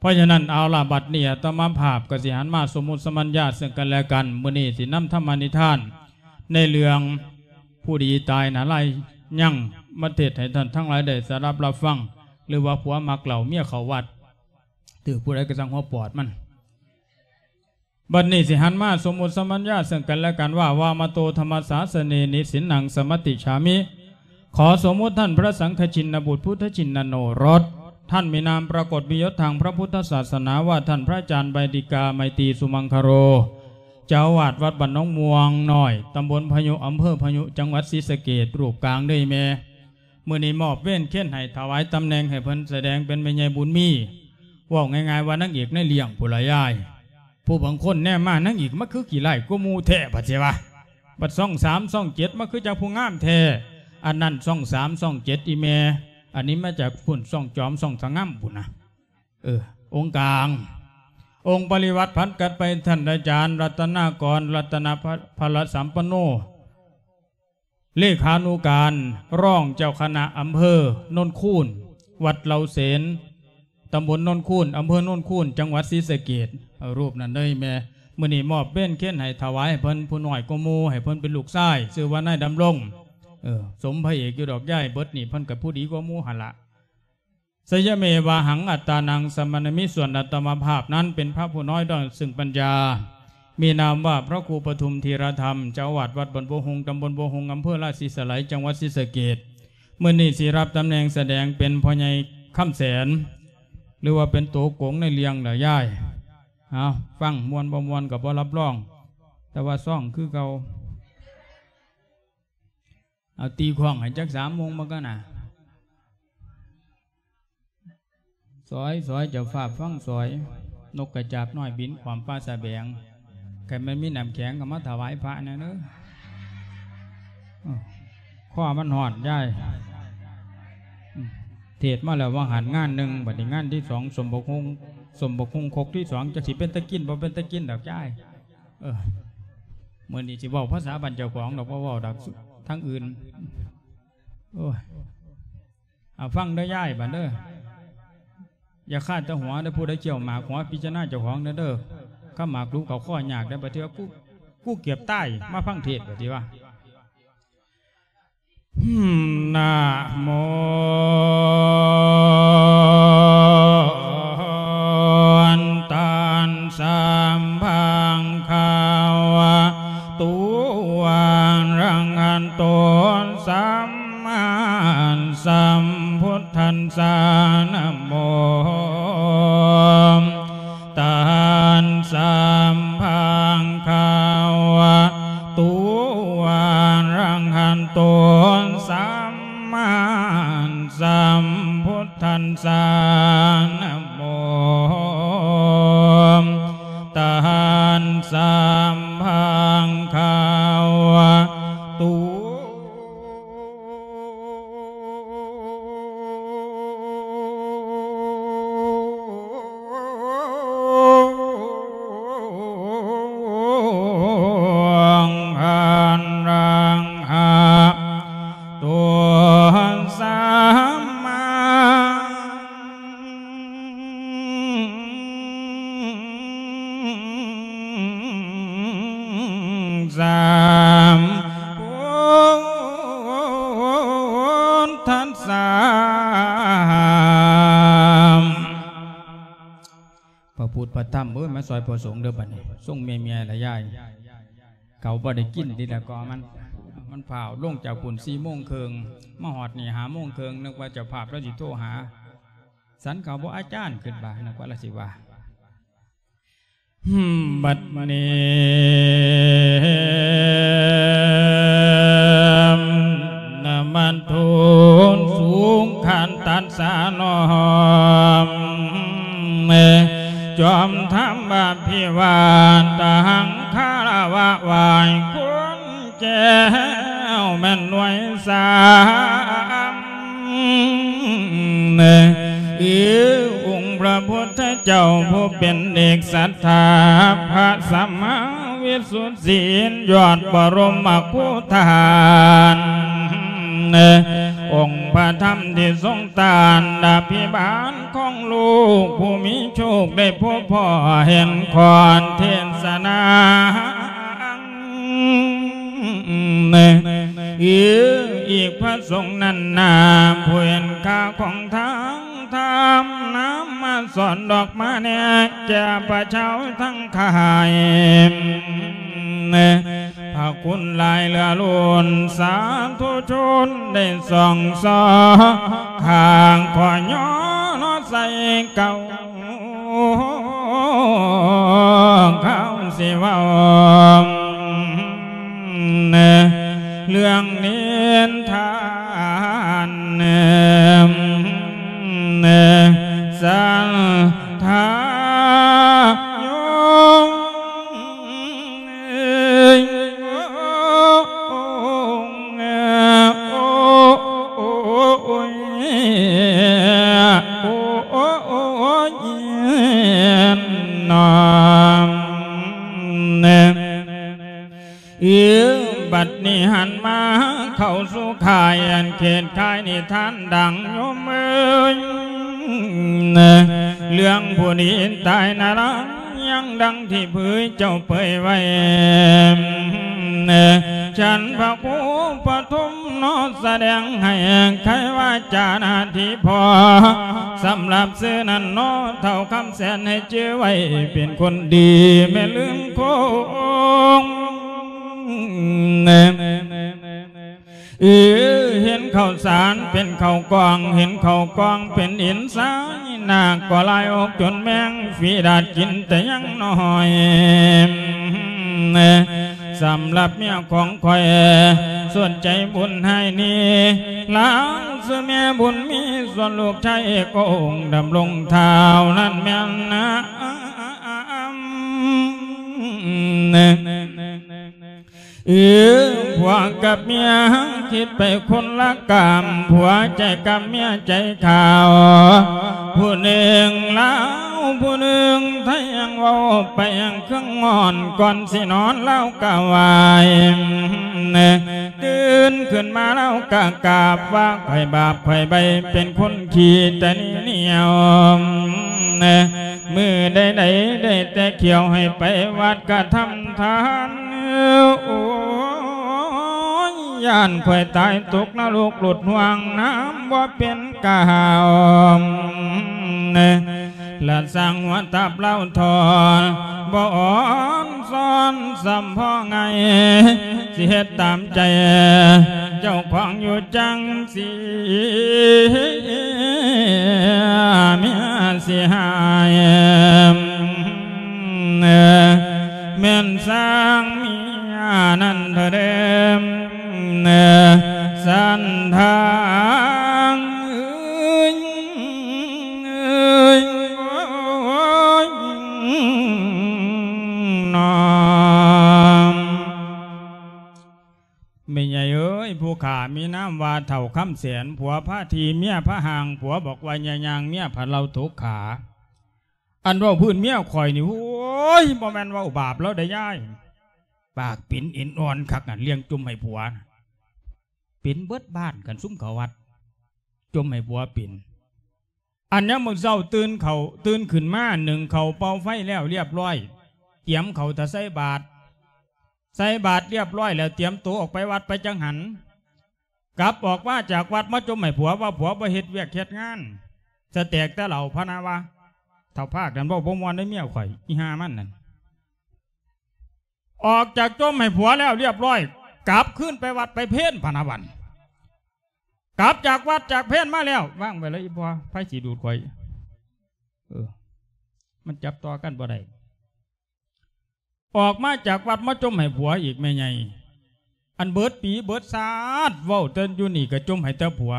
ພາະສະນັ້ນ ເອົາລະ ບັດນີ້ອາດຕະມາພາບກໍຊິຫັນມາສົມມຸດສະມັນຍາເຊິ່ງກັນແລະກັນ. ມື້ນີ້ຊິນຳທຳມະນິທານໃນເລື່ອງຜູ້ດີຕາຍນາລາຍຍັງມາເທດໃຫ້ທ່ານທັງຫຼາຍໄດ້ສະດັບຮັບຟັງ ຫຼືວ່າຜົວມັກເຫຼົ້າເມຍເຂົ້າວັດ ຖືກຜູ້ໃດກໍຊ່າງຫົວປອດມັນ. ບັດນີ້ຊິຫັນມາສົມມຸດສະມັນຍາເຊິ່ງກັນແລະກັນວ່າ ວາມະໂຕທຳມະສາສະເນ ນິສິນນັງສະມະຕິສາມິ. ຂໍສົມມຸດທ່ານພະສັງຄະຊິນນະບຸດ ພຸດທະຊິນນະໂນລົດ ທ່ານມີນາມປາກົດມີຍົດທາງພະພຸດທະສາສະໜາວ່າ ທ່ານພະອາຈານໄບຕິກາ ໄມຕີສຸມັງຄະໂລ ເຈົ້າອາວາດວັດບ້ານໜອງມ່ວງນ້ອຍ ຕຳບົນພະຍຸ ອຳເພີພະຍຸ ຈັງຫວັດສີສະເກດ ຮູບກາງເດີແມ່. ມື້ນີ້ມອບເວນເຄນໃຫ້ ຖວາຍຕຳແໜ່ງໃຫ້ເພິ່ນ ສະແດງເປັນແມ່ໃຫຍ່ບຸນມີ. ເວົ້າງ່າຍໆວ່ານາງເອກໃນເລື່ອງພຸ້ນລະຍາຍ. ຜູ້ບາງຄົນແນມມາ ນາງເອກມາຄືຂີ້ຮ້າຍກວ່າໝູ່ແທ້ ບັດຊິວ່າ ບັດຊ່ອງສາມ ຊ່ອງເຈັດ ມາຄືຈັກຜູ້ງາມແທ້. ອັນນັ້ນຊ່ອງສາມ ຊ່ອງເຈັດ ອີ່ແມ່, ອັນນີ້ມາຈາກພຸ້ນ ຊ່ອງຈອມ ຊ່ອງສະງາມພຸ້ນນະ. ເອີ ອົງກາງ ອົງປະລິວາດຜັນກັນໄປ ທ່ານອາຈານລັດຕະນາກອນ ລັດຕະນະພະລະສຳປັນໂນ ເລຂານຸການ ຮອງເຈົ້າຄະນະອຳເພີໂນນຄູນ ວັດເຫຼົ່າເສນ ຕຳບົນໂນນຄູນ ອຳເພີໂນນຄູນ ຈັງຫວັດສີສະເກດ. ເອົາ ຮູບນັ້ນເດີແມ່. ມື້ນີ້ມອບເວນເຄນໃຫ້ ຖວາຍໃຫ້ເພິ່ນ ຜູ້ນ້ອຍກວ່າໝູ່ ໃຫ້ເພິ່ນເປັນລູກຊາຍ ຊື່ວ່ານາຍດຳລົງ. ເອີ ສົມພະເອກຢູ່ດອກຍາຍ ເບິດນີ້ເພິ່ນກໍຜູ້ດີກວ່າໝູ່ຫັ້ນລະ. ສະຍະເມວາຫັງອັດຕານັງສະມານະມິ ສ່ວນອາດຕະມາພາບນັ້ນເປັນພະຜູ້ນ້ອຍດ້ອຍເຊິ່ງປັນຍາ ມີນາມວ່າພະຄູປະທຸມທີລະທຳ ເຈົ້າອາວາດວັດບ້ານບົວຮຸ່ງ ຕຳບົນບົວຮຸ່ງ ອຳເພີລາສີສະໄຫຼ ຈັງຫວັດສີສະເກດ. ມື້ນີ້ຊິຮັບຕຳແໜ່ງສະແດງເປັນພໍ່ໃຫຍ່ຄຳແສນ ຫຼືວ່າເປັນໂຕກົງໃນເລື່ອງລະຍາຍ. ເອົາ ຟັງມ່ວນບໍ່ມ່ວນກໍບໍ່ຮັບຮອງ ແຕ່ວ່າຊອງຄືເກົ່າ. ເອົາ ຕີຂ້ອງໃຫ້ຈັກສາມໂມງມາກ່ອນນະ. ສອຍ ສອຍ ເຈົ້າຟ້າຟັງສອຍ. ນົກກະຈາບນ້ອຍບິນຂ້ອມຟ້າສະແບງ. ຄັນແມ່ນມີນ້ຳແຂງກໍມາຖວາຍພະແດ່ເດີ. ເອີ ຄໍມັນຮ້ອນຍາຍ. ອືມ ເທດມາແລ້ວວ່າງຫັ້ນງານໜຶ່ງ, ບັດນີ້ງານທີສອງ ສົມບັກຫຸ່ງ ສົມບັກຫຸ່ງຄົກທີສອງ ຈັກຊິເປັນຕາກິນບໍ່ເປັນຕາກິນດອກຍາຍ. ເອີ ມື້ນີ້ຊິເວົ້າພາສາບ້ານເຈົ້າຂອງດອກ ບໍ່ເວົ້າດອກທາງອື່ນ. ໂອ້ຍ ເອົາ ຟັງເດີຍາຍ ບາດເດີ. ຢ່າຄາດແຕ່ຫົວເດີ, ຜູ້ໃດກ່ຽວໝາກຫົວ ພິຈາລະນາເຈົ້າຂອງແດ່ເດີ. ຄຳໝາກຫຼຸບເຂົ້າຄໍຍາກເດີ, ບາດເທື່ອກູ ກູເກືອບຕາຍ ມາຟັງເທດ ບາດນີ້ວ່າ. ນະໂມ ຕັດສະ ພະຄະວະໂຕ ອະລະຫະໂຕ ສຳມາສຳພຸດທັດສະ ນະໂມ ຕັດສະ ພະຄະວະໂຕ ອະລະຫະໂຕ ສຳມາສຳພຸດທັດສະ ນະໂມ ຕັດສະ ພະຄະວະໂຕ ອະລະຫະໂຕ ສຳມາ ສຳພຸດທັດສະ ພະພຸດພະທຳເອີຍ ມາຊ່ອຍພະສົງເດີບັດນີ້. ຊົງເມຍໆລະຍາຍ ເຂົາບໍ່ໄດ້ກິນຕິລະກໍມັນ ມັນຟ້າວລົງຈາກພຸ້ນສີ່ໂມງເຄິ່ງ ມາຮອດນີ້ຫ້າໂມງເຄິ່ງ ນຶກວ່າເຈົ້າພາບລາວຊິໂທຫາ ສັນເຂົາບໍ່ອາຈານ ຄິດວ່າ ນຶກວ່າລາວຊິວ່າ. ບັດນີ້ ນະມັດຖຸ ສຸງຄັນຕັດສະ ນ້ອມຈອມທຳ ອະພິວາທະຫັງ ຄາລະວະໄຫວ້ຄຸນ ແກ້ວແມ່ນໜ່ວຍສາມ ເອີ ອົງພະພຸດທະເຈົ້າຜູ້ເປັນເອກສັດຖາ ພະສຳມາວິສຸດສີນ ຍອດປະລົມມະໂຄທານ ເອີ ອົງພະທຳທີ່ຊົງຕ້ານອະພິບານຂອງລູກຜູ້ມີໂຊກໄດ້ພົບພໍ້ເຫັນຂອນເທດສະໜາ ອີກພະສົງນັ້ນນາ ຜູ້ເຫັນຄ່າຂອງທາງທຳ ນຳມາສອນດອກມາແນະແກ່ພະເຈົ້າທັງ ຂາຍ ພະຄຸນຫຼາຍເຫຼືອລົ້ນ ສາທຸຊົນໄດ້ສ່ອງສ່ອ ຂ້າຂໍຍໍເນາະໃສ່ເກົ່າ ເຂົາຊິເວົ້າ ເລື່ອງນິທານ ສັນທາຍົງ ໂອ້ ໂອ້ຍ ໂອ້ຍ ໂອ້ຍ ນອມ ເອີ ບັດນີ້ຫັນມາເຂົ້າສູ່ຂ່າຍ ອັນເຂດຂາຍນິທານດັງໂຍມເອີຍ ເລື່ອງຜູ້ດີຕາຍນະລະ ຍັງດັ່ງທີ່ເຜີຍເຈົ້າເປີຍໄວ້ ເອີ ຊັ້ນພະຄູປະຖົມເນາະ ສະແດງໃຫ້ໄຂວາຈາໜ້າທີ່ພໍ ສຳລັບຊື່ນັ້ນເນາະ ເຖົ້າຄຳແສນໃຫ້ຈື່ໄວ້ ເປັນຄົນດີແມ່ນລືມຄົງ ເອີ ເຫັນເຂົ້າສານເປັນເຂົ້າກອງ ເຫັນເຂົ້າກອງເປັນຫີນຊາຍ ນາກກໍລາຍອອກຈົນແມງ ຝີດາດກິນແຕ່ຍັງນ້ອຍ ສຳລັບເມຍຂອງຂ້ອຍ ສ່ວນໃຈບຸນໃຫ້ນີ້ ລາວຊື່ແມ່ບຸນມີ ສ່ວນລູກຊາຍກໍອົງດຳລົງທ້າວ ນັ້ນແມ່ນນາ ເອີ ຜົວກັບເມຍຄິດໄປຄົນລະກາມ ຜົວໃຈກຳເມຍໃຈຂາວ ຜູ້ໜຶ່ງລາວຜູ້ໜຶ່ງໄທ ຍັງເວົ້າໄປຍັງເຄື່ອງງອນ ກ່ອນຊິນອນລາວກະໄຫວ້ ຕື່ນຂຶ້ນມາລາວກະກາບ ວ່າຂ້ອຍບາບຂ້ອຍໃບ ເປັນຄົນຂີ້ຕະໜີໜຽວ ມື້ໃດໆ ໄດ້ແຕ່ຂຽວໃຫ້ໄປວັດກະທຳທານ ໂອ້ຍ ຢ້ານຂ້ອຍຕາຍຕົກນະລົກຫຼຸດຫ່ວງ ນ້ຳບໍ່ເປັນກາວ ລະສ້າງຫົວຕັບລາວທອນ ບໍ່ອ່ອນຊ້ອນຊ້ຳພໍງ່າຍ ຊິເຮັດຕາມໃຈເຈົ້າຂອງຢູ່ຈັ່ງ ເມຍຊິຫາຍ ແມ່ນສ້າງເມຍນັ້ນເທື່ອເດີມ ສັນທາງເອີຍ ເອີຍ ໂອ້ຍ ນອມ. ແມ່ໃຫຍ່ເອີຍ ຜູ້ຂ້າມີນາມວ່າເຖົ້າຄຳແສນ ຜົວພາຖີ່ ເມຍພາຮ່າງ ຜົວບອກວ່າຢ່າຍ່າງ ເມຍພາເລົາຕົກຂາ ອັນເວົ້າພື້ນເມຍຂ້ອຍນີ້ ໂອ້ຍ ບໍ່ແມ່ນເວົ້າບາບລາວໃດຍາຍ ປາກເປັນເອັນອ່ອນຄັກ ອັນລ້ຽງຈົ່ມໃຫ້ຜົວ ເປັນເບິດບ້ານ ຄັນຊຸມເຂົ້າວັດ ຈົ່ມໃຫ້ຜົວເປັນ ອັນຍາມມື້ເຊົ້າຕື່ນເຂົ້າ ຕື່ນຂຶ້ນມາ ໜຶ້ງເຂົ້າເປົ່າໄຟແລ້ວລຽບຮ້ອຍ ຕຽມເຂົ້າຖ້າໃສ່ບາດ ໃສ່ບາດລຽບຮ້ອຍແລ້ວ ຕຽມໂຕອອກໄປວັດໄປຈັງຫັນ ກັບອອກມາຈາກວັດມາຈົ່ມໃຫ້ຜົວວ່າ ຜົວບໍ່ເຮັດວຽກເຮັດງານ ສະແຕກແຕ່ເຫຼົ້າ ພະນະວ່າ ເຖົ້າພາກນັ້ນເວົ້າບໍ່ມ່ວນເດ້ເມຍຂ້ອຍ ອີ່ຫ່າມັນນັ້ນ ອອກຈາກຈົ່ມໃຫ້ຜົວແລ້ວລຽບຮ້ອຍ ກັບຄືນໄປວັດໄປເພນ ພະນະບັດ ກັບຈາກວັດຈາກເພນມາແລ້ວ ວາງໄວ້ເລີຍອີ່ພໍ່ ໃຜຊິດູດຂ້ອຍ ເອີ ມັນຈັບຕໍ່ກັນບໍ່ໄດ້ ອອກມາຈາກວັດມາຈົ່ມໃຫ້ຜົວອີກແມ່ໃຫຍ່ ອັນເບິດປີເບິດຊາດ ເວົ້າແຕ່ຢູ່ນີ້ກະຈົ່ມໃຫ້ແຕ່ຜົວ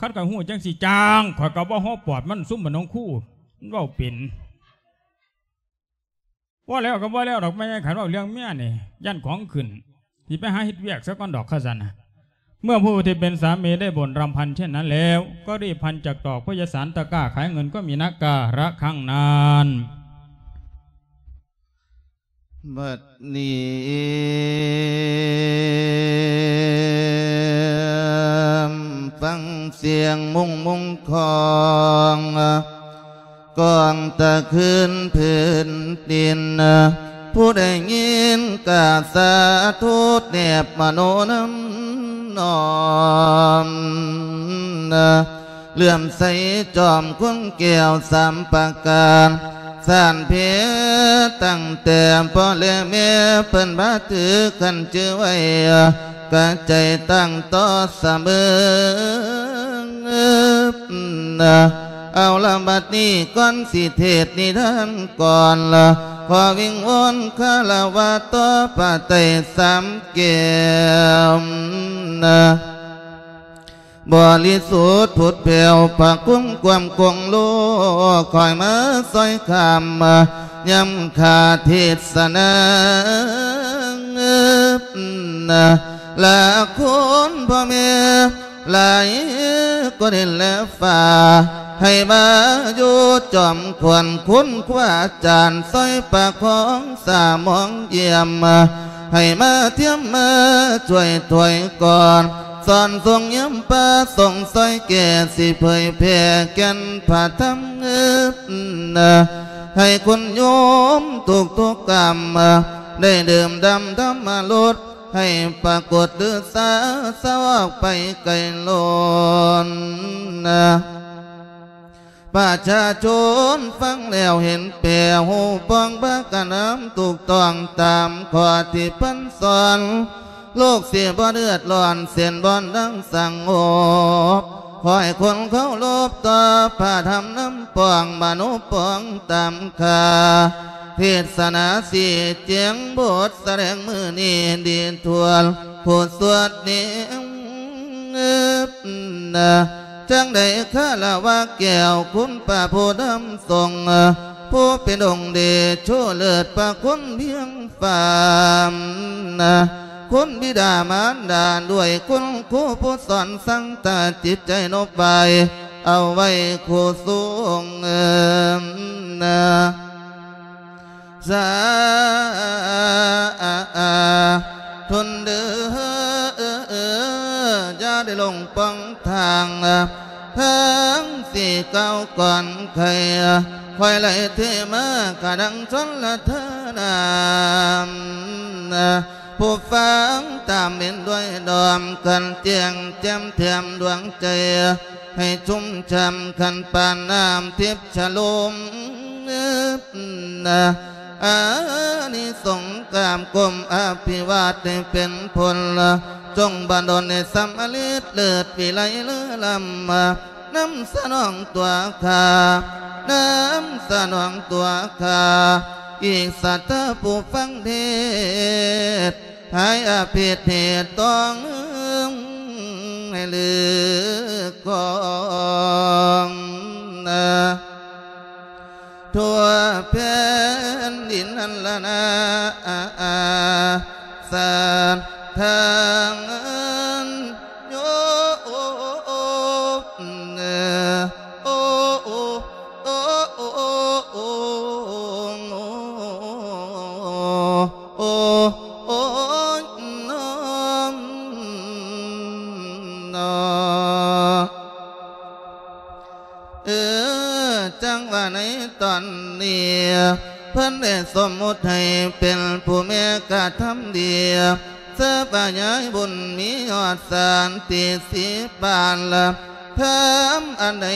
ຄັນຂ້ອຍຮູ້ຈັ່ງຊິຈ້າງ ຂ້ອຍກະບໍ່ຮອບປອດມັນ ຊຸມບ້ານໜອງຄູ ມັນເວົ້າເປັນ ບໍ່ແລ້ວກະບໍ່ແລ້ວດອກແມ່ໃຫຍ່ ຄັນເວົ້າເລື່ອງເມຍນີ້ ຢ້ານຂອງຂຶ້ນ ຊິໄປຫາເຮັດວຽກຊະກ່ອນດອກ ຄັນຊັ້ນນະ ເມື່ອຜູ້ທີ່เป็นสามีได้บ่นรำพันเช่นนั้นแล้ว ก็รีบพันจักตอก เพราะยายสารตะกร้าขายเงินก็มีนะ กาละครั้งนั้น ບັດນີ້ ສຽງມຸງມຸງຂອງ ກອງຕະຄືນພື້ນດິນ ຜູ້ໄດ້ຍິນກະສາທຸແນບມະໂນນຳນ້ອມ ເຫຼື້ອມໃສຈອມຄຸນແກ້ວສາມປະການ ສານເພຕັ້ງແຕ່ພໍ່ແລະແມ່ ເພິ່ນພາຖືຂັນຈື່ໄວ້ ກະໃຈຕັ້ງຕໍ່ສະເໝີ ເອົາລະບັດນີ້ກ່ອນຊິເທດນິທານກ່ອນ ຂໍວິງວອນຄາລະວະຕໍ່ພະໄຕສາມແກ້ວ ບໍລິສຸດຜຸດແຜວ ພະຄຸນຄວາມຄົງໂລ ຄອຍມາຊ່ອຍຄ້ຳ ຍາມຂ້າເທດສະນາ ລະຄຸນພໍ່ແມ່ ຫຼາຍກວ່າດິນແລະຟ້າ ໃຫ້ມາຢູ່ຈອມຂວັນຄຸນຄູອາຈານ ຊ່ອຍປະຄອງສະໝອງຢ້ຽມ ໃຫ້ມາທຽມມາຊ່ວຍຖອຍກ່ອນ ສອນສົ່ງຢ້ຽມປະສົງຊ່ອຍແກ່ ຊິເຜີຍແຜ່ແກ່ນພະທຳ ໃຫ້ຄຸນໂຍມທຸກໆກຳ ໄດ້ດື່ມດຳທຳມະລົດ ໃຫ້ປາກົດຫຼືສາສະອອກໄປໄກໂລນ ປະຊາຊົນຟັງແລ້ວເຫັນແປ ຮູ້ປ້ອງພາກັນນຳຖືກຕ້ອງຕາມຂໍ້ທີ່ເພິ່ນສອນ ໂລກຊິບໍ່ເດືອດຮ້ອນ ເສັ້ນບ່ອນດັງສະຫງົບ ຂໍໃຫ້ຄົນເຄົາລົບຕໍ່ພະທຳນຳປ້ອງ ມະໂນປ້ອງຕາມຄ່າ ເທດສະໜາຊີ້ແຈງບົດສະແດງມື້ນີ້ດີທົ່ວຜູ້ສວດນີ້ ຈັ່ງໄດ້ຄາລະວະແກ້ວຄຸນພະຜູ້ນຳຊົງ ຜູ້ເປັນອົງເດໂຊເລີດພະຄຸນພຽງຟ້າ ຄຸນບິດາມານດາດ້ວຍຄຸນຄູຜູ້ສອນ ສັງຕາຈິດໃຈນົບໄຫວ້ ເອົາໄວ້ຄູ່ສູງ ສາທຸນເດີ ຢ່າໄດ້ຫຼົງປ່ອງທາງ ທາງສີ່ກ້າວກ່ອນໄຄ ຄ່ອຍໄຫຼເທມາຂະດັງຊົນລະທານາ ຜູ້ຟັງຕາມເຫັນດ້ວຍດອມ ຂັນແຈ້ງແຈ່ມແຖມດວງໃຈ ໃຫ້ຊຸ່ມຊ່ຳຂັນປານນ້ຳທິບຊະລົມ ອານິສົງກາມກົມອະພິວາດໃຫ້ເປັນຜົນ ຈົ່ງບັນດົນໃຫ້ສຳເລັດເລີດວິໄລເລີລຳ ນຳສະໜອງຕົວຂ້າ ນຳສະໜອງຕົວຂ້າ ອີກສັດທາຜູ້ຟັງເທດ ຫາຍອາເພດເຫດຕ້ອງໃຫ້ລຶກຂອງ ທົ່ວແຜ່ນດິນຫັ້ນລະນາ ສາທາງໂຍ ໂອ ໂອ ໂອ ໂອ ໂອ ໂອ ໂອ ໂອ ໂອ ເອີ ຈັ່ງວ່າໃນຕອນນີ້ ເພິ່ນໄດ້ສົມມຸດໃຫ້ເປັນຜູ້ແມ່ກະທຳດີ ເສີບຂະຫຍາຍບຸນມີຮອດສານຕິສີ່ປານລະ ທຳອັນໃດ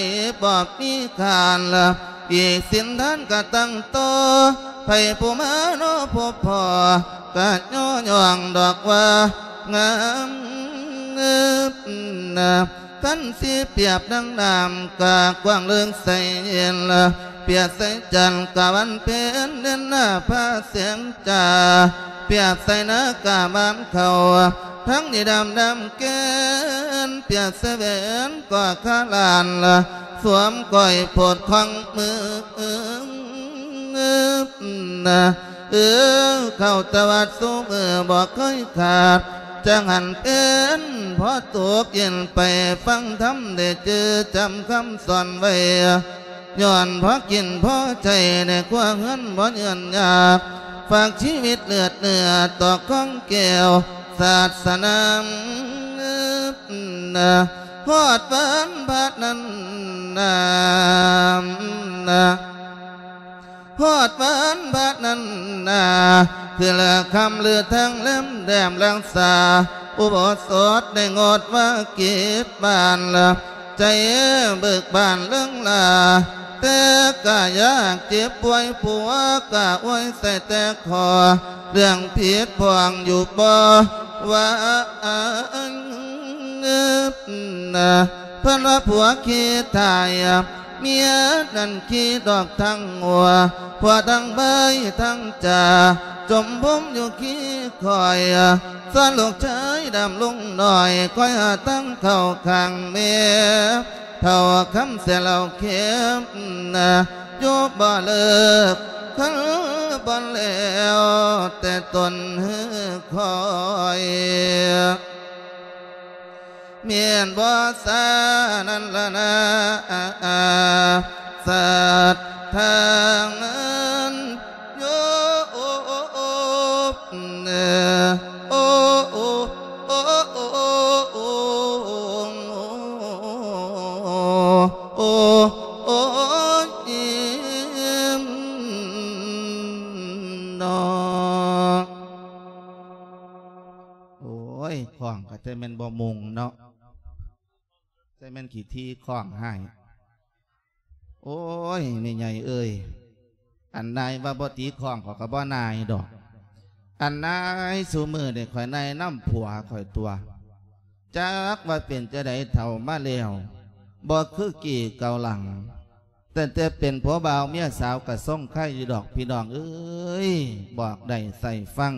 ບໍ່ມີຂານລະ ອີກສິນທານກະຕັ້ງຕໍ່ ໃຜຜູ້ມາເນາະພົບພໍ້ ກະຍໍຍ້ອງດອກວ່າງາມ ຄັນຊິປຽບດັ່ງນ້ຳກະກວ້າງເລິກໃສເຢັນ ປຽບໃສ່ຈັນກະວັນເພັນເດືອນໜ້າພາແສງຈ້າ ປຽບໃສ່ນາກະບານເຂົ້າ ທັງນີ້ດຳດຳແກ່ນ ປຽບໃສ່ແຫວນກໍຄາລ້ານ ສວມກ້ອຍໂພດຂອງມື ເອີ ເຂົ້າແຕ່ວັດຊຸມື້ບໍ່ເຄີຍຂາດ ຈັ່ງຫັນເປັນພໍຕົກເຢັນໄປຟັງທຳ ໄດ້ຈື່ຈຳຄຳສອນໄວ້ ຍ້ອນພໍກິນພໍໃຊ້ໃນຄົວເຮືອນບໍ່ຍືນຍາກ ຝາກຊີວິດເລືອດເນື້ອຕໍ່ຂອງແກ້ວສາດສະໜາມ ຮອດວັນພະນັ້ນນາ ຮອດວັນພະນັ້ນນາ ຄືລະຄ່ຳລືທັງແລມແດມລັກສາ ອຸໂບສົດໄດ້ງົດວາກິດບ້ານລະ ໃຈເບີກບານເລິງລາ ແຕ່ກະຢາກເຈັບປ່ວຍ ຜົວກະອວຍໃສ່ແຕ່ຂໍ ເລື່ອງຜິດພ່ອງຢູ່ບໍ່ວ່າ ເພິ່ນວ່າຜົວຂີ້ຖ່າຍ ເມຍນັ້ນຂີ້ດອກທັງຫົວ ຜົວທັງໃບທັງຈາ ຈົມພົມຢູ່ຂີ້ຂ້ອຍ ສ່ວນລູກຊາຍດຳລຸງນ້ອຍ ຄອຍຫາທາງເຂົ້າຂ້າງແມ່ ເຖົ້າຄຳແສເຫຼົ້າເຄັມ ຢູ່ບໍ່ເລີກ ຄືບໍ່ແລ້ວແຕ່ຕົ້ນຄືຂ້ອຍ ແມ່ນບໍ່ສານັ້ນລະນາ ສັດທາງນັ້ນໂຍ ໂອ້ ໂອ້ ໂອ້ ໂອ້ ໂອ້ ໂອ້ຍ ເນາະ. ໂອ້ຍ ຄ້ອງກໍແຕ່ແມ່ນບໍ່ມຸງເນາະ ແຕ່ແມ່ນຂີ້ຖີ່ຄ້ອງໃຫ້. ໂອ້ຍ ແມ່ໃຫຍ່ເອີຍ ອັນນາຍວ່າບໍ່ຕີຄ້ອງ ຂ້ອຍກໍບໍ່ນາຍດອກ. ອັນນາຍຊຸມື້ນີ້ຂ້ອຍນາຍນຳຜົວຂ້ອຍຕົວະ ຈັກວ່າເປັນຈັ່ງໃດເຖົ້າມາແລ້ວ ບໍ່ຄືກີ່ເກົ່າຫຼັງ. ຕັ້ງແຕ່ເປັນຜົວບ່າວເມຍສາວກະຊົງໄຄຢູ່ດອກ ພີ່ນ້ອງເອີຍ ບອກໄດ້ໃສ່ຟັງ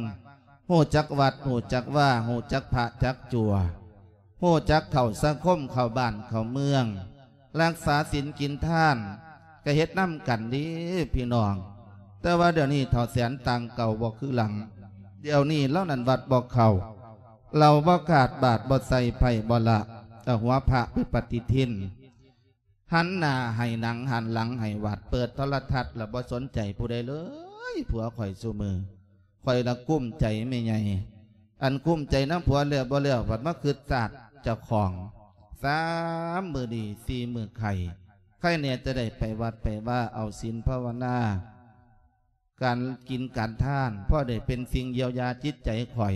ຮູ້ຈັກວັດ ຮູ້ຈັກວາ ຮູ້ຈັກພະຈັກຈົວ ຮູ້ຈັກເຂົ້າສັງຄົມ ເຂົ້າບ້ານເຂົ້າເມືອງ ຮັກສາສິນກິນທານ ກະເຮັດນຳກັນເດ້ພີ່ນ້ອງ. ແຕ່ວ່າດຽວນີ້ເຖົ້າແສນຕ່າງເກົ່າບໍ່ຄືຫຼັງ ດຽວນີ້ລາວນັ້ນວັດບໍ່ເຂົ້າ ເຫຼົ້າບໍ່ຂາດ ບາດບໍ່ໃສ່ ໄພ້ບໍ່ລະ ເອົາຫົວພະໄປປະຕິທິນ ຫັນໜ້າໃຫ້ໜັງ ຫັນຫຼັງໃຫ້ວັດ ເປີດໂທລະທັດລະບໍ່ສົນໃຈຜູ້ໃດເລີຍ. ຜົວຂ້ອຍຊຸມື້ ຂ້ອຍລະກຸ້ມໃຈແມ່ໃຫຍ່ ອັນກຸ້ມໃຈນຳຜົວແລ້ວບໍ່ແລ້ວ ພັດມາຄຶດຊາດເຈົ້າຂອງ ສາມມື້ດີ ສີ່ມື້ໄຂ້ ໃຄແດ່ຈະໄດ້ໄປວັດໄປວາ ເອົາສິນພາວະນາ ການກິນການທານ ພໍໄດ້ເປັນສິ່ງຢຽວຢາຈິດໃຈຂ້ອຍ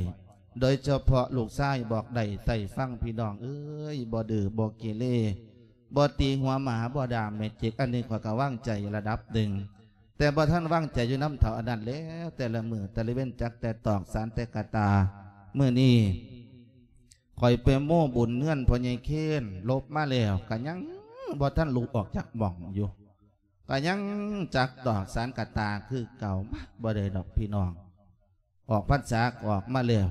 ໂດຍສະເພາະລູກຊາຍບອກໄດ້ໃສ່ຟັງ ພີ່ນ້ອງເອີຍ ບໍ່ດື້ບໍ່ເກເລ ບໍ່ຕີຫົວໝາ ບໍ່ດ່າແມ່ຈິກ ອັນນີ້ຂ້ອຍກໍວາງໃຈລະດັບໜຶ່ງ ແຕ່ບໍ່ທັນວາງໃຈຢູ່ນຳເຖົ້າອັນນັ້ນແລ້ວ ແຕ່ລະມື້ແຕ່ລະເວັນ ຈັກແຕ່ຕອກສານແຕ່ກະຕາ. ມື້ນີ້ຂ້ອຍໄປໂມ້ບຸນເຮືອນພໍ່ໃຫຍ່ເຄນ ລົບມາແລ້ວ ກະຍັງບໍ່ທັນລຸກອອກຈາກໝ່ອງຢູ່ ກະຍັງຈັກຕອກສານກະຕາຄືເກົ່າ. ມາ ບໍ່ໄດ້ດອກພີ່ນ້ອງ ອອກພັນສາກໍອອກມາແລ້ວ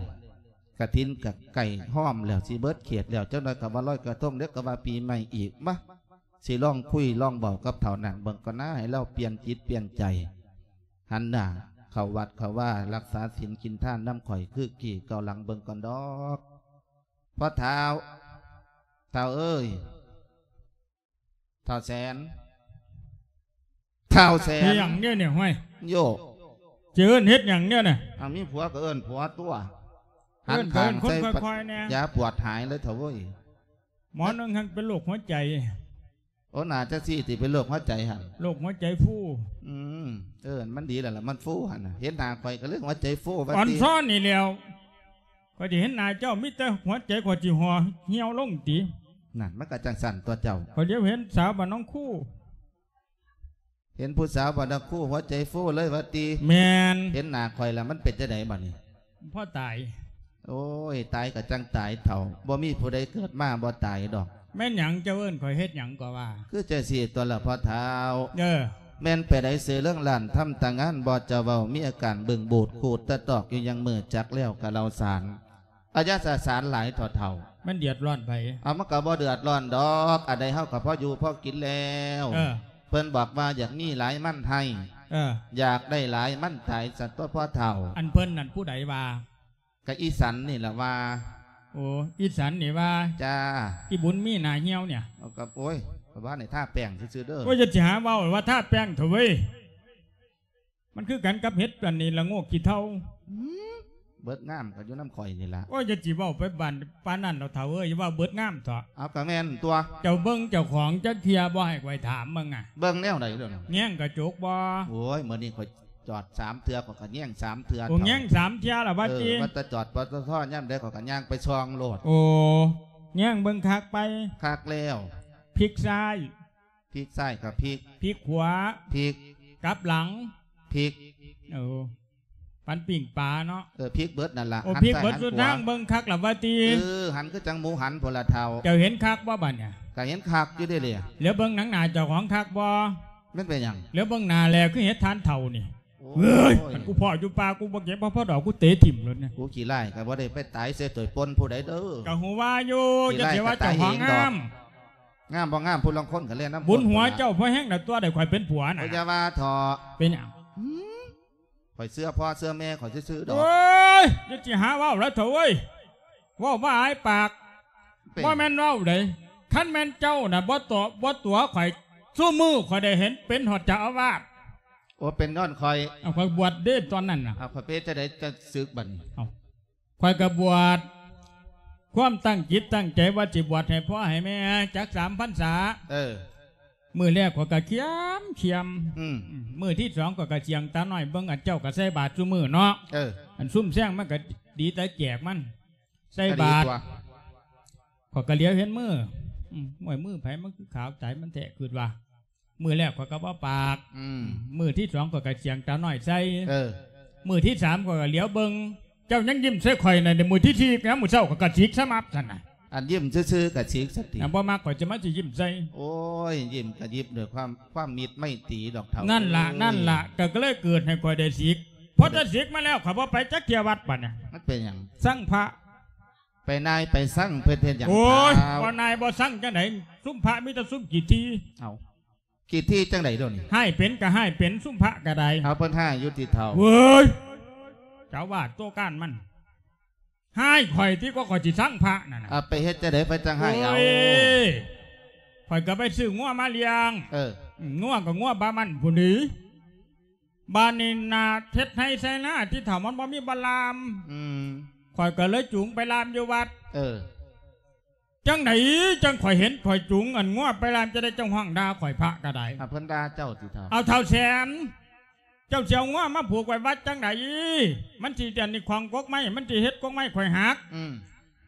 ກະຖິນກະໃກ້ຮອມແລ້ວ ຊິເບິດເຂດແລ້ວ ຈັກໜ້ອຍກະວ່າລອຍກະທົງ ດຽວກະວ່າປີໃໝ່ອີກ. ມາ ຊິລອງຄຸຍລອງເວົ້າກັບເຖົ້ານັ້ນເບິ່ງກ່ອນນາ ໃຫ້ລາວປ່ຽນຈິດປ່ຽນໃຈ ຫັນໜ້າເຂົ້າວັດເຂົ້າວາ ຮັກສາສິນກິນທານນຳຂ້ອຍຄືກີ່ເກົ່າຫຼັງເບິ່ງກ່ອນດອກ. ພໍ່ເຖົ້າ ເຖົ້າເອີຍ ທ້າວແສນ ທ້າວແສນ ເຮັດຫຍັງເດນີ້ ຫ້ວຍ ໂຢ ຊິເອີ້ນເຮັດຫຍັງເດນີ້? ອັນມີຜົວກໍເອີ້ນຜົວຕົວະ ຫັນຂ້າງໃສ່ ຄ່ອຍໆແດ່ ຢາປວດຫາຍເລີຍເຖົ້າເອີຍ. ໝໍໜຶ່ງຫັ້ນເປັນໂລກຫົວໃຈ. ໂອ ໜ້າຈະຊີ້ຕິ ເປັນໂລກຫົວໃຈຫັ້ນ ໂລກຫົວໃຈຟູ ອືມ ເອີ ມັນດີແລ້ວລະ ມັນຟູຫັ້ນນະ ເຫັນໜ້າຂ້ອຍກໍເລີຍຫົວໃຈຟູວ່າຕິ ອ່ອນຊ້ອນນີ້ແລ້ວ. ຂ້ອຍຊິເຫັນໜ້າເຈົ້າ ມີແຕ່ຫົວໃຈຂ້ອຍຊິຫໍ່ຫ່ຽວລົງຕິ. ນັ້ນ ມັນກໍຈັ່ງຊັ້ນຕົວະເຈົ້າ. ຂ້ອຍຫຼຽວເຫັນສາວບ້ານໜອງຄູ ເຫັນຜູ້ສາວບ້ານໜອງຄູ ຫົວໃຈຟູເລີຍວ່າຕິ. ແມ່ນ. ເຫັນໜ້າຂ້ອຍລະ ມັນເປັນຈັ່ງໃດບາດນີ້? ພໍຕາຍ. ໂອ້ຍ ຕາຍກໍຈັ່ງຕາຍເຖົ້າ ບໍ່ມີຜູ້ໃດເກີດມາບໍ່ຕາຍດອກ. ແມ່ນຫຍັງເຈົ້າເອີ້ນຂ້ອຍເຮັດຫຍັງກໍວ່າ? ຄືຈັ່ງຊີ້ຕົວະລະພໍ່ເຖົ້າ. ເອີ ແມ່ນໄປໃດເສືອເລື່ອງລ້ານ ທຳຕາງານບໍ່ຈະເວົ້າ ມີອາການບຶ້ງບູດຂູດຕະຕອກຢູ່ຍັງມື ຈັກແລ້ວກະເລົ່າສານ ອາຍາສາສານຫຼາຍເຖົ້າໆ. ມັນເດືອດຮ້ອນໃຜ? ເອົາ ມັນກໍບໍ່ເດືອດຮ້ອນດອກ ອັນໃດເຮົາກໍພໍຢູ່ພໍກິນແລ້ວ. ເອີ ເພິ່ນບອກວ່າຢາກມີຫຼາຍມັນໄຮ່ ເອີ ຢາກໄດ້ຫຼາຍມັນຕາຍ ຊັ້ນຕົວະພໍ່ເຖົ້າ. ອັນເພິ່ນນັ້ນຜູ້ໃດວ່າ? ກະອີສັນນີ້ລະວ່າ. ໂອ ອີສັນນີ້ວ່າ. ຈ້າ. ອີບຸນມີໜ້າຫ່ຽວນີ້. ເອົາ ກະ ໂອ້ຍ ກະວ່າໃຫ້ທາແປ້ງຊື່ໆເດີ. ໂອ້ຍ ຢ່າຊິຫາເວົ້າວ່າທາແປ້ງເຖາະເວີຍ. ມັນຄືກັນກັບເຫັດອັນນີ້ລະໂງກຂີ້ເທົາ. ຫື? ເບິດງາມກໍຢູ່ນຳຂ້ອຍນີ້ລະ. ໂອ້ຍ ຢ່າຊິເວົ້າໄປບານປານນັ້ນດອກເຖົ້າເອີຍ, ຢ່າເວົ້າເບິດງາມເຖາະ. ເອົາ ກໍແມ່ນຕົວະ. ເຈົ້າເບິ່ງເຈົ້າຂອງຈັກເທື່ອບໍ່ໃຫ້ຂ້ອຍຖາມເບິ່ງອະ? ເບິ່ງແນວໃດເດ້? ແຍງກະຈົກບໍ່? ໂອ້ຍ ມື້ນີ້ຂ້ອຍຈອດສາມເທື່ອ ຂ້ອຍກໍແຍງສາມເທື່ອ. ໂອ້ ເຖົ້າ ແຍງສາມເທື່ອລະວ່າຕິ? ເອີ ວ່າແຕ່ຈອດ ປຕທ ຍາມໃດຂ້ອຍກໍຍ່າງໄປສ່ອງໂລດ. ໂອ້ ແຍງເບິ່ງຄັກໄປ? ຄັກແລ້ວ. ພິກຊ້າຍ? ພິກຊ້າຍກໍພິກ. ພິກຂວາ? ພິກ. ກັບຫຼັງ? ພິກ. ໂອ້ ປັນປີ້ງປາເນາະ. ເອີ ພິກເບິດນັ້ນລະ. ໂອ້ ພິກເບິດສຸດທາງ. ເບິ່ງຄັກລະວ່າຕິ? ເອີ ຫັນຄືຈັ່ງໝູຫັນພຸ້ນລະເຖົ້າ. ເຈົ້າເຫັນຄັກບໍ່ບາດນີ້? ກໍເຫັນຄັກຢູ່ເດ້. ຫຼຽວເບິ່ງໜັງໜ້າເຈົ້າຂອງຄັກບໍ່? ມັນເປັນຫຍັງ? ຫຼຽວເບິ່ງໜ້າແລຄືເຫັດຖ່ານເຖົ້ານີ້. ໂອ້ຍ ເອີຍ ຄັນກູພໍ້ຢູ່ປ່າ ກູບໍ່ເກັບບໍ່ພໍດອກ ກູເຕະຖິ້ມໂລດນະ. ກູຂີ້ລ້າຍກໍບໍ່ໄດ້ໄປຕາຍໃສ່ໂຕຍປົນຜູ້ໃດເດີ. ກໍຮູ້ວ່າຢູ່ ຂີ້ລ້າຍ ຢ່າຊິວ່າເຈົ້າຂອງງາມ. ງາມບໍ່ງາມ ຜູ້ລາງຄົນກໍແລ່ນນຳ. ບຸນຫົວເຈົ້າພໍແຮງນະ ຕົວະໄດ້ຂ້ອຍເປັນຜົວນະ. ໂອ້ຍ ຢ່າວ່າເຖາະ. ເປັນຫຍັງ? ຫືມ ຂ້ອຍເຊື່ອພໍ່ເຊື່ອແມ່ຂ້ອຍຊື່ໆດອກ. ໂອ້ຍ ຢ່າຊິຫາເວົ້າລະເຖົ້າເອີຍ, ເວົ້າມາອາຍປາກ. ເປັນ ບໍ່ແມ່ນເວົ້າເດ້. ຄັນແມ່ນເຈົ້ານະບໍ່ຕົວະ ບໍ່ຕົວະຂ້ອຍ ຊຸມື້ຂ້ອຍໄດ້ເຫັນເປັນຮອດເຈົ້າອາວາດ. ໂອ້ ເປັນຍ້ອນຂ້ອຍ. ເອົາ ຂ້ອຍບວດເດ້ຕອນນັ້ນນະ. ເອົາ ຂ້ອຍເປັນຈັ່ງໃດຈະສຶກບັດນີ້? ເອົາ ຂ້ອຍກໍບວດ ຄວາມຕັ້ງຈິດຕັ້ງໃຈວ່າຊິບວດໃຫ້ພໍ່ໃຫ້ແມ່ຈັກສາມພັນສາ. ເອີ ມື້ແລກຂ້ອຍກໍຂຽມຂຽມ. ອືມ ມື້ທີສອງຂ້ອຍກໍສຽງຕານ້ອຍເບິ່ງ ອັນເຈົ້າກໍໃສ່ບາດຊຸມື້ເນາະ. ເອີ ອັນຊຸມແຊງມັນກໍດີແຕ່ແຈກມັນ ໃສ່ບາດ. ກໍດີຕົວະ. ຂ້ອຍກໍຫຼຽວເຫັນມື. ອືມ ໂອ້ຍ ມືໃຜມັນຄືຂາວຕາຍມັນແທ້ ຄິດວ່າ. ມື້ແລກຂ້ອຍກໍບໍ່ປາກ. ອືມ ມື້ທີສອງຂ້ອຍກໍສຽງຕານ້ອຍໃສ່. ເອີ ມື້ທີສາມຂ້ອຍກໍຫຼຽວເບິ່ງ ເຈົ້າຍັງຍິ້ມໃສ່ຂ້ອຍນະ. ມື້ທີສີ່ຍາມມື້ເຊົ້າຂ້ອຍກໍສິກສະໝັບຊັ້ນນະ. ອັນຍິ້ມຊື່ໆກໍສິກສະຕິ. ນະ ບໍ່ມັກຂ້ອຍຈະມາຊິຍິ້ມໃສ່. ໂອ້ຍ ຍິ້ມກະຍິ້ມດ້ວຍຄວາມ ຄວາມມິດໄມຕີດອກເຖົ້າ. ນັ້ນລະ ເອີຍ ນັ້ນລະ ກໍ ກໍເລີຍເກີດໃຫ້ຂ້ອຍໄດ້ສິກ. ພໍຈະສິກມາແລ້ວ ຂ້ອຍບໍ່ໄປຈັກເທື່ອວັດບັດນີ້. ມັນເປັນຫຍັງ? ຊັງພະ. ໄປນາຍໄປຊັງເພິ່ນເຮັດຫຍັງ? ໂອ້ຍ ເຖົ້າ ບໍ່ນາຍບໍ່ຊັງຈັ່ງໃດ? ຊຸມພະມີແຕ່ຊຸມຂີ້ຖີ່. ເອົາ ຂີ້ຖີ່ຈັ່ງໃດດຽວນີ້? ຮ້າຍເປັນກໍຮ້າຍເປັນ ຊຸມພະກໍໄດ້. ເອົາ ເພິ່ນຮ້າຍຢູ່ຕິເຖົ້າ? ເວີຍ ເຈົ້າວ່າຕົວການມັນ ຮ້າຍຂ້ອຍຕິ ກໍຂ້ອຍຊິຊັງພະນັ້ນນະ. ເອົາ ໄປເຮັດຈັ່ງໃດ ໄປຈັ່ງຮ້າຍເອົາ? ໂອ້ຍ ຂ້ອຍກໍໄປຊື້ງົວມາລ້ຽງ. ເອີ ອືມ ງົວກໍງົວບາມັນພຸ້ນນີ້. ບາດນີ້ນາເຮັດໄຮ່ໄຊນາ ທີ່ເຖົ້າມັນບໍ່ມີບ່ອນລ່າມ. ອືມ ຂ້ອຍກໍເລີຍຈູງໄປລ່າມຢູ່ວັດ. ເອີ ຈັ່ງໃດຈັ່ງຂ້ອຍເຫັນຂ້ອຍຈູງອັນງົວໄປລ່າມ ຈະໄດ້ເຈົ້າຮ້ອງດ່າຂ້ອຍ ພະກໍໄດ້. ອາ ເພິ່ນດ່າເຈົ້າຕິເຖົ້າ? ເອົາ ເຖົ້າແສນ ເຈົ້າຊິເອົາງົວມາຜູກໄວ້ວັດຈັ່ງໃດ? ມັນຊິອັນນີ້ຂອງກົກໄມ້ ມັນຊິເຮັດກົກໄມ້ຂ້ອຍຫັກ. ອືມ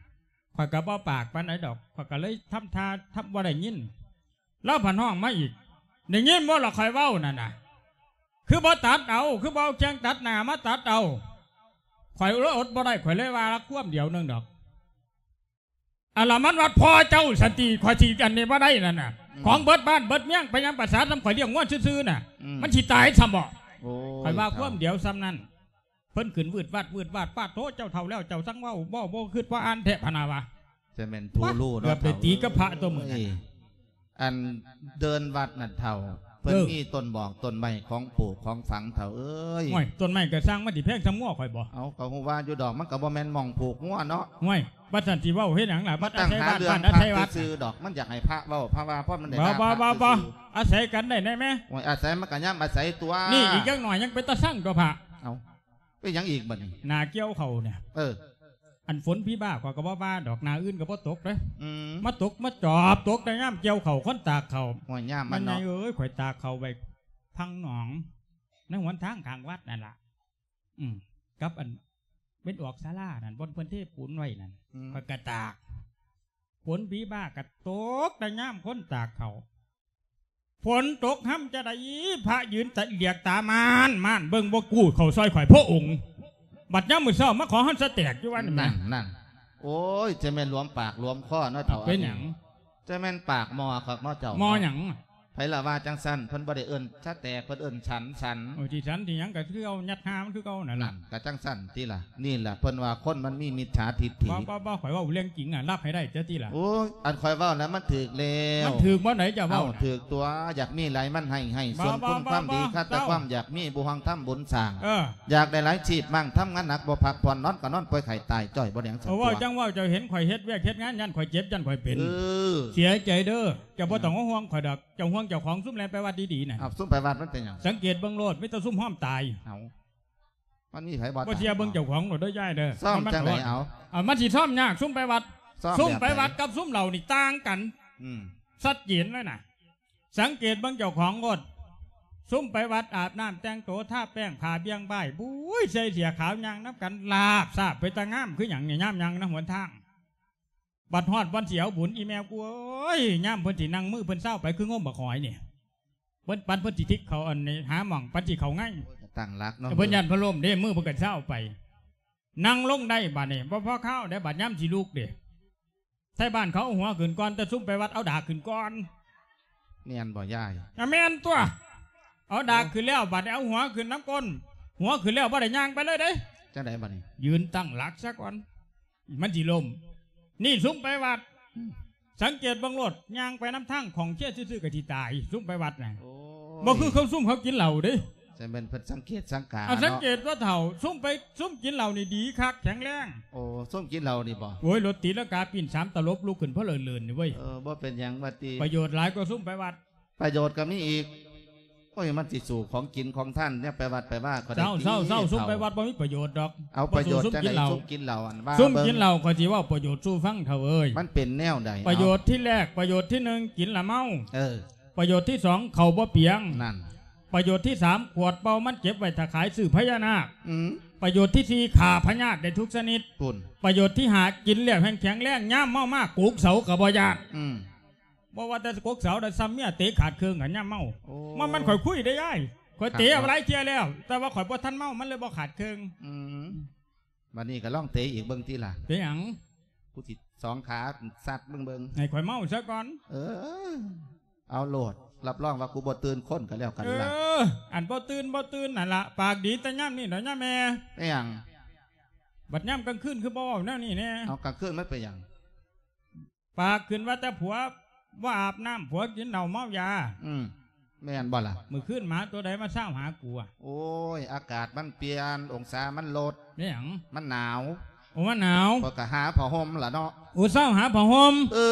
ຂ້ອຍກໍບໍ່ປາກປານໃດດອກ ຂ້ອຍກໍເລີຍທຳທ່າທຳບໍ່ໄດ້ຍິນ. ລາວພັດຮ້ອງມາອີກ ໄດ້ຍິນບໍ່ລະຂ້ອຍເວົ້ານັ້ນນະ? ຄືບໍ່ຕັດເອົາ ຄືບໍ່ເອົາເຄື່ອງຕັດໜ້າມາຕັດເອົາ? ຂ້ອຍອົດບໍ່ໄດ້ ຂ້ອຍເລີຍວ່າລະຄວາມດຽວໜຶ່ງດອກ. ອັນລະມັນວັດພໍ່ເຈົ້າສັນຕິ ຂ້ອຍຊິອັນນີ້ບໍ່ໄດ້ນັ້ນນະ. ອືມ ຂອງເບິດບ້ານເບິດເມືອງ ໄປຫຍັງປະສານນຳ ຂ້ອຍລ້ຽງງົວຊື່ໆນະ. ອືມ ມັນຊິຕາຍຊ້ຳບໍ່? ໂອ້ຍ ຂ້ອຍວ່າຄວາມດຽວສ່ຳນັ້ນ. ເພິ່ນຂຶ້ນວືດວາດວືດວາດ ປາດໂທ ເຈົ້າເຖົ້າແລ້ວ ເຈົ້າສັງເວົ້າ ເວົ້າບໍ່ຄິດບໍ່ອ່ານແທ້ ພະນາວ່າ. ຈະແມ່ນຜູ້ຮູ້ເນາະ. ເກືອບໄປຕີກັບພະຕົວມື້ນັ້ນ. ໂອ້ຍ ອັນເດີ່ນວັດນັ້ນເຖົ້າ ເພິ່ນ ເອີ ມີຕົ້ນໝອກຕົ້ນໄມ້ຂອງປູກຂອງຝັງເຖົ້າເອີຍ. ໂອ້ຍ ຕົ້ນໄມ້ກໍຊ່າງ ມັນຊິແພງສ່ຳງົວຂ້ອຍບໍ່? ເອົາ ກໍຮູ້ວ່າຢູ່ດອກ ມັນກໍບໍ່ແມ່ນໝ່ອງຜູກງົວເນາະ. ໂອ້ຍ ບັດຊັ້ນຊິເວົ້າເຮັດຫຍັງລະ? ມາຕັ້ງຫາເລື່ອງພະຊື່ໆດອກ ມັນຢາກໃຫ້ພະເວົ້າ ພະວ່າ ເພາະມັນໄດ້ ບໍ່ ບໍ່ ບໍ່ ອາໄສກັນໄດ້ແນ່ແມ່. ໂອ້ຍ ອາໄສມັນກໍຍາມອາໄສຕົວະ. ນີ້ອີກຈັກໜ້ອຍຍັງເປັນຕາຊັງຕົວະພະ. ເອົາ ເປັນຫຍັງອີກບັດນີ້? ໜ້າກ່ຽວເຂົ້ານີ້ ເອີ ອັນຝົນຜີບ້າຂ້ອຍກໍບໍ່ວ່າດອກ ໜ້າອື່ນກໍບໍ່ຕົກເດ້. ອືມ ມາຕົກ ມາຈອບຕົກແຕ່ຍາມກ່ຽວເຂົ້າ ຄົນຕາກເຂົ້າ. ໂອ້ຍ ຍາມມັນເນາະ ແມ່ໃຫຍ່ເອີຍ ຂ້ອຍຕາກເຂົ້າໄວ້ພັງໜອງ ໃນຫົນທາງຂ້າງວັດນັ້ນລະ. ອືມ ກັບອັນເປັນອອກສາລານັ້ນ ບ່ອນເພິ່ນເທປູນໄວ້ນັ້ນ. ອືມ ຂ້ອຍກໍຕາກ ຝົນຜີບ້າກໍຕົກແຕ່ຍາມຄົນຕາກເຂົ້າ. ຝົນຕົກຮຳຈະໄດ້ ພະຢືນຕະຫຼຽກຕາມານໆ ເບິ່ງບໍ່ກູ້ເຂົ້າຊ່ອຍຂ້ອຍພະອົງ. ບັດຍາມມື້ເຊົ້າມາຂໍເຮົາສະແຕກຢູ່ວັດນີ້. ນັ້ນ ນັ້ນ ໂອ້ຍ ຈະແມ່ນຫຼວມປາກຫຼວມຄໍເນາະເຖົ້າ. ເປັນຫຍັງ? ຈະແມ່ນປາກໝໍ້ຄັກເນາະເຈົ້າ. ໝໍ້ຫຍັງ? ໃຜລະວ່າຈັ່ງຊັ້ນ? ເພິ່ນບໍ່ໄດ້ເອີ້ນສະແຕກ ເພິ່ນເອີ້ນສັນ ສັນ. ໂອ້ຍ ຊິສັນຊິຫຍັງກໍຄືເອົາຍັດຫາມັນຄືເກົ່ານັ້ນລະ. ນັ້ນ ກໍຈັ່ງຊັ້ນຕິລະ. ນີ້ລະເພິ່ນວ່າຄົນມັນມີມິດສາທິດຖິ. ບໍ່ ບໍ່ ບໍ່ ຂ້ອຍເວົ້າເລື່ອງຈິງອະ ຮັບໃຫ້ໄດ້ເຈົ້າຕິລະ. ໂອ້ຍ ອັນຂ້ອຍເວົ້ານັ້ນມັນຖືກແລ້ວ. ມັນຖືກບ່ອນໃດເຈົ້າເວົ້າ? ເອົາ ຖືກຕົວະ ຢາກມີຫຼາຍມັນໃຫ້ ໃຫ້ສ່ວນຄຸນຄວາມດີ ຄາດແຕ່ຄວາມຢາກມີ ບໍ່ຫວັງທຳບຸນສ້າງ. ເອີ ຢາກໄດ້ຫຼາຍຊີບມັ້ງ ທຳງານໜັກບໍ່ພັກຜ່ອນ ນອນກໍນອນປ່ວຍໄຂ້ຕາຍຈ້ອຍ ບໍ່ໄດ້ຫຍັງ. ເອີ ເວົ້າຈັ່ງເວົ້າ ເຈົ້າເຫັນຂ້ອຍເເຮັດວຽກເຮັດງານ ຢ້ານຂ້ອຍເຈັບ ຢ້ານຂ້ອຍເປັນ. ເອີ ເສຍໃຈເດີ ເຈົ້າບໍ່ຕ້ອງມາຫ່ວງຂ້ອຍດອກ. ເຈົ້າຫ່ວງເຈົ້າຂອງ ຊຸມແລ່ນໄປວັດດີໆນະ. ເອົາ ຊຸມໄປວັດມັນເປັນຫຍັງ? ສັງເກດເບິ່ງໂລດ ມີແຕ່ຊຸມຮອມຕາຍ. ເອົາ ມັນມີໃຜບໍ່ ບໍ່ເຊື່ອເບິ່ງເຈົ້າຂອງໂລດເດີຍາຍເດີ. ຊ້ອມ ມັນ ຈັ່ງໃດ ເອົາ ເອົາ ມັນຊິຊ້ອມຍາກ. ຊຸມໄປວັດ ຊ້ອມ ຊຸມໄປວັດ ແບບໃດ ກັບຊຸມເຫຼົ້ານີ້ຕ່າງກັນ ອືມ ຊັດເຈນເລີຍນະ. ສັງເກດເບິ່ງເຈົ້າຂອງໂລດ. ຊຸມໄປວັດອາບນ້ຳແຕ່ງໂຕ ທາແປ້ງ ຜ້າບ່ຽງບ່າຍ ບຸ້ຍ ໃສ່ເສື້ອຂາວ ຍ່າງນຳກັນ ລາບຊາບ ເປັນຕາງາມຄືຫຍັງນີ້ ຍາມຍ່າງນຳຫົນທາງ. ບັດຮອດວັນຊິເອົາບຸນ ອີ່ແມ່ກູເອີຍ ຍາມເພິ່ນຊິນັ່ງ ມືເພິ່ນຊາວໄປ ຄືງົມບັກຫອຍນີ້. ເພິ່ນ ປັນເພິ່ນຊິທິກເຂົ້າ ອັນນີ້ ຫາໝ່ອງ ປັນຊິເຂົ້າໄງ ຕັ້ງຫຼັກເນາະ. ເພິ່ນຢ້ານເພິ່ນລົ້ມເດ້ ມືເພິ່ນກໍຊາວໄປ. ນັ່ງລົງໄດ້ບາດນີ້ ບໍ່ພໍຄາວເດ້ ບາດຍາມຊິລຸກເດ້. ໄທບ້ານເຂົາເອົາຫົວຂຶ້ນກ່ອນ ແຕ່ຊຸມໄປວັດເອົາດາກຂຶ້ນກ່ອນ. ແມ່ນບໍ່ຍາຍ? ອະ ແມ່ນຕົວະ. ເອົາດາກຂຶ້ນແລ້ວ ບາດນີ້ເອົາຫົວຂຶ້ນນຳກົ້ນ. ຫົວຂຶ້ນແລ້ວບໍ່ໄດ້ຍ່າງໄປເລີຍເດ້. ຈັ່ງໃດບາດນີ້? ຢືນຕັ້ງຫຼັກຊະກ່ອນ ມັນຊິລົ້ມ. ນີ້ຊຸມໄປວັດ ອືມ ສັງເກດເບິ່ງໂລດ ຍ່າງໄປນຳທາງຂອງເຊຊື່ໆ ກໍຊິຕາຍ ຊຸມໄປວັດນະ. ໂອ້ຍ ບໍ່ຄືເຂົາຊຸມເຂົາກິນເຫຼົ້າເດ້. ຈັ່ງແມ່ນເພິ່ນສັງເກດສັງກາ ເອົາ ເນາະ ສັງເກດຕົວະເຖົ້າ ຊຸມໄປ ຊຸມກິນເຫຼົ້ານີ້ດີຄັກ ແຂງແຮງ. ໂອ້ ຊຸມກິນເຫຼົ້ານີ້ບໍ? ໂອ້ຍ ລົດຕີລັງກາປີ້ນສາມຕະຫຼົບ ລຸກຂຶ້ນເພີ້ເລີນນີ້ເວີຍ. ເອີ ບໍ່ເປັນຫຍັງວ່າຕິ ປະໂຫຍດຫຼາຍກວ່າຊຸມໄປວັດ. ປະໂຫຍດກໍມີອີກ. ໂອ້ຍ ມັນຊິສູ້ຂອງກິນຂອງທານ ແນວໄປວັດໄປວາກໍໄດ້ຕິ. ເຊົາໆໆ ຊຸມໄປວັດບໍ່ມີປະໂຫຍດດອກ. ເອົາ ປະໂຫຍດຈັ່ງໃດ? ຊຸມກິນເຫຼົ້າ ຊຸມກິນເຫຼົ້າ ອັນວ່າ ຊຸມກິນເຫຼົ້າ ເບິ່ງ ຂ້ອຍຊິເວົ້າປະໂຫຍດສູ່ຟັງເຖົ້າເອີຍ. ມັນເປັນແນວໃດ? ປະໂຫຍດທີແລກ ປະໂຫຍດທີໜຶ່ງ ກິນລະເມົາ. ເອີ ປະໂຫຍດທີສອງ ເຂົ້າບໍ່ປຽງ. ນັ້ນ ປະໂຫຍດທີສາມ ຂວດເປົ່າມັນເກັບໄວ້ຖ້າຂາຍຊື້ພະຍານາກ. ອືມ ປະໂຫຍດທີສີ່ ຂ້າພະຍາດໄດ້ທຸກຊະນິດ. ພຸ້ນ ປະໂຫຍດທີຫ້າ ກິນແລ້ວແຮງແຂງແຮງ ຍາມເມົາມາກົກເສົາກໍບໍ່ຢ້ານ. ອືມ ບໍ່ວ່າແຕ່ກົກເສົາ ໄດ້ຊ້ຳເມຍເຕະຂາດເຄິ່ງ ກໍຍາມເມົາ. ໂອ້ ມັນ ມັນຂ້ອຍຄຸຍເດ້ຍາຍ ຂ້ອຍເຕະ ຄັກເນາະ ເອົາຫຼາຍເທື່ອແລ້ວ ແຕ່ວ່າຂ້ອຍບໍ່ທັນເມົາ ມັນເລີຍບໍ່ຂາດເຄິ່ງ. ອືມ ບັດນີ້ກໍລອງເຕະອີກເບິ່ງຕິລະ. ເປັນຫຍັງ? ກູຊິສອງຂາຊັດມຶງເບິ່ງ. ໃຫ້ຂ້ອຍເມົາຊະກ່ອນ. ເອີ ເອົາໂລດ ຮັບຮອງວ່າກູບໍ່ຕື່ນຄົນກໍແລ້ວກັນລະ. ເອີ ອັນບໍ່ຕື່ນບໍ່ຕື່ນນັ້ນລະ ປາກດີແຕ່ຍາມນີ້ດອກຍາແມ່. ເປັນຫຍັງ? ບັດຍາມກາງຄືນຄືບໍ່ເວົ້າແນວນີ້ແດ່? ເອົາ ກາງຄືນມັນເປັນຫຍັງ? ປາກຂຶ້ນວ່າແຕ່ຜົວບໍ່ອາບນ້ຳ ຜົວກິນເຫຼົ້າເມົາຢາ. ອືມ ແມ່ນບໍ່ລະ? ມື້ຄືນໝາຕົວໃດມາຊາວຫາກູອະ? ໂອ້ຍ ອາກາດມັນປ່ຽນ ອົງສາມັນລົດ. ແມ່ນຫຍັງ? ມັນໜາວ. ໂອ້ ມັນໜາວ ຂ້ອຍກໍຫາຜ້າຫົ່ມລະເນາະ. ໂອ້ ຊາວຫາຜ້າຫົ່ມ. ເອີ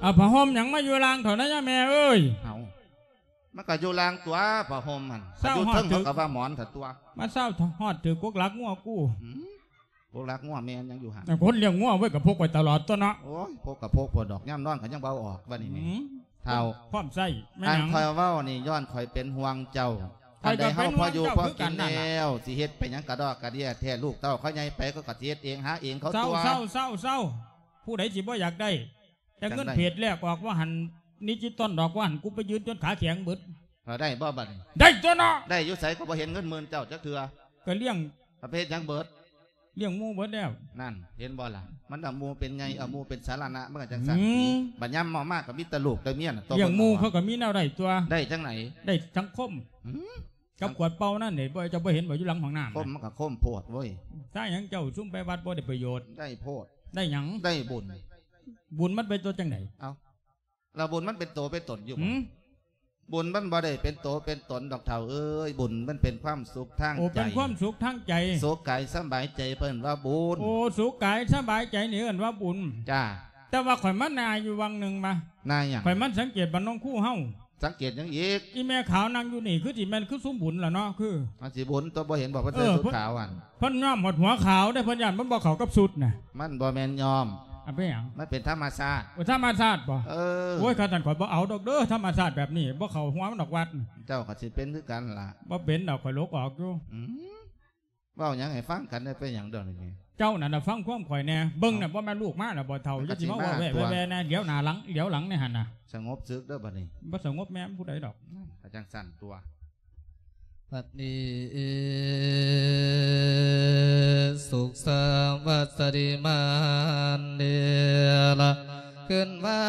ເອົາຜ້າຫົ່ມຫຍັງມາຢູ່ລ່າງເຖົ້ານະຍາແມ່ເອີຍ? ເອົາ ມັນກໍຢູ່ລ່າງຕົວະ ຜ້າຫົ່ມຫັ້ນ. ຊາວ ຢູ່ເທິງ ຮອດເຖິງ ເຂົາກໍວ່າໝອນເຖົ້າຕົວະ. ມາຊາວຮອດຖືກກົກຫຼັກງົວກູ. ອືມ ກົກຫຼັກງົວແມ່ນຫຍັງຢູ່ຫັ້ນ? ຄົນລ້ຽງງົວເວີ້ຍ ກໍພົກໄວ້ຕະຫຼອດຕົວະເນາະ. ໂອ້ຍ ພົກກໍພົກໂພດດອກ ຍາມນອນກໍຍັງບໍ່ເອົາອອກບັດນີ້. ອືມ ເຖົ້າ ພ້ອມໃຊ້ແມ່ນຫຍັງ? ອັນຂ້ອຍເວົ້ານີ້ ຍ້ອນຂ້ອຍເປັນຫ່ວງເຈົ້າ. ຄັນໃດເຮົາພໍຢູ່ພໍກິນແລ້ວ ຊິເຮັດໄປຫຍັງກະດອກກະເດຍແທ້? ລູກເຕົ້າເຂົາໃຫຍ່ໄປ ເຂົາກໍຊິເຮັດເອງຫາເອງເຂົາຕົວະ. ເຊົາໆໆໆ ຜູ້ໃດຊິບໍ່ຢາກໄດ້? ແຕ່ເງິນເພຈແລກອອກວ່າຫັ້ນ ດິຈິຕອນດອກວ່າຫັ້ນ ກູໄປຢືນຈົນຂາແຂງເບິດ. ເອົາ ໄດ້ບໍ່ບັດນີ້? ໄດ້ຕົວະເນາະ. ໄດ້ຢູ່ໃສ? ກໍບໍ່ເຫັນເງິນໝື່ນເຈົ້າຈັກເທື່ອ. ກໍລ້ຽງ ປະເພດຫຍັງເບິດ? ລ້ຽງໝູ່ເບິດແລ້ວ. ນັ້ນ ເຫັນບໍ່ລະ? ມັນເອົາໝູ່ເປັນໃຫຍ່ ເອົາໝູ່ເປັນສາລະນະ ມັນກໍຈັ່ງຊັ້ນ. ອືມ ບັດຍາມເມົາມາກໍມີແຕ່ລູກແຕ່ເມຍນະ. ລ້ຽງໝູ່ເຂົາກໍມີແນວໄດ້ຕົວະ. ໄດ້ຈັ່ງໃດ? ໄດ້ສັງຄົມ. ອືມ ກັບຂວດເປົ່ານັ້ນເດ້ ບໍ່ ເຈົ້າບໍ່ເຫັນບໍ່ ຢູ່ຫຼັງຫ້ອງນ້ຳ? ຄົມມັນກໍຄົມໂພດເວີ້ຍ. ຖ້າຫຍັງເຈົ້າຊຸມໄປວັດບໍ່ໄດ້ປະໂຫຍດ. ໄດ້ໂພດ. ໄດ້ຫຍັງ? ໄດ້ບຸນ. ບຸນມັນເປັນຕົວຈັ່ງໃດ? ເອົ້າ ລະບຸນມັນເປັນໂຕເປັນຕົນຢູ່ບໍ່? ຫືມ? ບຸນມັນບໍ່ໄດ້ເປັນໂຕເປັນຕົນດອກເຖົ້າເອີຍ. ບຸນມັນເປັນຄວາມສຸກທາງໃຈ. ໂອ້ ເປັນຄວາມສຸກທາງໃຈ. ສຸກກາຍສະບາຍໃຈເພິ່ນວ່າບຸນ. ໂອ້ ສຸກກາຍສະບາຍໃຈນີ້ເອີ້ນວ່າບຸນ. ຈ້າ. ແຕ່ວ່າຂ້ອຍມານາຢູ່ວັງໜຶ່ງມາ. ນາຫຍັງ? ຂ້ອຍມາສັງເກດບ້ານໜອງຄູເຮົາ. ສັງເກດຫຍັງອີກ? ອີແມ່ຂາວນັ່ງຢູ່ນີ້ ຄືຊິແມ່ນຄືຊຸມບຸນລະເນາະ. ຄືມັນຊິບຸນຕົວະ ບໍ່ເຫັນບໍ່ ເພິ່ນ ເອີ ໃສ່ຊຸດຂາວຫັ້ນ. ເພິ່ນຍອມຮອດຫົວຂາວເດ້ ເພິ່ນຢ້ານມັນບໍ່ເຂົ້າກັບຊຸດນະ. ມັນບໍ່ແມ່ນຍອມ. ອາ ເປັນຫຍັງ? ມັນເປັນທຳມະຊາດ. ໂອ້ ທຳມະຊາດບໍ່? ເອີ. ໂອ້ຍ ຄັນຊັ້ນຂ້ອຍບໍ່ເອົາດອກເດີ ທຳມະຊາດແບບນີ້ ບໍ່ເຂົ້າຫົວມັນດອກວັດ. ເຈົ້າກໍຊິເປັນຄືກັນລະ. ບໍ່ເປັນດອກ ຂ້ອຍຫຼົກອອກຢູ່. ອືມ ເວົ້າຫຍັງໃຫ້ຟັງກັນແດ່ ເປັນຫຍັງດອກນີ້? ເຈົ້ານັ້ນນະຟັງຄວາມຂ້ອຍແດ່. ເບິ່ງນະ ບໍ່ແມ່ນລູກມາລະບໍ່ເຖົ້າ? ຢ່າຊິມາເວົ້າແວ່ໆແນ່ ຫຼຽວໜ້າຫຼັງ ຫຼຽວຫຼັງແນ່ຫັ້ນນະ. ສະຫງົບສຶກເດີບັດນີ້. ບໍ່ສະຫງົບແມ່ນຜູ້ໃດດອກ. ກໍຈັ່ງຊັ້ນຕົວະ. ບັດນີ້ສຸກສະຫວັດສະດີມານເດລະ ຄືນວ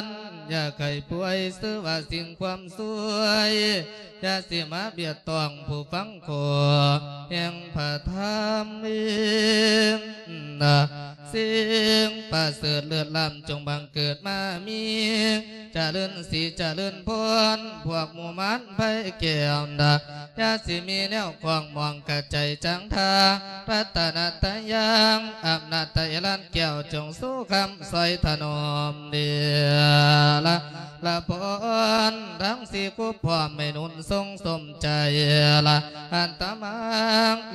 ັນຢ່າໄຂ້ປ່ວຍ ຊື່ວ່າສິ່ງຄວາມສວຍ ຢ່າຊິມາບຽດຕ້ອງຜູ້ຟັງຂໍແຫ່ງພະທຳ. ສິ່ງປະເສີດເລີດລ້ຳຈົ່ງບັງເກີດມາມີ ຈະເລີນສີຈະເລີນພອນ ພວກໝູ່ມານໄພແກ້ວນະ ຢ່າຊິມີແນວຂວາງມອງກະໃຈຈັງທາ ລັດຕະນະຕະຍັງ ອຳນາດຕະເອລານແກ້ວ ຈົ່ງຊູຄຳຊ່ອຍຖະໜອມເດລະ ລະພອນທັງສີ່ຄູພ້ອມໃຫ້ໜູນ ຕົງສົມໃຈລະ ອາດຕະມາ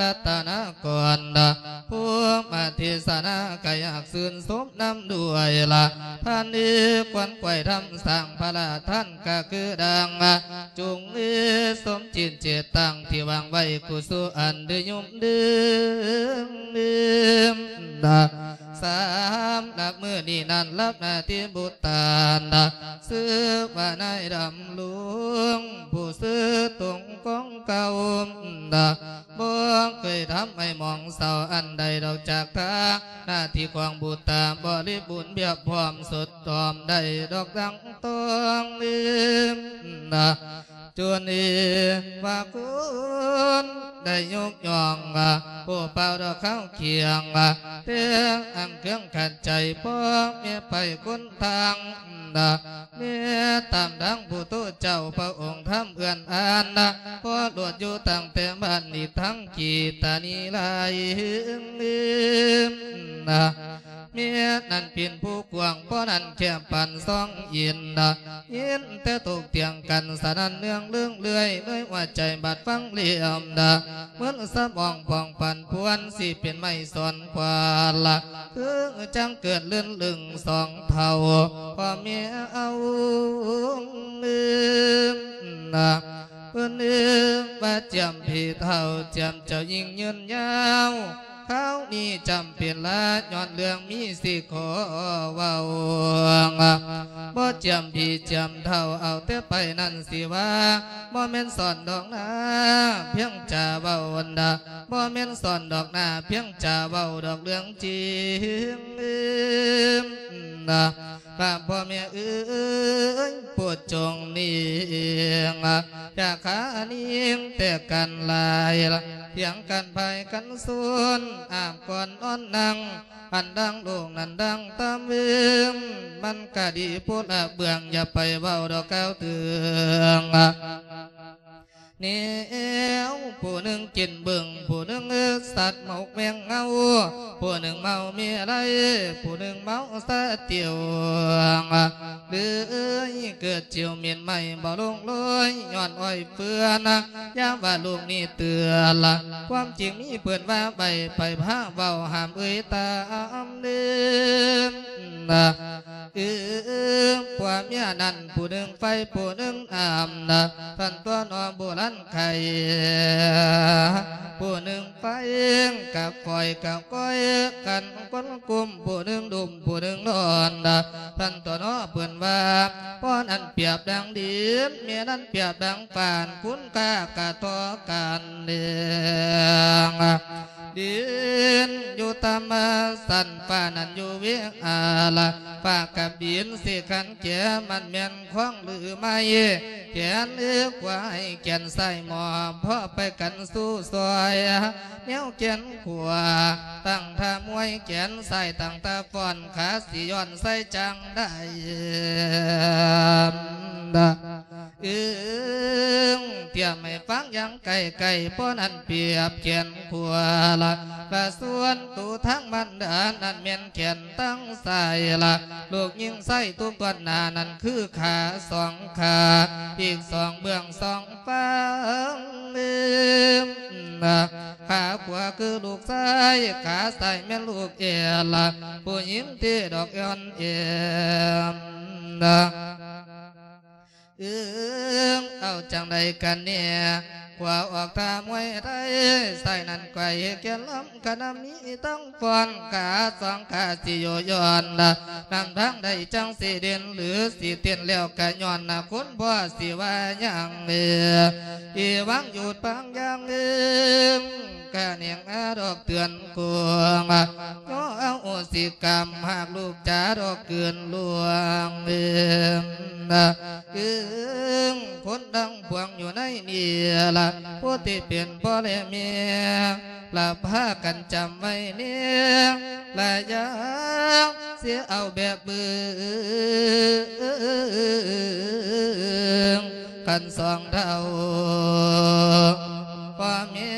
ລັດຕະນາກອນລະ ຜູ້ມາເທສະນາກະຢາກຊື່ນຊົມນຳດ້ວຍລະ ທ່ານເອີ ຄວນໄຂວ້ທຳສ້າງພະລາທ່ານກະຄືດັ່ງ ຈົ່ງເອີ ສົມຈິດເຈດຕັ້ງທີ່ວາງໄວ້ ກຸສົນອັນໄດ້ຍຸບດື່ມ ສຳລັບມື້ນີ້ນັ້ນ ລັບໜ້າທີ່ບຸດຕານ ຊື່ວ່ານາຍດຳລົງ ຜູ້ຊື່ຕົງຂອງເກົ່າ ບໍ່ເຄີຍທຳໃຫ້ໝອງເສົ້າອັນໃດດອກ ຈາກທາງໜ້າທີ່ຂອງບຸດຕາບໍລິບູນ ພຽບພ້ອມສົດທ້ອມໄດ້ດອກ ດັ່ງຕ້ອງລືມ ຈົນເອວ່າຄຸນໄດ້ຍົກຍ້ອງ ຜູ້ເປົ່າດອກເຂົ້າຄຽງ ແຕ່ອັງເຄື່ອງຂັດໃຈ ພໍ່ແມ່ໄປຄົນທາງ ແມ່ຕາມທາງຜູ້ໂຕເຈົ້າພະອົງທຳເອື້ອນອານ ພໍລວດຢູ່ຕັ້ງແຕ່ບ້ານນີ້ ທັງກີຕານີຫຼາຍ ແມ່ນັ້ນເປັນຜູ້ກວ້າງ ພໍ່ນັ້ນແຄບປານຊອງເຢັນ ຍິນແຕ່ຕົກຕຽງກັນສະໜັ່ນເນື່ອງເລື່ອງເລື່ອຍ ເລີຍວ່າໃຈບາດຟັງເຫຼື່ອມ ມຶນສະໝອງຜ່ອງປັນພວນ ຊິເປັນໄມ້ສອນຂວານລະ ຄືຈັ່ງເກີດລື່ນລຶງສອງເຖົ້າ ພໍ່ແມ່ເອົາ ເພິ່ນເອີ້ນວ່າຈຽມພີ່ເຖົ້າ ຈຽມເຈົ້າຍິ່ງຍືນຍາວ ຄາວນີ້ຈຳເປັນລະ ຍ້ອນເລື່ອງມີຊິຂໍເວົ້າ ບໍ່ຈຽມພີ່ຈຽມເຖົ້າ ເອົາແຕ່ໄປນັ້ນຊິວ່າ ບໍ່ແມ່ນສອນດອກນາ ພຽງຈະເວົ້າດາ ບໍ່ແມ່ນສອນດອກນາ ພຽງຈະເວົ້າດອກເລື່ອງຈິງ ນະ ພະພໍ່ແມ່ເອີຍ ໂປດຈົ່ງນິງ ຢ່າຂານິງແຕກກັນຫຼາຍ ພຽງກັນພາຍກັນຊຸນ ອາບກ່ອນນອນນັ່ງ ອັນດັ່ງໂລກນັ້ນດັ່ງຕາມເວີງ ມັນກະດີໂພດລະເບື້ອງ ຢ່າໄປເວົ້າດອກກ່າວເຖິງ ແນວ ຜູ້ໜຶ່ງກິນເບິ່ງ ຜູ້ໜຶ່ງສັດໝົກແມງເງົາ ຜູ້ໜຶ່ງເມົາເມໄລ ຜູ້ໜຶ່ງເມົາສາຕິວ ເລີຍເກີດຈິວເໝັນໄໝ້ບໍ່ລົງໂລຍ ຍ້ອນອ້ອຍເຟືອນ ຢ່າວ່າລູກນີ້ເຕືອນ ຄວາມຈິງມີເພິ່ນວ່າໄປ ໄປພາເວົ້າຫ້າມເອີຍຕາມເດີ ເອີ ຜົວເມຍນັ້ນ ຜູ້ໜຶ່ງໄຟ ຜູ້ໜຶ່ງນ້ຳ ທ່ານຕົວະເນາະ ໂບລານໄຄ ຜູ້ໜຶ່ງໄຟກັບຂ້ອຍກັບກ້ອຍກັນຄົນກຸມ ຜູ້ໜຶ່ງດຸມ ຜູ້ໜຶ່ງນອນ ທ່ານຕົວະເນາະ ເພິ່ນວ່າ ພໍ່ນັ້ນປຽບດັ່ງດິນ ແມ່ນັ້ນປຽບດັ່ງຟ້າ ຄຸນຄ່າກະທໍ່ກັນເດ້ງ ດິນຢູ່ຕາມຊັ້ນ ຟ້ານັ້ນຢູ່ເວອາລະ ຟ້າກັບດິນຊິຂັນແກ່ ມັນແມ່ນຂອງຫຼືໄມ້ ແຂນຂວາໃຫ້ແຂນຊ້າຍມອບ ພໍໄປກັນສູ້ຊ່ອຍ ແນວແຂນຂວາຕັ້ງທ່າມວຍ ແຂນຊ້າຍຕັ້ງທ່າຟ້ອນ ຂາຊິຍ້ອນໃສ່ຈັ່ງໃດ ເອີງ ຕຽມໃຫ້ຟັງຢ່າງໃກ້ໆ ພໍ່ນັ້ນປຽບແຂນຂວາລະ ລະສ່ວນໂຕທາງມານດານັ້ນແມ່ນແຂນທາງຊ້າຍລະ ລູກຍິງຊາຍທຸກຕອນໜ້ານັ້ນຄືຂາສອງຂາ ອີກສອງເບື້ອງສອງຟາງ ຂາຂວາຄືລູກຊາຍ ຂາຊ້າຍແມ່ນລູກແອລະ ຜູ້ຍິງທີ່ດອກອ່ອນແອມ ເອີງ ເອົາຈັ່ງໃດກັນແນ່ ຂວາອອກທ່າມວຍໄທ ຊ້າຍນັ້ນໄກວແກ່ນລຳ ຄະນະມີທັງຟ້ອນ ຂາສອງຂາຊິໂຍຍ້ອນ ນຳທາງໃດຈັ່ງຊິເດັ່ນ ຫຼືຊິເຕັ້ນແລ້ວກະຍ້ອນ ນະ ຄຸນພໍ່ຊິວ່າຫຍັງ ເອີ ອີຫວັງຢຸດບາງຢ່າງ ເອີງ ກະແນງອາດອກເຕືອນ ໂກງ ຍໍອະໂຫສິກຳ ຫາກລູກຈາດອກເກີນລ່ວງ ເອີງ ເອີງ ຄົນທັງປວງຢູ່ໃນນີ້ລະ ຜູ້ທີ່ເປັນພໍ່ແລະແມ່ ລະພາກັນຈຳໄວ້ແນ່ ລະຢ່າຊິເອົາແບບບຶງ ຄັນສອງເທົ່າ ພໍ່ແມ່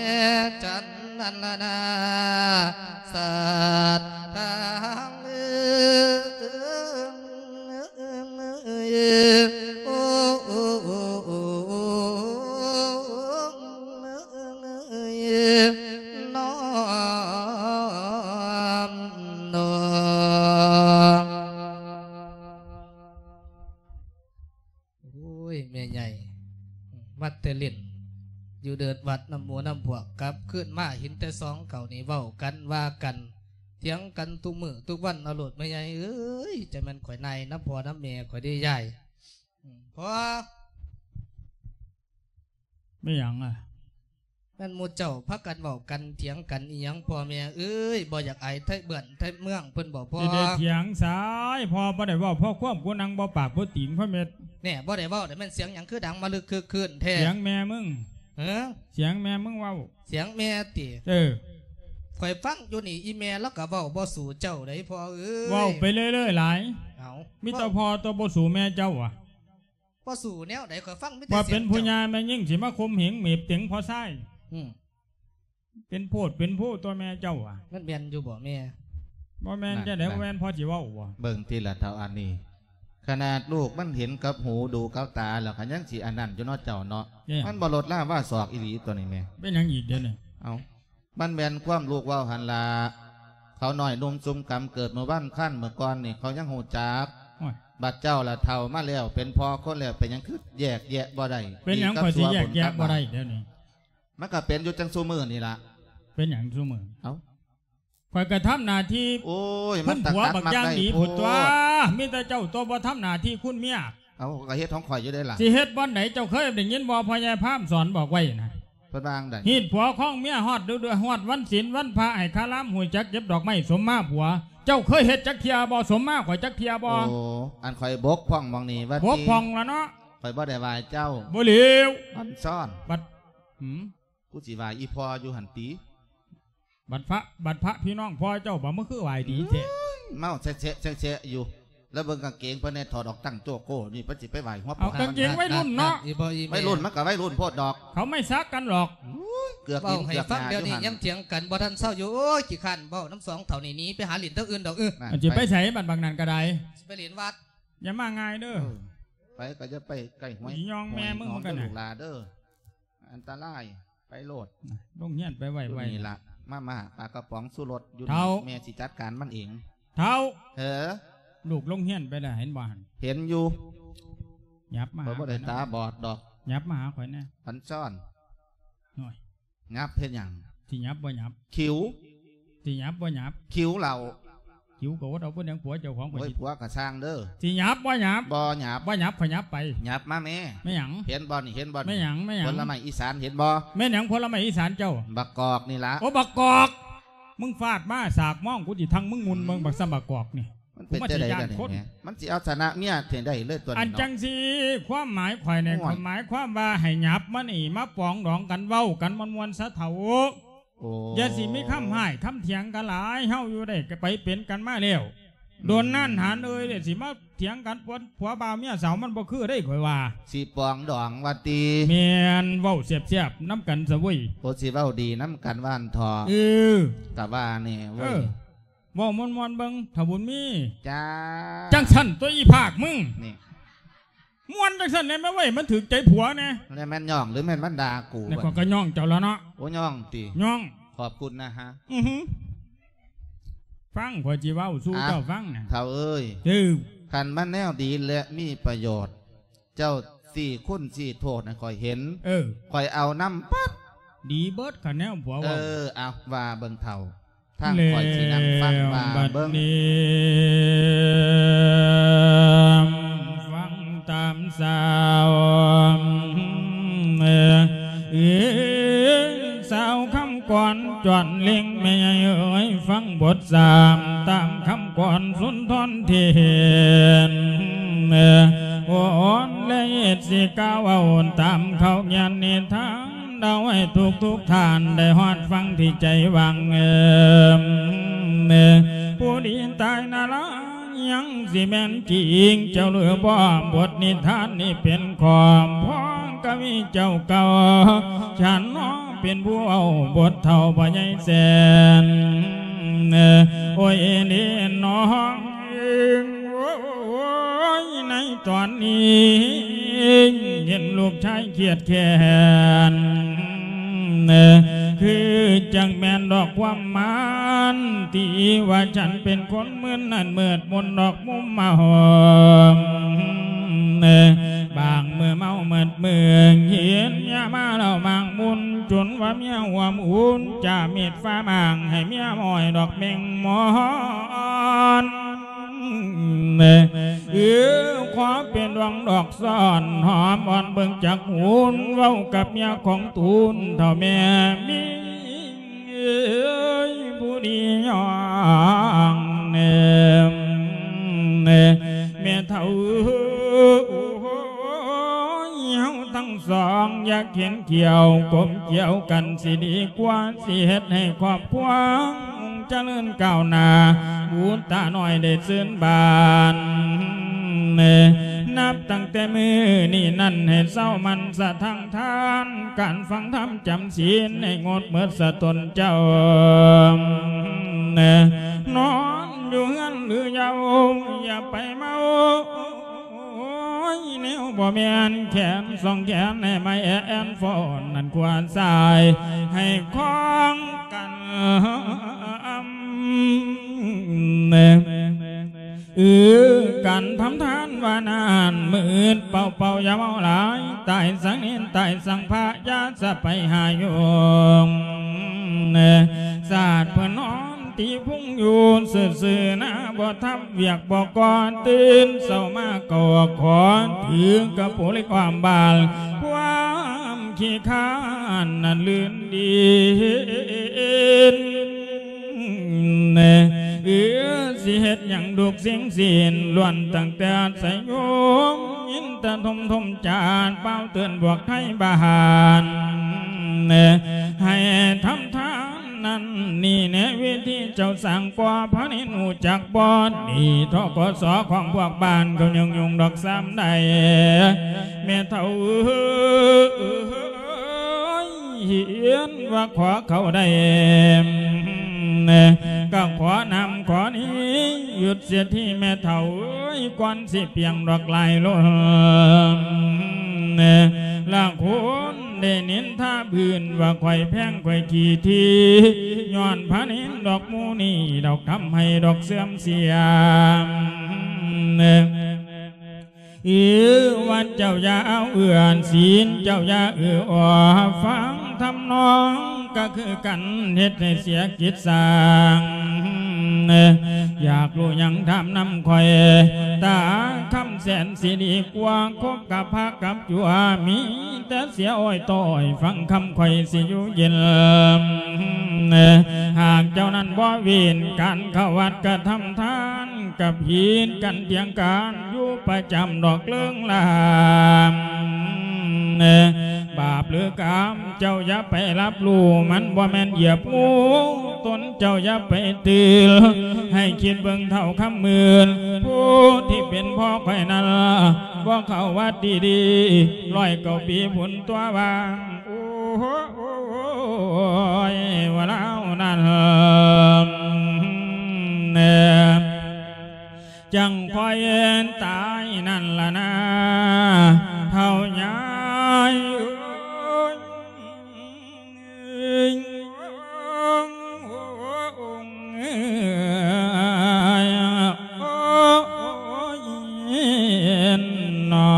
ຈັນນັ້ນລະນາ ສັດທາງເອີງ ໂອ້ ນ້ອມນອບ ໂອ້ຍ ແມ່ໃຫຍ່ ມາແຕ່ຫຼິ້ນຢູ່ເດີດວັດນຳໝູ່ນຳພວກ ກັບຄືນມາເຫັນແຕ່ສອງເຂົານີ້ເວົ້າກັນວ່າກັນ ຖຽງກັນທຸກມື້ທຸກວັນເອົາໂລດແມ່ໃຫຍ່ເອີຍ ຈະແມ່ນຂ້ອຍນາຍນຳພໍ່ນຳແມ່ຂ້ອຍເດ້ຍາຍ. ອືມ ພໍ່ ແມ່ນຫຍັງອະ? ແມ່ນໝູ່ເຈົ້າພາກັນເວົ້າກັນຖຽງກັນອີ່ຫຍັງພໍ່ແມ່ເອີຍ ບໍ່ຢາກອາຍໄທບ້ານໄທເມືອງເພິ່ນບໍພໍ່? ຊິໄດ້ຖຽງສາຍ ພໍ່ບໍ່ໄດ້ເວົ້າ ພໍ່ຄວາມກູນັ່ງບໍ່ປາກບໍ່ຕີງພໍ່ແມ່. ແນ່ ບໍ່ໄດ້ເວົ້າ ແຕ່ແມ່ນສຽງຫຍັງຄືດັງມາລຶກຄຶກຄື້ນແທ້? ສຽງແມ່ມຶງ. ເອີ ສຽງແມ່ມຶງເວົ້າ. ສຽງແມ່ຕິ? ເອີ ຂ້ອຍຟັງຢູ່ນີ້ ອີ່ແມ່ລາວກໍເວົ້າບໍ່ສູ້ເຈົ້າໃດພໍ່ເອີຍ. ເວົ້າໄປເລື້ອຍໆຫຼາຍ. ເອົາ ມີແຕ່ພໍ່ຕົວະບໍ່ສູ້ແມ່ເຈົ້າຫວາ? ບໍ່ສູ້ແນວໃດ ຂ້ອຍຟັງມີແຕ່ ວ່າເປັນຜູ້ຍ່າແມ່ຍິງຊິມາຂົ່ມເຫງເໝບເຕັງພໍ່ຊາຍ. ອືມ ເປັນໂພດເປັນໂພຕົວະແມ່ເຈົ້າຫວາ? ມັນແມ່ນຢູ່ບໍ່ແມ່? ບໍ່ແມ່ນຈັ່ງໃດ ນັ້ນ ບໍ່ແມ່ນພໍ່ຊິເວົ້າບໍ່? ເບິ່ງຕິລະເຖົ້າອັນນີ້ ຂະໜາດລູກມັນເຫັນກັບຫູດູກັບຕາແລ້ວ ກໍຍັງຊິອັນນັ້ນຢູ່ເນາະເຈົ້າເນາະ. ແມ່ນ ມັນບໍ່ລົດລາວ່າສອກອີ່ຫຼີຕົວະນີ້ແມ່. ເປັນຫຍັງອີກດຽວນີ້? ເອົ້າ ມັນແມ່ນຄວາມລູກເວົ້າຫັ້ນລະ ເຂົານ້ອຍໜຸ່ມຊຸມກຳເກີດມື້ວານຄານມື້ກ່ອນນີ້ ເຂົາຍັງຮູ້ຈັກ. ໂອ້ຍ ບັດເຈົ້າລະເຖົ້າມາແລ້ວ ເປັນພໍ່ຄົນແລ້ວ ເປັນຫຍັງຄືແຍກແຍະບໍ່ໄດ້? ເປັນຫຍັງຂ້ອຍຊິແຍກແຍະບໍ່ໄດ້ດຽວນີ້? ມັນກໍເປັນຢູ່ຈັ່ງຊຸມື້ນີ້ລະ. ເປັນຫຍັງຊຸມື້? ເອົ້າ ຂ້ອຍກໍທຳໜ້າທີ່ ໂອ້ຍ ມັນຕະກັດມັກໄດ້ໂພດ ມີແຕ່ເຈົ້າຕົວະບໍ່ທຳໜ້າທີ່ຄຸນເມຍ. ເອົາ ກໍເຮັດຂອງຂ້ອຍຢູ່ເດ້ລະ. ຊິເຮັດບ່ອນໃດ? ເຈົ້າເຄີຍໄດ້ຍິນບໍ່ ພໍ່ໃຫຍ່ພາມສອນບອກໄວ້ນະ? ເພິ່ນວ່າຈັ່ງໃດ? ຮີດຜົວຄອງເມຍ ຮອດເດືອນ ຮອດວັນສິນວັນພະ ໃຫ້ຄາລາມຮູ້ຈັກເກັບດອກໄມ້ສົມມາຜົວ. ເຈົ້າເຄີຍເຮັດຈັກເທື່ອບໍ່? ສົມມາຂ້ອຍຈັກເທື່ອບໍ່? ໂອ້ ອັນຂ້ອຍບົກຜ່ອງໝ່ອງນີ້ວ່າຕິ ບົກຜ່ອງລະເນາະ. ຂ້ອຍບໍ່ໄດ້ວ່າເຈົ້າ ບໍ່ເຫຼວ ອັນຊ້ອນ ບັດ ຫືມ ກູຊິວ່າອີ່ພໍ່ຢູ່ຫັ້ນຕິ. ບັດພະ ບັດພະພີ່ນ້ອງພໍ່ເຈົ້າບໍ່ ມັນຄືຫວາຍດີແທ້. ເອີຍ ເມົາແຊະໆໆຢູ່ ແລ້ວເບິ່ງກາງເກງເພິ່ນແດ່ ຖອດອອກຕັ້ງໂຈໂກ້ນີ້ ເພິ່ນຊິໄປຫວາຍຫົວພໍ່. ເອົາກາງເກງໄວລຸ້ນເນາະ. ອີ່ບໍ່ອີ່ແມ່ ໄວລຸ້ນມັນກໍໄວລຸ້ນໂພດດອກ ເຂົາໄມ່ສັກກັນຫຼອກ. ໂອ້ຍ ເກືອກ ເວົ້າໃຫ້ຟັງດຽວນີ້ຍັງຖຽງກັນບໍ່ທັນເຊົາຢູ່. ໂອ້ຍ ຂີ້ຄ້ານເວົ້ານຳສອງເຖົ້ານີ້ ໜີໄປຫາຫຼິ້ນທາງອື່ນດອກ. ເອີ ຫັ້ນ ຊິໄປໃສບັດບັກນັ້ນກໍໄດ້ ຊິໄປຫຼິ້ນວັດ. ຢ່າມາງ່າຍເດີ ເອີ ໄປກໍຢ່າໄປໃກ້ຫ້ວຍ ຊິຍ່ອງແມ່ມຶງ ຫ້ວຍໜອງ ກັນນະ ເດີລູກຫຼ້າເດີ. ອັນຕະລາຍ ໄປໂລດ. ລົງຮຽນໄປໄວໆ ຢູ່ນີ້ລະ ມາມ່າ ປາກະປ໋ອງ ຊູລົດຢູ່ນີ້ ເຖົ້າ ແມ່ຊິຈັດການມັນເອງ. ເຖົ້າ ເອີ ລູກລົງຮຽນໄປແລ້ວ ເຫັນບໍ່ຫັ້ນ? ເຫັນຢູ່. ຫຍັບມາຫາຂ້ອຍແດ່ ຂ້ອຍບໍ່ໄດ້ຕາບອດດອກ. ຫຍັບມາຫາຂ້ອຍແດ່ ອັນຊ້ອນ. ໂອ້ຍ ຫຍັບເຮັດຫຍັງ? ຊິຫຍັບບໍ່ຫຍັບ? ຂິວ ຊິຫຍັບບໍ່ຫຍັບ? ຂິວເຫຼົ່າ. ຂິວກໍອົດເອົາ ບໍ່ຫຍັງ ຜົວເຈົ້າຂອງຂ້ອຍ. ໂອ້ຍ ຊິ ຜົວກໍຊ່າງເດີ. ຊິຫຍັບບໍ່ຫຍັບ? ບໍ່ຫຍັບ. ບໍ່ຫຍັບ ຂ້ອຍຫຍັບໄປ. ຫຍັບມາແມ່. ແມ່ຫຍັງ? ເຫັນບໍ່ນີ້ ເຫັນບໍ່ນີ້? ແມ່ຫຍັງ? ແມ່ຫຍັງ? ຜົນລະໄມ້ອີສານ ເຫັນບໍ່? ແມ່ນຫຍັງ ຜົນລະໄມ້ອີສານເຈົ້າ? ບັກກອກນີ້ລະ. ໂອ້ ບັກກອກ ມຶງຟາດມາສາກມອງ ກູຊິທັງມຶງມຸ່ນເບິ່ງ ບັກສ່ຳບັກກອກນີ້. ມັນເປັນຈັ່ງໃດກັນນີ້ແມ່? ມັນຊິເອົາຊະນະເມຍຈັ່ງໃດເລີຍຕົວນີ້ເນາະ. ອັນຈັ່ງຊີ້ ຄວາມໝາຍຂ້ອຍນີ້ ໂອ້ຍ ຄວາມໝາຍຄວາມວ່າໃຫ້ຫຍັບມານີ້ ມາປອງດອງກັນ ເວົ້າກັນມ່ວນໆຊະເຖົ້າ. ໂອ້ ຢ່າຊິມີຄຳຮ້າຍຄຳຖຽງກັນຫຼາຍ ເຮົາຢູ່ໄດ້ໄປເປັນກັນມາແລ້ວ ອືມ ດົນນານຫານເອີຍ ແລ້ວຊິມາຖຽງກັນ ຜົວ ຜົວບ່າວເມຍສາວ ມັນບໍ່ຄືເດ້ ຂ້ອຍວ່າ. ຊິປອງດອງວ່າຕິ? ແມ່ນ ເວົ້າແຊບໆນຳກັນຊະເວີຍ. ໂອ້ ຊິເວົ້າດີນຳກັນວ່າຫັ້ນເຖາະ. ເອີ ກະວ່າແນ່ເວີຍ ເອີ ເວົ້າມ່ວນໆເບິ່ງ ທ້າວບຸນມີ. ຈ້າ ຈັ່ງຊັ້ນຕົວະ ອີພາກມຶງນີ້ ມ່ວນຈັ່ງຊັ້ນແດ່ແມ່ເວີຍ ມັນຖືກໃຈຜົວແດ່. ແລ້ວແມ່ນຍ້ອງ ຫຼືແມ່ນມັນດ່າກູ? ແລ້ວຂ້ອຍກໍຍ້ອງເຈົ້າລະເນາະ. ໂອ້ ຍ້ອງຕິ? ຍ້ອງ. ຂອບຄຸນນະຮະ. ອືຫື ຟັງຂ້ອຍຊິເວົ້າສູ່ເຈົ້າຟັງນະ ເຖົ້າເອີຍ. ເອີ ຄັນມັນແນວດີ ແລະ ມີປະໂຫຍດ ເຈົ້າຊີ້ຄຸນຊີ້ໂທດໃຫ້ຂ້ອຍເຫັນ. ເອີ ຂ້ອຍເອົານຳປັດ. ດີເບິດ ຄັນແນວຜົວເວົ້າ. ເອີ ເອົາ ວ່າເບິ່ງເຖົ້າ ທາງຂ້ອຍຊິນັ່ງຟັງວ່າເບິ່ງ. ແລ້ວບັດນີ້ ຟັງຕາມສາວ ເອີ ສາວຄຳກອນຈອນເລັງ ແມ່ໃຫຍ່ເອີຍ ຟັງບົດສາມຕາມຄຳກອນສຸນທອນເທນ ໂອນ ແລະ ເຮັດຊິກ່າວເວົ້າຕາມເຂົາຂຽນນິທານ ເລົ່າໃຫ້ທຸກໆທ່ານໄດ້ຮອດຟັງທີ່ໃຈຫວັງ. ເອີ ຜູ້ດີຕາຍນະລາ ຍັງຊິແມ່ນຈິງເຈົ້າຫຼືບໍ່? ບົດນິທານນີ້ເປັນຂອງພໍ່ກະວີເຈົ້າເກົ່າ ສັນເນາະເປັນຜູ້ເວົ້າບົດເຖົ້າພໍ່ໃຫຍ່ແສນ. ໂອ້ຍ ເອີ ເດ້ນ້ອງເອີຍ ໂອ້ຍ ໃນຕອນນີ້ເຫັນລູກຊາຍຄຽດແຄ້ນ ຄືຈັ່ງແມ່ນດອກຄວາມໝານ ທີ່ວ່າສັນເປັນຄົນມຶນນັ້ນ ມືດມົນດອກມຸມມາຫອມ ບາງມື້ເມົາໝົດເມືອງ ເຫັນເມຍມາເຫຼົ້າໝາກມຸນ ຈົນວ່າເມຍຮ່ວມອຸ່ນ ຈາມີດຟ້າມາງ ໃຫ້ເມຍໝ້ອຍດອກແມງມອນ. ເອີ ຂໍເປັນດວງດອກຊ້ອນ ຫອມອ່ອນເບິ່ງຈັກຫຸນ ເວົ້າກັບເມຍຂອງຕູນ ເຖົ້າແມ່ມີ ເອີຍ ຜູ້ດີຍ່ອງແນມ ແມ່ເຖົ້າເອີຍ ເຮົາທັງສອງ ຢ່າເຂັນຂ້ຽວ ກົມກ່ຽວກັນ ຊິດີກວ່າ ຊິເຮັດໃຫ້ຄອບຄົວ ຈະເລີນກ້າວໜ້າ ບຸດຕານ້ອຍໄດ້ຊື່ນບານ. ນັບຕັ້ງແຕ່ມື້ນີ້ນັ້ນ ໃຫ້ເຊົາໝັ່ນສະທາງທານ ການຟັງທຳຈຳສິນ ໃຫ້ງົດໝົດສະຕົນເຈົ້າ ນອນຢູ່ເຮືອນຫຼືເຍົາ ຢ່າໄປເມົາ ໂອ້ຍ ແນວບໍ່ແມ່ນ ແຂນສອງແຂນໃຫ້ມາແອນຟ້ອນ ນັ້ນຂວາຊ້າຍໃຫ້ຄອງກັນ ເອີ ການທຳທານວ່ານັ້ນ ມືດເປົ່າໆ ຢ່າເມົາຫຼາຍ ຕາຍສັງເນນ ຕາຍສັງພະ ຢ່າສະໄປຫາໂຍມ ຊາດເພິ່ນນອນ ຕີພຸງຢູ່ຊື່ໆນາ ບໍ່ທຳວຽກບໍ່ກໍ່ ຕື່ນເຊົ້າມາກໍຂໍ ຖືກະໂປເລັກອ້ອມບ້ານ ຄວາມຂີ້ຄ້ານນັ້ນລື່ນດີນ ເອີ ຊິເຮັດຫຍັງທຸກສິ່ງສິ້ນ ລ້ວນຕັ້ງແຕ່ອາໄສໂຍມ ຍິນຕະທົມທົມຈານ ເປົ່າເຕືອນພວກໄທບ້ານ ໃຫ້ທຳທານ ນັ້ນນີ້ແນະ ວິທີເຈົ້າສ້າງ ພໍ່ພະນິນຮູ້ຈັກບໍ່? ນີ້ ທກສ ຂອງພວກບ້ານເຂົາ ຫຍຸ້ງໆດອກຊ້ຳໃດ ແມ່ເຖົ້າເອີຍ ເຫັນວ່າຂໍເຂົ້າໄດ້ ກະຂໍນ້ຳຂໍນີ້ ຢຸດເສຍທີແມ່ເຖົ້າເອີຍ ກ່ອນຊິປ່ຽງດອກຫຼາຍລົ້ນ ລະຄົນ ໄດ້ນິນທາບື່ນວ່າຂ້ອຍແພງຂ້ອຍຂີ້ຖີ່ ຍ້ອນພະນິນດອກໝູ່ນີ້ ດອກທຳໃຫ້ດອກເສື່ອມເສຍ ເອີ ວ່າເຈົ້າຢ່າເອົາເອື້ອນ ສິນເຈົ້າຢ່າເອື້ອອອ ຟັງທຳນອງກະຄືກັນ ເຮັດໃຫ້ເສຍກິດສ້າງ ຢາກຮູ້ຫຍັງຖາມນຳຂ້ອຍ ຕາຄຳ ແສນຊິດີກວ່າ ຄົບກັບພະກັບຈົວ ມີແຕ່ເສຍອ້ອຍຕ້ອຍ ຟັງຄຳຂ້ອຍຊິຢູ່ເຢັນ ຫາກເຈົ້ານັ້ນບໍ່ເວັ້ນ ການເຂົ້າວັດກະທຳທານ ກັບຜິດກັນຖຽງກັນ ຢູ່ປະຈຳດອກເລີງລາ ບາບຫຼືກຳ ເຈົ້າຢ່າໄປຮັບຮູ້ ມັນບໍ່ແມ່ນຢຽບງູ ຕົນເຈົ້າຢ່າໄປຕື່ນ ໃຫ້ຄິດເບິ່ງເຖົ້າຄຳໝື່ນ ຜູ້ທີ່ເປັນພໍ່ຂ້ອຍນັ້ນ ບໍ່ເຂົ້າວັດດີໆ ຮ້ອຍເກົ້າປີພຸ້ນຕົວວ່າ ໂອ້ຍ ວ່າລາວນັ້ນ ຈັ່ງຄ່ອຍຕາຍນັ້ນລະນາ ເຖົ້າຍາຍເອີຍ ໂອ້ຍ ນ້ອ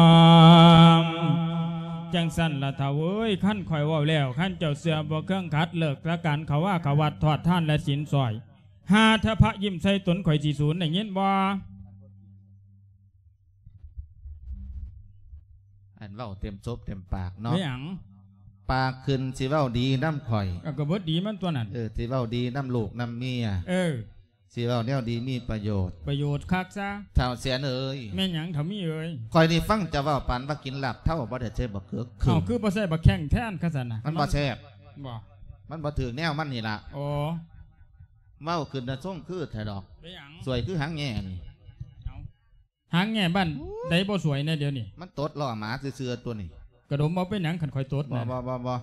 ງ ຈັ່ງຊັ້ນລະເຖົ້າເອີຍ ຄັນຂ້ອຍເວົ້າແລ້ວ ຄັນເຈົ້າເຊື່ອບໍ່ເຄື່ອງຂັດ ເລີກສາການເຂົ້າວາເຂົ້າວັດ ທອດທານ ແລະ ສິນສອຍ ຫາເທື່ອພະຍິ້ມໃສ່ຕົນ ຂ້ອຍຊິສູນ ໄດ້ຍິນບໍ່? ອັນເວົ້າເຕັມສົບເຕັມປາກເນາະ ແມ່ນຫຍັງ? ປາກຂຶ້ນຊິເວົ້າດີນຳຂ້ອຍ ເອີ ກໍເບິດດີມັນຕົວນັ້ນ ເອີ ຊິເວົ້າດີນຳລູກນຳເມຍ ເອີ ຊິເວົ້າແນວດີມີປະໂຫຍດ ປະໂຫຍດຄັກຊະ ທ້າວແສນເອີຍ ແມ່ນຫຍັງທ້າວມີເອີຍ? ຂ້ອຍນີ້ຟັງເຈົ້າເວົ້າປານວ່າກິນລາບເທົາ ບໍ່ໄດ້ໃສ່ບັກເກືອ ເອົ້າ ຄືບໍ່ໃສ່ບັກແຂ້ງແທນ ຄັນຊັ້ນນະ ມັນບໍ່ແຊບ ບໍ່ ມັນບໍ່ຖືກແນວມັນນີ້ລະ ໂອ້ ເວົ້າຂຶ້ນນະ ຊົງຄືແທ້ດອກ ເປັນຫຍັງ? ສວຍຄືຫາງແງ່ນີ້ ເອົ້າ ຫາງແງ່ບ້ານໃດບໍ່ສວຍແດ່ດຽວນີ້ ມັນຕົດລໍ້ໝາຊື່ໆ ຕົວນີ້ ກະດົມເອົາ ເປັນຫຍັງຄັນຂ້ອຍຕົດ ບໍ່ ນະ ບໍ່ ບໍ່ ບໍ່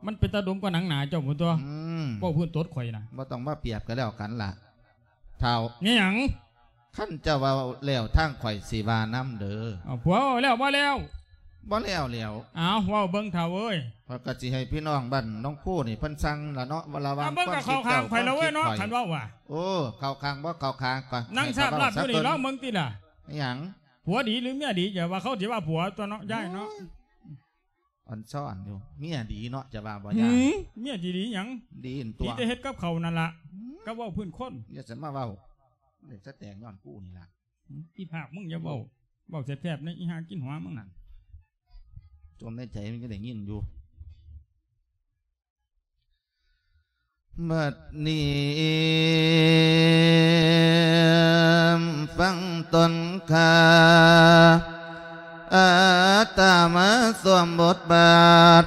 ມັນເປັນຕາດົມກວ່າໜັງໜາເຈົ້າພຸ້ນຕົວະ ອືມ ເວົ້າພື້ນຕົດຂ້ອຍນະ ບໍ່ຕ້ອງມາປຽບກັນແລ້ວກັນລະ ທ້າວ ແມ່ນຫຍັງ? ຄັນເຈົ້າເວົ້າແລ້ວ ທາງຂ້ອຍຊິວ່ານຳເດີ ເອົາ ຜົວເວົ້າແລ້ວບໍ່ແລ້ວ ບໍ່ແລ້ວແຫຼ້ວ. ອ້າວ ເວົ້າເບິ່ງເຖົ້າເອີຍ. ຂ້ອຍກໍຊິໃຫ້ພີ່ນ້ອງບ້ານໜອງໂພນີ້ເພິ່ນຟັງລະເນາະ ວ່າລະຫວ່າງຄວາມຄິດເຈົ້າ ຄວາມຄິດຂ້ອຍ. ເວົ້າເຂົ້າຂ້າງໄປແລ້ວເວີ້ຍເນາະ ຄັນເວົ້າວ່າ. ໂອ້ ເຂົ້າຂ້າງບໍ່ເຂົ້າຂ້າງ ກໍໃຫ້ຂ້ອຍເວົ້າຊະກ່ອນ. ນັ່ງຊາບລາບຢູ່ນີ້ລອງເບິ່ງຕິລະ. ອີຫຍັງ? ຜົວດີຫຼືເມຍດີ? ຢ່າວ່າເຂົາຊິວ່າຜົວຕົວະເນາະ ຍາຍເນາະ. ໂອ້ຍ ອ່ອນຊ້ອນຢູ່. ເມຍດີເນາະ ຈະວ່າບໍ່ ອືມ ຍາຍ? ເມຍຊິດີຫຍັງ? ດີຕົວະ ດີແຕ່ເຮັດກັບເຂົານັ້ນລະ. ອືມ ກັບເວົ້າພື້ນຄົນ. ຢ່າສະມາເວົ້າ ເປັນສະແຕງຍ້ອນກູນີ້ລະ. ອືມ ອີພາກ ມຶງຢ່າເວົ້າ ເວົ້າແສບໆ ໃນອີຫ່າກິນຫົວມຶງນັ້ນ. ຈົ່ມໃນໃຈມັນກໍໄດ້ຍິນຢູ່. ບັດນີ້ຟັງຕົນຂ້າ ອາດຕະມາສວມບົດບາດ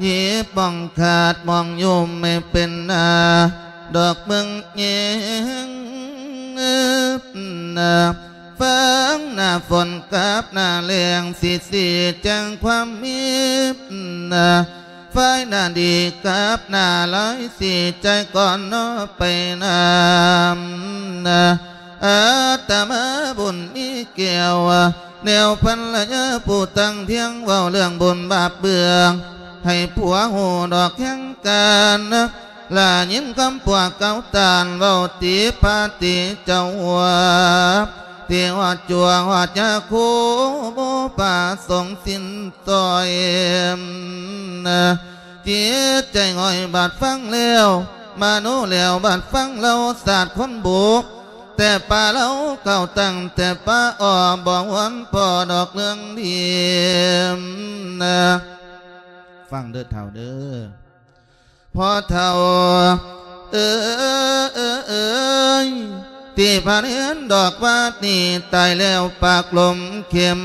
ຍິບປ່ອງຂາດໝ່ອງຍົມໃຫ້ເປັນໜ້າ ດອກເມືອງແຍງ ນາ ເບິ່ງໜ້າຝົນກັບໜ້າແລ້ງ ຊິຊີ້ແຈງຄວາມມີ ນາ ຝ່າຍໜ້າດີກັບໜ້າຮ້າຍ ຊິຈ່າຍກ່ອນເນາະໄປນຳ ນາ ອາດຕະມາບຸນມີແກ້ວ ແນວພັນລະຍາຜູ້ຕັ້ງທຽງ ເວົ້າເລື່ອງບຸນບາບເບື້ອງ ໃຫ້ຜົວຮູ້ດອກແຫ່ງການ ລະຍິນຄຳພວກເກົ່າຕານເວົ້າຕິພາຕິເຈົ້າ ທີ່ຮອດຈົວຮອດຍາຄູ ບໍ່ປະສົງສິ້ນຊ່ອຍ ຈິດໃຈຫງອຍບາດຟັງແລ້ວ ມະໂນແຫຼວບາດຟັງເລົ່າສາດຄົນບຸກ ແຕ່ປາເລົ່າເຂົ້າຕັ້ງແຕ່ປາອອກ ບໍ່ຫວນພໍດອກເລື່ອງດີ ຟັງເດີເຖົ້າເດີ. ພໍ່ເຖົ້າເອີຍ ທີ່ພະເນນດອກວາດນີ້ຕາຍແລ້ວ ປາກລົມເຂັມ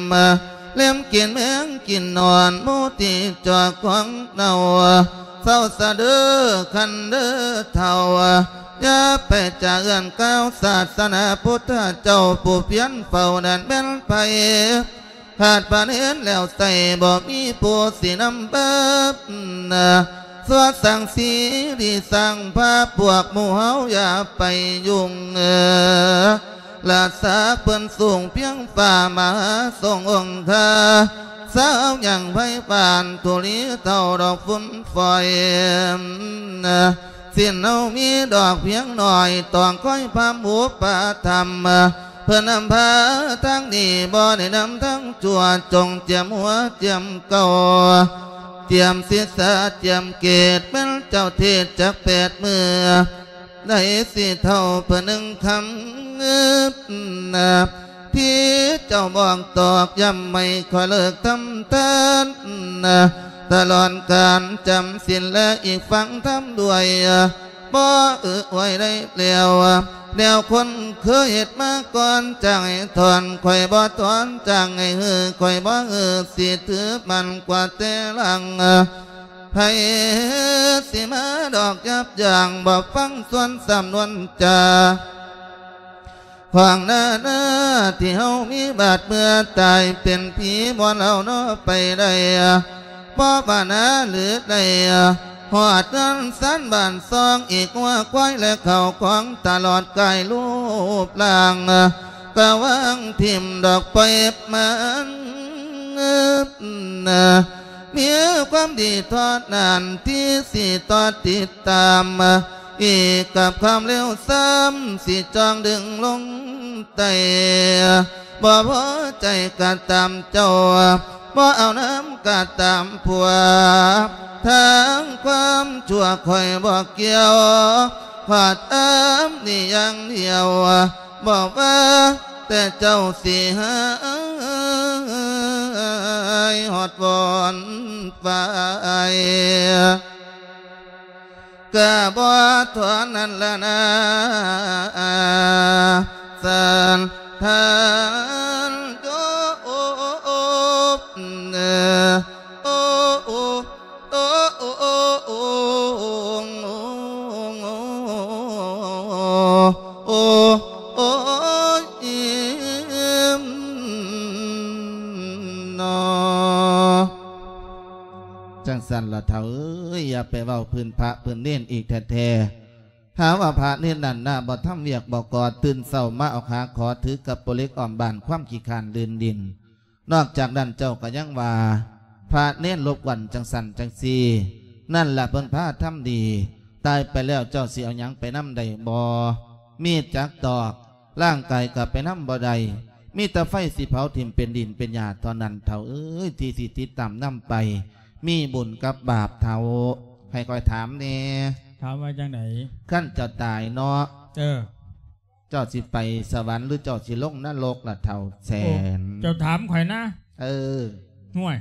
ເລັມກິນແມງກິນໜອນ ໝູທີ່ຈອກຂອງເນົ່າ ເຊົາສະເດີຄັນເດີເຖົ້າ ຢ່າໄປຈາເອື້ອນກ່າວສາສະໜາພຸດທະເຈົ້າ ຜູ້ພຽນເຝົ້ານັ້ນແມ່ນໃຜ ຂາດພະເນນແລ້ວໃສ ບໍ່ມີຜູ້ຊິນຳບາບ ຊົ່ວສັງສີດີສ້າງພາບ ພວກໝູ່ເຮົາຢ່າໄປຫຍຸ້ງ ລາຊາເພິ່ນສູງພຽງຟ້າ ມະຫາຊົງອົງຄາ ສາວຍັງໄພບານທຸລີເທົ່າດອກຝຸ່ນຝອຍ ສິ້ນເຮົາມີດອກພຽງໜ້ອຍ ຕ້ອງຄອຍພາມອຸປະຖຳ ເພິ່ນນຳພາທາງດີ ບໍ່ໄດ້ນຳທາງຊົ່ວ ຈົ່ງຈຽມຫົວຈຽມເກົ່າ ຈຽມສິດສາຈຽມເກດ ແມ່ນເຈົ້າເທດຈັກແປດມື້ ໃນສີ່ເທົ່າເພິ່ນໜຶ່ງຄຳ ທີ່ເຈົ້າບອກຕອກຢ້ຳໃຫ້ຂ້ອຍເລີກທຳທານ ຕະຫຼອດການຈຳສິນ ແລະ ອີກຟັງທຳດ້ວຍ ບໍ່ອຶອວຍໄດ້ແລ້ວ ແນວຄົນເຄີຍເຮັດມາກ່ອນ ຈ້າງໃຫ້ຖອນ ຂ້ອຍບໍ່ຖອນ ຈ້າງໃຫ້ຮື້ ຂ້ອຍບໍ່ຮື້ ຊິຖືໝັ້ນກວ່າແຕ່ຫຼັງ ໃຜຊິມາດອກຍັບຢັ້ງ ບໍ່ຟັງສ່ວນສຳນວນຈາ ຂອງໜ້າໜ້າທີ່ເຮົາມີບາດເມື່ອຕາຍເປັນຜີ ບ່ອນເຮົາເນາະໄປໄດ້ ບໍ່ວ່າໜ້າຫຼືໄດ້ ຮອດເຮືອນຊານບ້ານຊ່ອງ ອີກງົວຄວາຍ ແລະ ເຂົ້າຂອງຕະຫຼອດກາຍຮູບຮ່າງ ກະວາງຖິ້ມດອກໄປມັນ ມີຄວາມດີເທົ່ານັ້ນທີ່ຊິຕໍ່ຕິດຕາມ ອີກກັບຄວາມເລວຊາມ ຊິຈ່ອງດຶງລົງໃຕ້ ບໍ່ພໍໃຈກະຕາມເຈົ້າ ບໍ່ເອົານຳກະຕາມພວກ ທາງຄວາມຊົ່ວຂ້ອຍບໍ່ກ່ຽວ ຂ້ອຍຕຳໜິ່ຢ່າງດຽວ ບອກວ່າແຕ່ເຈົ້າຊິຫາຍຮອດວອນໄປ ກະບໍ່ເທົ່ານັ້ນລະນາ ສານທ່ານໂຍມ ໂອ້ ໂອ້ ໂອ້ ໂອ້ ໂອ້ ໂອ້ ໂອ້ ໂອ້ຍ ເນາະ. ຈັ່ງຊັ້ນລະເຖົ້າເອີຍ ຢ່າໄປເວົ້າພື້ນພະພື້ນເນນອີກແທ້ໆ. ຫາວ່າພະເນນນັ້ນນະ ບໍ່ທຳວຽກບໍ່ກໍ່ ຕື່ນເຊົ້າມາອອກຫາຂໍ ຖືກັບໂປເລັກອ້ອມບ້ານ ຄວາມຂີ້ຄ້ານລື່ນດິນ ນອກຈາກນັ້ນເຈົ້າກໍຍັງວ່າ ພະເນນລົບກວນຈັ່ງຊັ້ນຈັ່ງຊີ້ ນັ້ນລະເພິ່ນພາທຳດີ ຕາຍໄປແລ້ວເຈົ້າຊິເອົາຫຍັງໄປນຳໄດ້ບໍ່? ມີຈັກຕອກ ຮ່າງກາຍກໍໄປນຳບໍ່ໄດ້ ມີແຕ່ໄຟຊິເຜົາຖິ້ມເປັນດິນເປັນຫຍ້າເທົ່ານັ້ນ ເຖົ້າເອີຍ ທີ່ຊິຕິດຕາມນຳໄປ ມີບຸນກັບບາບເຖົ້າ. ໃຫ້ຂ້ອຍຖາມແດ່. ຖາມວ່າຈັ່ງໃດ? ຄັນເຈົ້າຕາຍເນາະ ເອີ ເຈົ້າຊິໄປສະຫວັນ ຫຼື ເຈົ້າຊິລົງນະລົກລະເຖົ້າແສນ? ໂອ້ ເຈົ້າຖາມຂ້ອຍນະ. ເອີ ຫ້ວຍ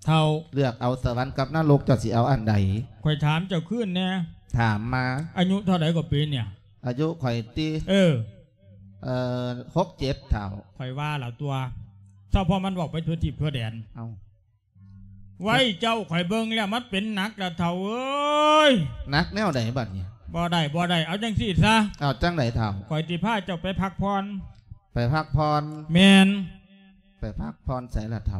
ເຖົ້າ ເລືອກເອົາສະຫວັນກັບນະລົກ ເຈົ້າຊິເອົາອັນໃດ? ຂ້ອຍຖາມເຈົ້າຄືນແດ່. ຖາມມາ. ອາຍຸເທົ່າໃດກໍປີນີ້? ອາຍຸຂ້ອຍຕິ? ເອີ ເອີ ຫົກເຈັດ ເຖົ້າ. ຂ້ອຍວ່າລະຕົວະ ເຈົ້າ ເພາະມັນເວົ້າໄປທົ່ວທີບທົ່ວແດນ. ເອົ້າ ໄວ້ເຈົ້າ ຂ້ອຍເບິ່ງແລ້ວມັນເປັນໜັກລະເຖົ້າເອີຍ. ໜັກແນວໃດບັດນີ້? ບໍ່ໄດ້ ບໍ່ໄດ້ ເອົາຈັ່ງຊີ້ຊະ. ເອົາຈັ່ງໃດເຖົ້າ? ຂ້ອຍຊິພາເຈົ້າໄປພັກຜ່ອນ. ໄປພັກຜ່ອນ? ແມ່ນ. ໄປພັກຜ່ອນໃສລະເຖົ້າ?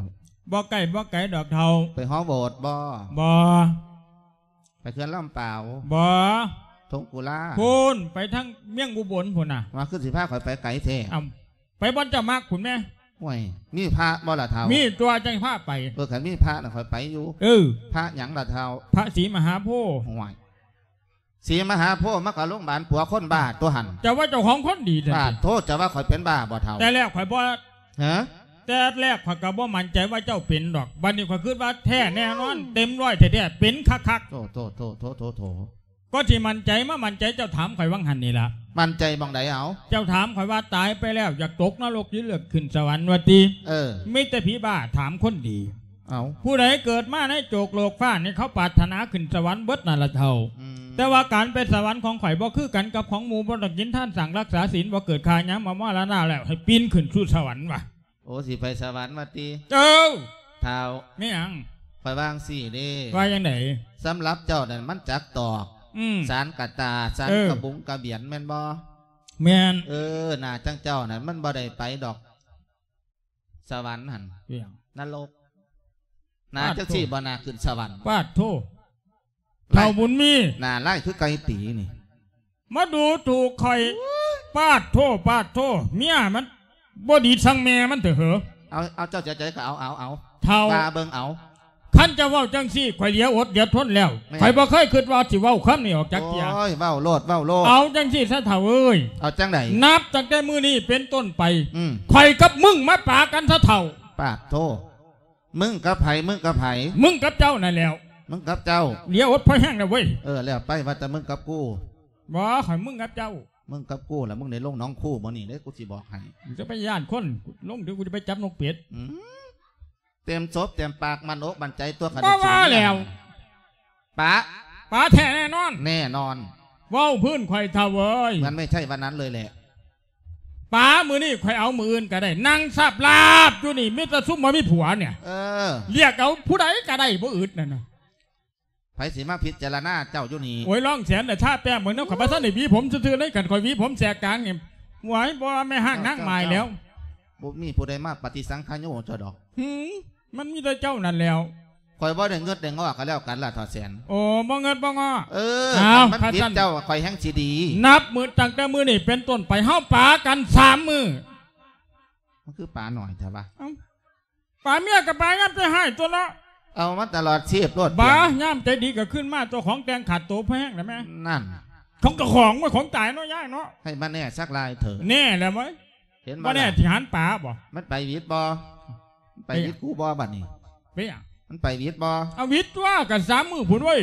ບໍ່ໃກ້ບໍ່ໄກດອກເຖົ້າ. ໄປຫໍໂບດບໍ່? ບໍ່. ໄປເຂື່ອນລຳປາວ? ບໍ່. ທົ່ງກຸລາ? ພຸ້ນ ໄປທາງເມືອງອຸບົນພຸ້ນນະ. ວ່າຄືຊິພາຂ້ອຍໄປໄກແທ້? ເອົ້າ ໄປບ່ອນເຈົ້າມັກພຸ້ນແມ. ໂອ້ຍ ມີພະບໍ່ລະເຖົ້າ? ມີຕົວະ ຈັ່ງພາໄປ. ເອີ ຄັນມີພະນະຂ້ອຍໄປຢູ່. ເອີ ພະຫຍັງລະເຖົ້າ? ພະສີມະຫາໂພ. ໂອ້ຍ ສີມະຫາໂພມັນກໍໂລງບານປົວຄົນບ້າຕົວຫັ້ນ. ເຈົ້າວ່າເຈົ້າຂອງຄົນດີແທ້. ບາດໂທ ເຈົ້າວ່າຂ້ອຍເປັນບ້າບໍ່ເຖົ້າ? ແຕ່ແລກຂ້ອຍບໍ່ ຮະ? ແຕ່ແລກຂ້ອຍກໍບໍ່ໝັ້ນໃຈວ່າເຈົ້າເປັນດອກ ບັດນີ້ຂ້ອຍຄິດວ່າແທ້ແນ່ນອນ ເຕັມຮ້ອຍແທ້ໆ ເປັນຄັກໆ. ໂທ້ໆໆໆໆ ກໍຊິໝັ້ນໃຈ ມາໝັ້ນໃຈເຈົ້າຖາມຂ້ອຍຫວ່າງຫັ້ນນີ້ລະ. ໝັ້ນໃຈໝ່ອງໃດເອົາ? ເຈົ້າຖາມຂ້ອຍວ່າຕາຍໄປແລ້ວຢາກຕົກນະລົກ ຫຼື ເລືອກຂຶ້ນສະຫວັນວ່າຕິ? ເອີ ມີແຕ່ຜີບ້າຖາມຄົນດີ. ເອົ້າ ຜູ້ໃດເກີດມາໃນໂຈກໂລກຟ້ານີ້ ເຂົາປາດຖະໜາຂຶ້ນສະຫວັນເບິດນັ້ນລະເຖົ້າ. ອືມ ແຕ່ວ່າການໄປສະຫວັນຂອງຂ້ອຍບໍ່ຄືກັນກັບຂອງໝູ່ ບໍ່ຕ້ອງກິນທານ ສ້າງຮັກສາສິນ ບໍ່ເກີດຂ້າ ຍາມມາມໍລະນະແລ້ວໃຫ້ປີນຂຶ້ນສູ່ສະຫວັນວ່າ. ໂອ້ ຊິໄປສະຫວັນວ່າຕິ? ເອີ ທ້າວ ແມ່ນຫຍັງ? ຂ້ອຍວ່າຈັ່ງຊີ້ເດ້. ວ່າຈັ່ງໃດ? ສຳລັບເຈົ້ານັ້ນມັນຈັກຕອກ ອືມ ສານກະຕາ ສານ ເອີ ກະບຸງກະບຽນແມ່ນບໍ່? ແມ່ນ. ເອີ ໜ້າຈັ່ງເຈົ້ານັ້ນມັນບໍ່ໄດ້ໄປດອກ ສະຫວັນຫັ້ນ ອີຫຍັງ? ນະລົກ. ໜ້າ ປາດໂທ ຈັ່ງຊີ້ບໍ່ໜ້າຂຶ້ນສະຫວັນ. ປາດໂທ ເຖົ້າບຸນມີ ໜ້າລາຍຄືໄກ່ຕີນີ້ ມາດູຖູກຂ້ອຍ. ປາດໂທ ປາດໂທ ເມຍມັນບໍ່ດີຊ່າງແມ່ມັນເຖາະເຫີ. ເອົາ ເອົາ ເຈົ້າເສຍໃຈກໍເອົາ ເອົາ ເອົາ ເຖົ້າ ວ່າເບິ່ງເອົາ. ຄັນຈະເວົ້າຈັ່ງຊີ້ ຂ້ອຍເຫຼືອອົດເຫຼືອທົນແລ້ວ. ແມ່ນ. ຂ້ອຍບໍ່ເຄີຍຄິດວ່າຊິເວົ້າຄຳນີ້ອອກຈາກເທື່ອ. ໂອ້ຍ ເວົ້າໂລດ ເວົ້າໂລດ. ເອົາຈັ່ງຊີ້ຊະເຖົ້າເອີຍ. ເອົາຈັ່ງໃດ? ນັບຕັ້ງແຕ່ມື້ນີ້ເປັນຕົ້ນໄປ ອືມ ຂ້ອຍກັບມຶງມາປະກັນຊະເຖົ້າ. ປາດໂທ ມຶງກັບໃຜ? ມຶງກັບໃຜ? ມຶງກັບເຈົ້ານັ້ນແຫຼ້ວ. ມຶງກັບເຈົ້າ? ເຫຼືອອົດພໍແຮງແລ້ວເວີຍ. ເອີ ແລ້ວໄປ ວ່າແຕ່ມຶງກັບກູ. ບໍ່ ຂ້ອຍມຶງກັບເຈົ້າ. ມຶງກັບກູລະ ມຶງໄດ້ລົງໜອງຄູມື້ນີ້ເດ້ ກູຊິບອກໃຫ້. ຈະໄປຢ້ານຄົນ ລົງດຽວກູຈະໄປຈັບນົກເປັດ. ອືມ ເຕັມສົບເຕັມປາກ ໝັ້ນອົກໝັ້ນໃຈຕົວະ. ບໍ່ວ່າແລ້ວ ປະ ປະແທ້ແນ່ນອນ. ແນ່ນອນ. ເວົ້າພື້ນຂ້ອຍເຖົ້າເອີຍ ມັນໄມ່ໃຊ່ວັນນັ້ນເລີຍແຫຼະ. ປະມື້ນີ້ຂ້ອຍເອົາມື້ອື່ນກໍໄດ້. ນັ່ງສາບລາບຢູ່ນີ້ ມີແຕ່ຊຸມບໍ່ມີຜົວນີ້. ເອີ ລຽກເອົາຜູ້ໃດກໍໄດ້ ບໍ່ອຶດນັ້ນນະ. ໃຜຊິມາພິຈາລະນາເຈົ້າຢູ່ນີ້? ໂອ້ຍ ລອງແສນລະ ທາແຕ້ມເບິ່ງນຳ. ຂ້ອຍບໍ່ທັນໄດ້ຫວີຜົມຊື່ໆເລີຍ. ຄັນຂ້ອຍຫວີຜົມແສກກາງນີ້ ຫວຍ ບໍ່ແມ່ນຮ່າງນາງໝາຍແລ້ວ. ເຈົ້າ ເຈົ້າ ບໍ່ມີຜູ້ໃດມາປະຕິສັງຂະໂຍເຈົ້າດອກ. ຫື ມັນມີແຕ່ເຈົ້ານັ້ນແລ້ວ. ຂ້ອຍບໍ່ໄດ້ເງິດໄດ້ງໍ້ກໍແລ້ວກັນລະ ທ້າວແສນ. ໂອ້ ບໍ່ເງິດບໍ່ງໍ້. ເອີ ເອົາ ຄັນມັນຜິດເຈົ້າ ຂ້ອຍແຮ່ງຊິດີ. ນັບມື້ ຕັ້ງແຕ່ມື້ນີ້ເປັນຕົ້ນໄປ ເຮົາປາກັນສາມມື້. ມັນຄືປາໜ້ອຍແທ້ວະ? ເອົ້າ ປາເມຍກໍປາຍາມໃຈຮ້າຍຕົວະເນາະ. ເອົາມາຕະຫຼອດຊີບໂລດ. ບາ ຍາມໃຈດີກໍຄືນມາຕົວະ. ຂອງແຕ່ງຂາດໂຕແພງແລ້ວແມ່. ນັ້ນ ຂອງເຈົ້າຂອງ ຂອງຕາຍເນາະ ຍາຍເນາະ. ໃຫ້ມັນແນ່ສັກລາຍເຖີ້. ແນ່ແລ້ວເວີຍ. ເຫັນບໍ່ ບໍ່ແນ່ ລະ ຊິຫັນປາບໍ່? ມັນໄປຫວິດບໍ່? ໄປຫວິດ ເປັນຫຍັງ? ກູບໍ່ບັດນີ້? ເປັນຫຍັງ? ມັນໄປຫວິດບໍ່? ເອົາ ຫວິດຕົວະ ກັນສາມມື້ພຸ້ນເວີຍ.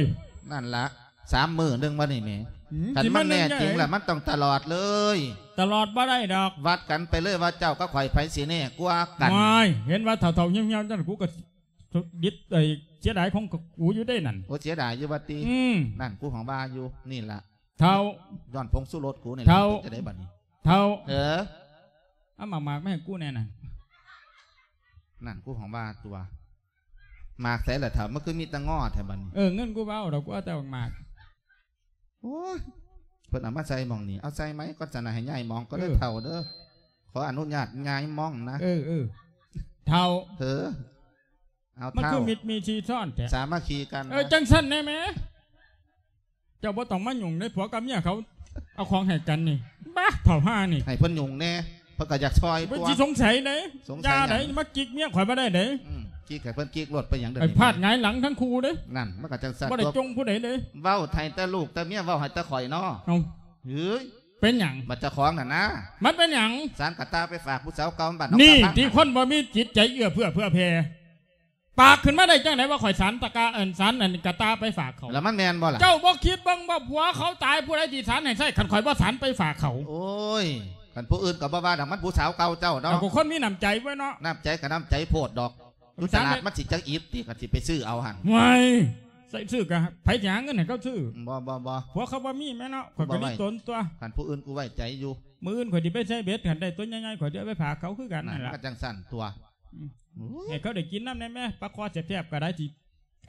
ນັ້ນລະ ສາມມື້ໜຶ່ງບັດນີ້ແໝ. ຫື ຄັນມັນແນ່ຈິງລະ ມັນຕ້ອງຕະຫຼອດເລີຍ. ຕະຫຼອດບໍ່ໄດ້ດອກ. ວັດກັນໄປເລີຍວ່າເຈົ້າກັບຂ້ອຍໃຜຊິແນ່ກວ່າກັນ. ໂອ້ຍ ເຫັນວ່າເຖົ້າໆ ຫ່ຽວໆ ຈັ່ງນັ້ນ ກູກໍດິດ ເອີຍ ເສຍດາຍຂອງກູຢູ່ເດ້ນັ້ນ. ໂອ້ ເສຍດາຍຢູ່ວ່າຕິ? ອືມ ນັ້ນ ກູຫວັງວ່າຢູ່. ນີ້ລະ ເຖົ້າ ຍ້ອນຜົງຊູລົດກູນີ້ແຫຼະ. ເຖົ້າ ເປັນຈັ່ງໃດບັດນີ້? ເຖົ້າ ເອີ ເອົາໝາກໆ ມາໃຫ້ກູແດ່ນັ້ນ. ນັ້ນ ກູຫວັງວ່າຕົວະ. ໝາກໃສລະເຖົ້າ? ມັນຄືມີແຕ່ງໍ້ແທ້ບັດນີ້. ເອີ ເງິນກູບໍ່ເອົາດອກ ກູເອົາແຕ່ໝາກ. ໂອ້ຍ ເພິ່ນເອົາມາໃສ່ໝ່ອງນີ້ ເອົາໃສ່ໃໝ່ກ່ອນຊັ້ນນະ ໃຫ້ຍ້າຍໝ່ອງກໍເດີ ເອີ ເຖົ້າເດີ. ຂໍອະນຸຍາດຍ້າຍໝ່ອງນະ. ເອີ ເອີ ເຖົ້າ ເອີ ເອົາ ມັນຄືເຖົ້າ ມິດມີຊີຊ້ອນແທ້ ສາມັກຄີກັນ. ເອີ ຈັ່ງຊັ້ນແດ່ແມ. ເຈົ້າບໍ່ຕ້ອງມາຫຍຸ້ງເດ້ ຜົວກັບເມຍເຂົາເອົາຂອງໃຫ້ກັນນີ້. ບ້າ ເຖົ້າຫ່ານີ້ ໃຫ້ເພິ່ນຫຍຸ້ງແດ່. พิ่นກໍຢາກຊ່ອຍ ເພິ່ນ ຕົວະ ຊິສົງໄສເດ້ ສົງໄສ ຢ່າເດ້ ຫຍັງ? ມາຈິກເມຍຂ້ອຍບໍ່ໄດ້ເດ້ ອືມ ຈິກໃຫ້ເພິ່ນຈິກໂລດ ເປັນຫຍັງເດີ ໄປພາດຫງາຍຫຼັງທັງຄູ່ເດ້ ນັ້ນ ມັນກໍຈັ່ງຊັ້ນ ບໍ່ໄດ້ ຕົວະ ຈົ່ງຜູ້ໃດເດ້ ເວົ້າໄທແຕ່ລູກແຕ່ເມຍ ເວົ້າໃຫ້ແຕ່ຂ້ອຍເນາະ ເອົ້າ ເຮີ້ຍ ເປັນຫຍັງ? ບັດເຈົ້າຂອງນັ້ນນະ ມັນເປັນຫຍັງ? ສານກະຕ່າໄປຝາກຜູ້ສາວເກົ່າບ້ານໜອງ ນີ້ ຕາພັງ ທີ່ຄົນບໍ່ມີຈິດໃຈເອື້ອເຟື້ອເຜື່ອແຜ່ ປາກຂຶ້ນມາໄດ້ຈັ່ງໃດວ່າຂ້ອຍສານຕະກາ ອັນ ສານອັນກະຕ່າໄປຝາກເຂົາ ແລ້ວມັນແມ່ນບໍ່ລະ? ເຈົ້າບໍ່ຄິດເບິ່ງວ່າຜົວເຂົາຕາຍ ຜູ້ໃດຊິສານໃຫ້ໃຊ້ ຄັນຂ້ອຍບໍ່ສານໄປຝາກເຂົາ? ໂອ້ຍ ຄັນຜູ້ອື່ນກໍບໍ່ວ່າດອກ ມັນຜູ້ສາວເກົ່າເຈົ້າເນາະ ເອົາ ກໍຄົນມີນ້ຳໃຈເວີ້ຍເນາະ ນ້ຳໃຈກໍນ້ຳໃຈໂພດດອກ ຢູ່ຕະຫຼາດມັນຊິຈັກອິບຕິ ຄັນຊິໄປຊື້ເອົາຫັ້ນ ໂອ້ຍ ໃສ່ຊື້ກະໃຜຊິຫາເງິນໃຫ້ເຂົາຊື້? ບໍ່ ບໍ່ ບໍ່ ຜົວເຂົາບໍ່ມີແມ່ເນາະ ຂ້ອຍກໍດີຕົນຕົວະ ຄັນຜູ້ອື່ນກູໄວ້ໃຈຢູ່ ມື້ອື່ນຂ້ອຍຊິໄປໃສ່ເບັດ ຄັນໄດ້ຕົວໃຫຍ່ໆ ຂ້ອຍຊິເອົາໄປຝາກເຂົາຄືກັນນັ້ນລະ ກໍຈັ່ງຊັ້ນຕົວະ ອືມ ໂອ້ຍ ໃຫ້ເຂົາໄດ້ກິນນຳແດ່ແມ້ ປາຄໍ່ແຊບໆ ກໍໄດ້ ຊິ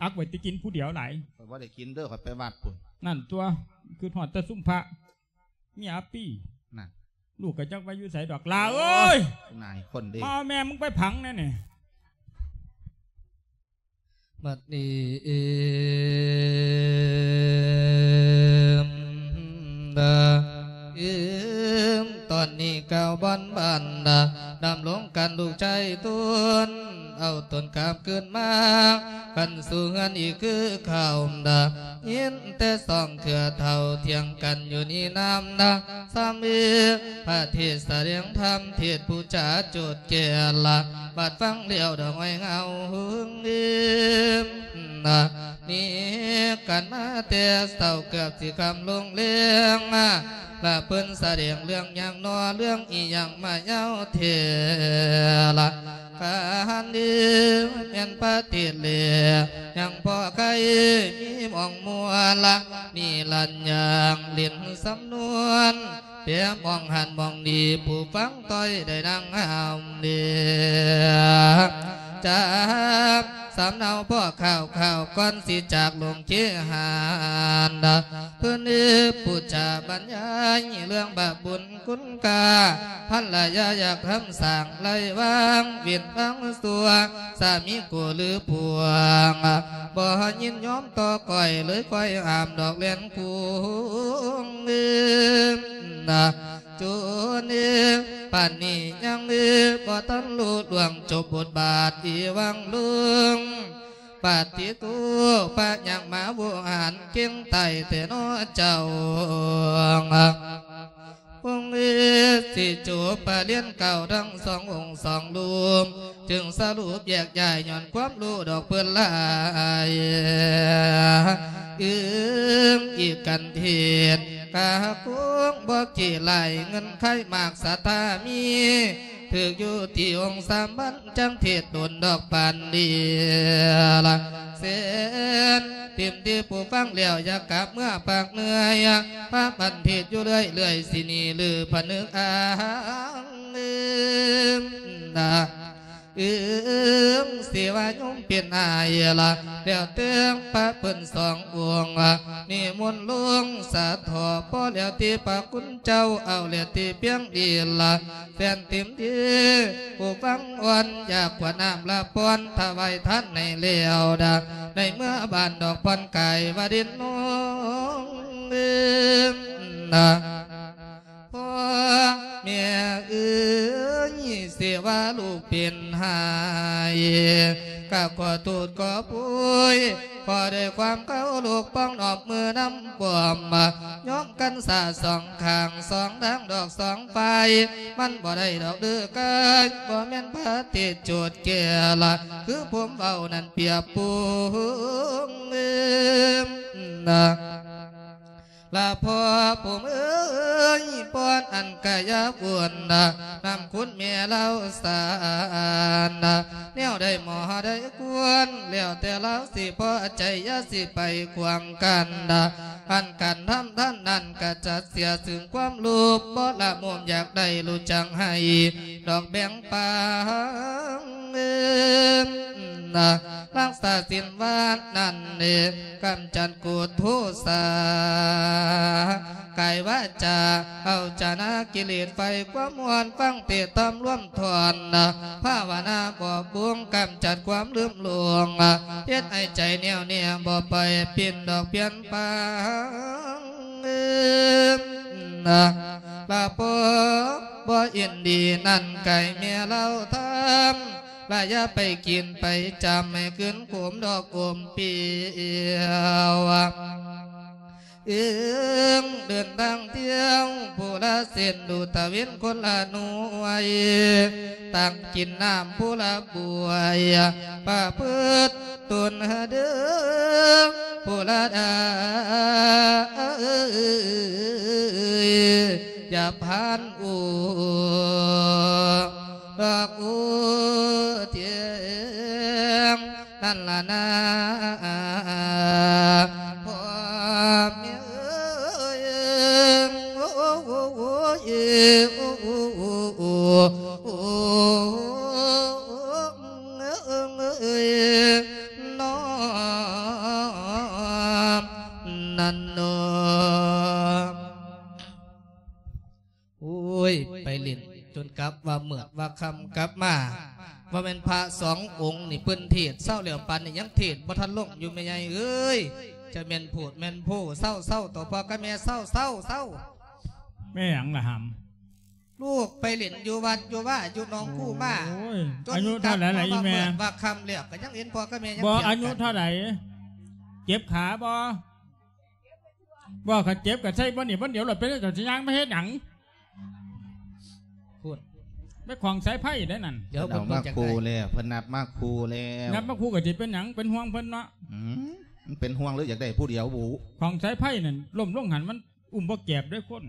ອັກໄວ້ແຕ່ກິນຜູ້ດຽວຫຼາຍ ຂ້ອຍບໍ່ໄດ້ກິນເດີ ຂ້ອຍໄປວັດພຸ້ນ ນັ້ນຕົວະ ຄິດຮອດແຕ່ຊຸມພະ ເມຍອັບປີ ນັ້ນ ລູກກໍຈັກວ່າຢູ່ໃສດອກ ຫຼ້າເອີຍ ນາຍຄົນເດ້ ມາເອົາແມ່ມຶງໄປຝັງແດ່ນີ້ ບັດນີ້ ເອີມ ດາ ເອີມ ຕອນນີ້ກ່າວບ່ອນບ້ານດາ ດຳລົງກັນລູກຊາຍຕົນ ເອົາຕົນກັບຄືນມາ ກັນສູ່ເຮືອນອີກຄືເກົ່າດາ ຍິນແຕ່ສອງເທື່ອເຖົ້າ ຖຽງກັນຢູ່ນີ້ນານດາ ສາມີ ພະເທດສະແດງທຳ ເທດຜູ້ຈາໂຈດແກ່ລະ ບັດຟັງແລ້ວດອກໄມ້ເງົາຫຶງອີມນະ ໜີກັນມາແຕ່ເຊົ້າ ເກືອບຊິຄ່ຳລົງແລງ ລະເພິ່ນສະແດງເລື່ອງຫຍັງນໍ ເລື່ອງອີ່ຫຍັງມາຍາວແທ້ລະ ຄັນດີແມ່ນປະເທດແລ ຍັງພໍໃຄ່ມີໝ່ອງມ່ວນລະ ນີ້ລັນຍາງຫຼິ້ນສຳນວນ ແປມອງຫັ້ນມອງນີ້ ຜູ້ຟັງຕ້ອຍໄດ້ນັ່ງຫ້າມເດ ຈາກສຳເນົາພໍຂ່າວໆ ກ່ອນຊິຈາກລົງເຄຫານ ເພິ່ນເອີ ຜູ້ຈາບັນຍາຍເລື່ອງບາບບຸນຄຸນຄ່າ ພັນລະຍາຢາກທຳສ້າງໄລວາງ ເວັ້ນວາງຊົ່ວ ສາມີໂກຫຼືພວງ ບໍ່ຍິນຍອມຕໍ່ກ້ອຍ ເລີຍຄ່ອຍຫ້າມດອກແລ່ນຄູງເອີ ນະ ຈູນເອີ ປານນີ້ຍັງເອີ ບໍ່ທັນຮູ້ລ່ວງຈົບບົດບາດອີຫວ່າງລຸງ ປາຕິໂທ ພະຍັງມາໂວຫານເກັ່ງຕາຍແທ້ໜໍເຈົ້າ ອົງເອີ ຊິຈົບປະລຽນເກົ້າທັງສອງອົງສອງລຸ່ມ ຈຶ່ງສະຫຼຸບແຍກຍ້າຍຍ້ອນຄວາມຮູ້ດອກເພິ່ນຫຼາຍ ອຶງອີກກັນເທດ ກະຄົງບໍ່ຂີ້ຫຼາຍ ເງິນໄຂມາກສະຖາມີ ຖືກຢູ່ທີ່ອົງສາມັນ ຈັ່ງເທດດົນດອກປານນີ້ລະ ເຊັ່ນ ຕິມທີ່ຜູ້ຟັງແລ້ວ ຢາກກັບເມືອພາກເໜືອ ພາກັນເທດຢູ່ເລື້ອຍໆ ຊິໜີຫຼືຜະນຶກອ້າງ ອືມ ນະ ອືມ ຊິວ່າໂຍມເປັນອ້າຍລະ ແລ້ວແຕ່ພະເພິ່ນສອງອົງ ນິມົນລົງສາເຖາະ ພໍແລ້ວທີ່ພະຄຸນເຈົ້າ ເອົາແລ້ວທີ່ພຽງນີ້ລະ ແຟນຕິມດີ ຜູ້ຟັງອ່ອນ ຢາກກວດນ້ຳລະພອນ ຖວາຍທານໃຫ້ແລ້ວດາ ໃນເມືອບ້ານດອກຜ່ອນກາຍວ່າດິນນ້ອງ ເອີ ນະ ພໍ່ແມ່ເອີຍ ຊິວ່າລູກເປັນໄຫ້ ກະຂໍໂທດຂໍໂພຍ ຂໍດ້ວຍຄວາມເຄົາລົບ ປ້ອງນ້ອມມືນຳປ້ອມ ຍອມກັນສາສອງຂ້າງ ສອງທາງດອກສອງຝ່າຍ ມັນບໍ່ໄດ້ດອກເດີກາຍ ບໍ່ແມ່ນພະເທດໂຈດແກ່ລະ ຄືຜົມເວົ້ານັ້ນປຽບປຸງ ນະ ລະພໍ່ຜູ້ເອີຍ ພອນອັນກະຢ່າວຸ່ນນະ ນຳຄຸນແມ່ລາວສານນະ ແນວໃດໝໍໃດຄວນ ແລ້ວແຕ່ລາວຊິພໍໃຈ ຢ່າຊິໄປຂວາງກັນນະ ອັນການທຳທ່ານນັ້ນກະຈັດເສຍ ຊຶ່ງຄວາມໂລບ ບໍ່ລະໂມມຢາກໄດ້ ຮູ້ຈັກໃຫ້ ດອກແບ່ງປັນ ນະ ຮັກສາສິນວາດນັ້ນເດ ກຳຈັດໂກດໂທສາ ກາຍວາຈາ ເອົາຈານາກິເລດໄຟ ຄວາມມ່ວນຟັງເທດທຳລວມທ່ອນ ພາວະນາບອບບຸງ ກຳຈັດຄວາມລືມຫຼົງ ເຮັດໃຫ້ໃຈແນວແນ່ ບໍ່ໄປປິ່ນດອກປ່ຽນແປງ ນະ ລະພໍ ບໍ່ ຍິນດີນັ້ນໄກ່ແມ່ເລົ່າທຳ ລະຢ່າໄປກິນໄປຈຳ ໃຫ້ຂຶ້ນໂຄມດອກໂຄມປ່ຽວ. ເອີງເດີນທາງທ່ຽວ ຜູ້ລະເສັ້ນດູຕະເວັນຄົນລະໜ່ວຍ ຕັ້ງກິນນ້ຳຜູ້ລະບວຍ ປະພຶດຕົນເດີ ຜູ້ລະດາ ຢ່າຜ່ານອູດອກອູທຽງ ນັ້ນລະນາ ພໍ່ແມ່ເອີຍ ໂອ້ຍ ໂອ້ຍ ໂອ້ຍ ໂອ້ຍ ນອ ນັ້ນເນາະ. ໂອ້ຍ ໄປຫຼິ້ນຈົນກັບວ່າເມືອດວ່າຄ່ຳກັບມາ ວ່າແມ່ນພະສອງອົງນີ້ເພິ່ນເທດເຊົາແລ້ວ ປານນີ້ຍັງເທດບໍ່ທັນລົງຢູ່ ແມ່ໃຫຍ່ເອີຍ. ຈະແມ່ນໂພດແມ່ນໂພ ເຊົາ ເຊົາ ຕໍ່ພໍ່ກັບແມ່ ເຊົາ ເຊົາ ເຊົາ. ແມ່ຫຍັງລະຫຳ? ລູກໄປຫຼິ້ນຢູ່ວັດຢູ່ວາຢູ່ໜອງຄູມາ ໂອ້ຍ ຈົນ ອາຍຸເທົ່າໃດລະອີ່ແມ່? ວ່າຄ່ຳແລ້ວກໍຍັງເຫັນພໍ່ກັບແມ່ຍັງ ບໍ່ ອາຍຸເທົ່າໃດ? ເຈັບຂາບໍ່? ບໍ່ ຄັນເຈັບກໍໃສ່ບ່ອນນີ້ບ່ອນດຽວໂລດ ເປັນຫຍັງເຈົ້າຊິຍ່າງມາເຮັດຫຍັງ? ພຸ້ນ ໄປຂອງສາຍໄຟໄດ້ນັ້ນ. ດຽວເພິ່ນເອົາມາຄູ່ແລ້ວ ເພິ່ນນັບມາຄູ່ແລ້ວ ນັບມາຄູ່ກໍຊິເປັນຫຍັງ? ເປັນຫ່ວງເພິ່ນເນາະ. ອືມ ມັນເປັນຫ່ວງຫຼືຢາກໄດ້ຜູ້ດຽວບຸ? ຂອງສາຍໄຟນັ້ນ ລົ້ມລົງຫັ້ນມັນອຸ້ມບໍ່ແກບເດ້ຄົນ.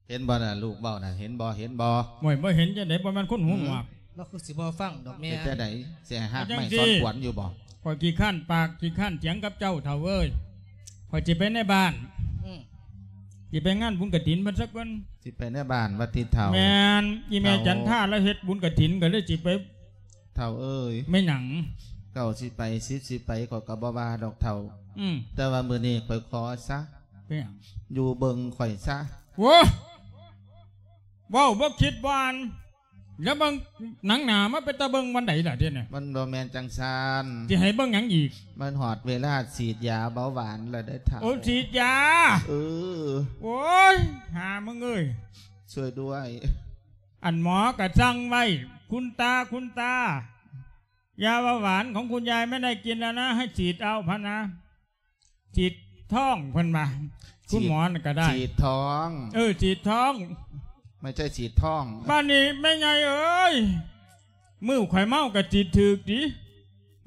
ເຫັນບໍ່ນະ ລູກເວົ້ານະ ເຫັນບໍ່ ເຫັນບໍ່? ໂອ້ຍ ບໍ່ເຫັນຈັ່ງໃດ ບໍ່ແມ່ນຄົນຫູໜວກ. ອືມ ລາວຄືຊິບໍ່ຟັງດອກແມ່. ເປັນຈັ່ງໃດ ຊິໃຫ້ຮາກໄມ້ສອນຂວັນຢູ່ບໍ່? ຂ້ອຍຂີ້ຄ້ານປາກ ຂີ້ຄ້ານຖຽງກັບເຈົ້າ ເຖົ້າເອີຍ. ຂ້ອຍຊິໄປໃນບ້ານ. ອືມ ຊິໄປງານບຸນກະຖິນເພິ່ນຊະກ່ອນ. ຊິໄປໃນບ້ານວ່າຕິເຖົ້າ? ແມ່ນ ອີ່ແມ່ ເຖົ້າ ຈັນທາລາວເຮັດບຸນກະຖິນ ກໍເລີຍຊິໄປ. ເຖົ້າເອີຍ ແມ່ນຫຍັງ? ເຈົ້າຊິໄປ ສິດຊິໄປ ຂ້ອຍກໍບໍ່ວ່າດອກເຖົ້າ. ອືມ ແຕ່ວ່າມື້ນີ້ຂ້ອຍຂໍຊະ. ເປັນຫຍັງ? ຢູ່ເບິ່ງຂ້ອຍຊະ. ໂອ້ ເວົ້າບໍ່ຄິດບໍ່ອ່ານ. ແລ້ວເບິ່ງໜັງໜ້າມາເປັນຕາເບິ່ງວັນໃດລະດຽວນີ້? ມັນບໍ່ແມ່ນຈັ່ງຊັ້ນ. ຊິໃຫ້ເບິ່ງຫຍັງອີກ? ມັນຮອດເວລາສີດຢາເບົາຫວານແລ້ວເດີເຖົ້າ. ໂອ້ ສີດຢາ? ເອີ. ໂອ້ຍ ຫາມຶງເອີຍ ຊ່ວຍດ້ວຍ. ອັນໝໍກໍສັ່ງໄວ້ ຄຸນຕາ ຄຸນຕາ ຢາເບົາຫວານຂອງຄຸນຍາຍໄມ່ໄດ້ກິນແລ້ວນະ ໃຫ້ສີດເອົາພະນະ. ສີດທ້ອງເພິ່ນວ່າ ສີດ ຄຸນໝໍນັ້ນກໍໄດ້ ສີດທ້ອງ. ເອີ ສີດທ້ອງ ໄມ່ໃຊ່ສີດທ້ອງ. ບາດນີ້ແມ່ໃຫຍ່ເອີຍ ມື້ຂ້ອຍເມົາກໍສີດຖືກຕິ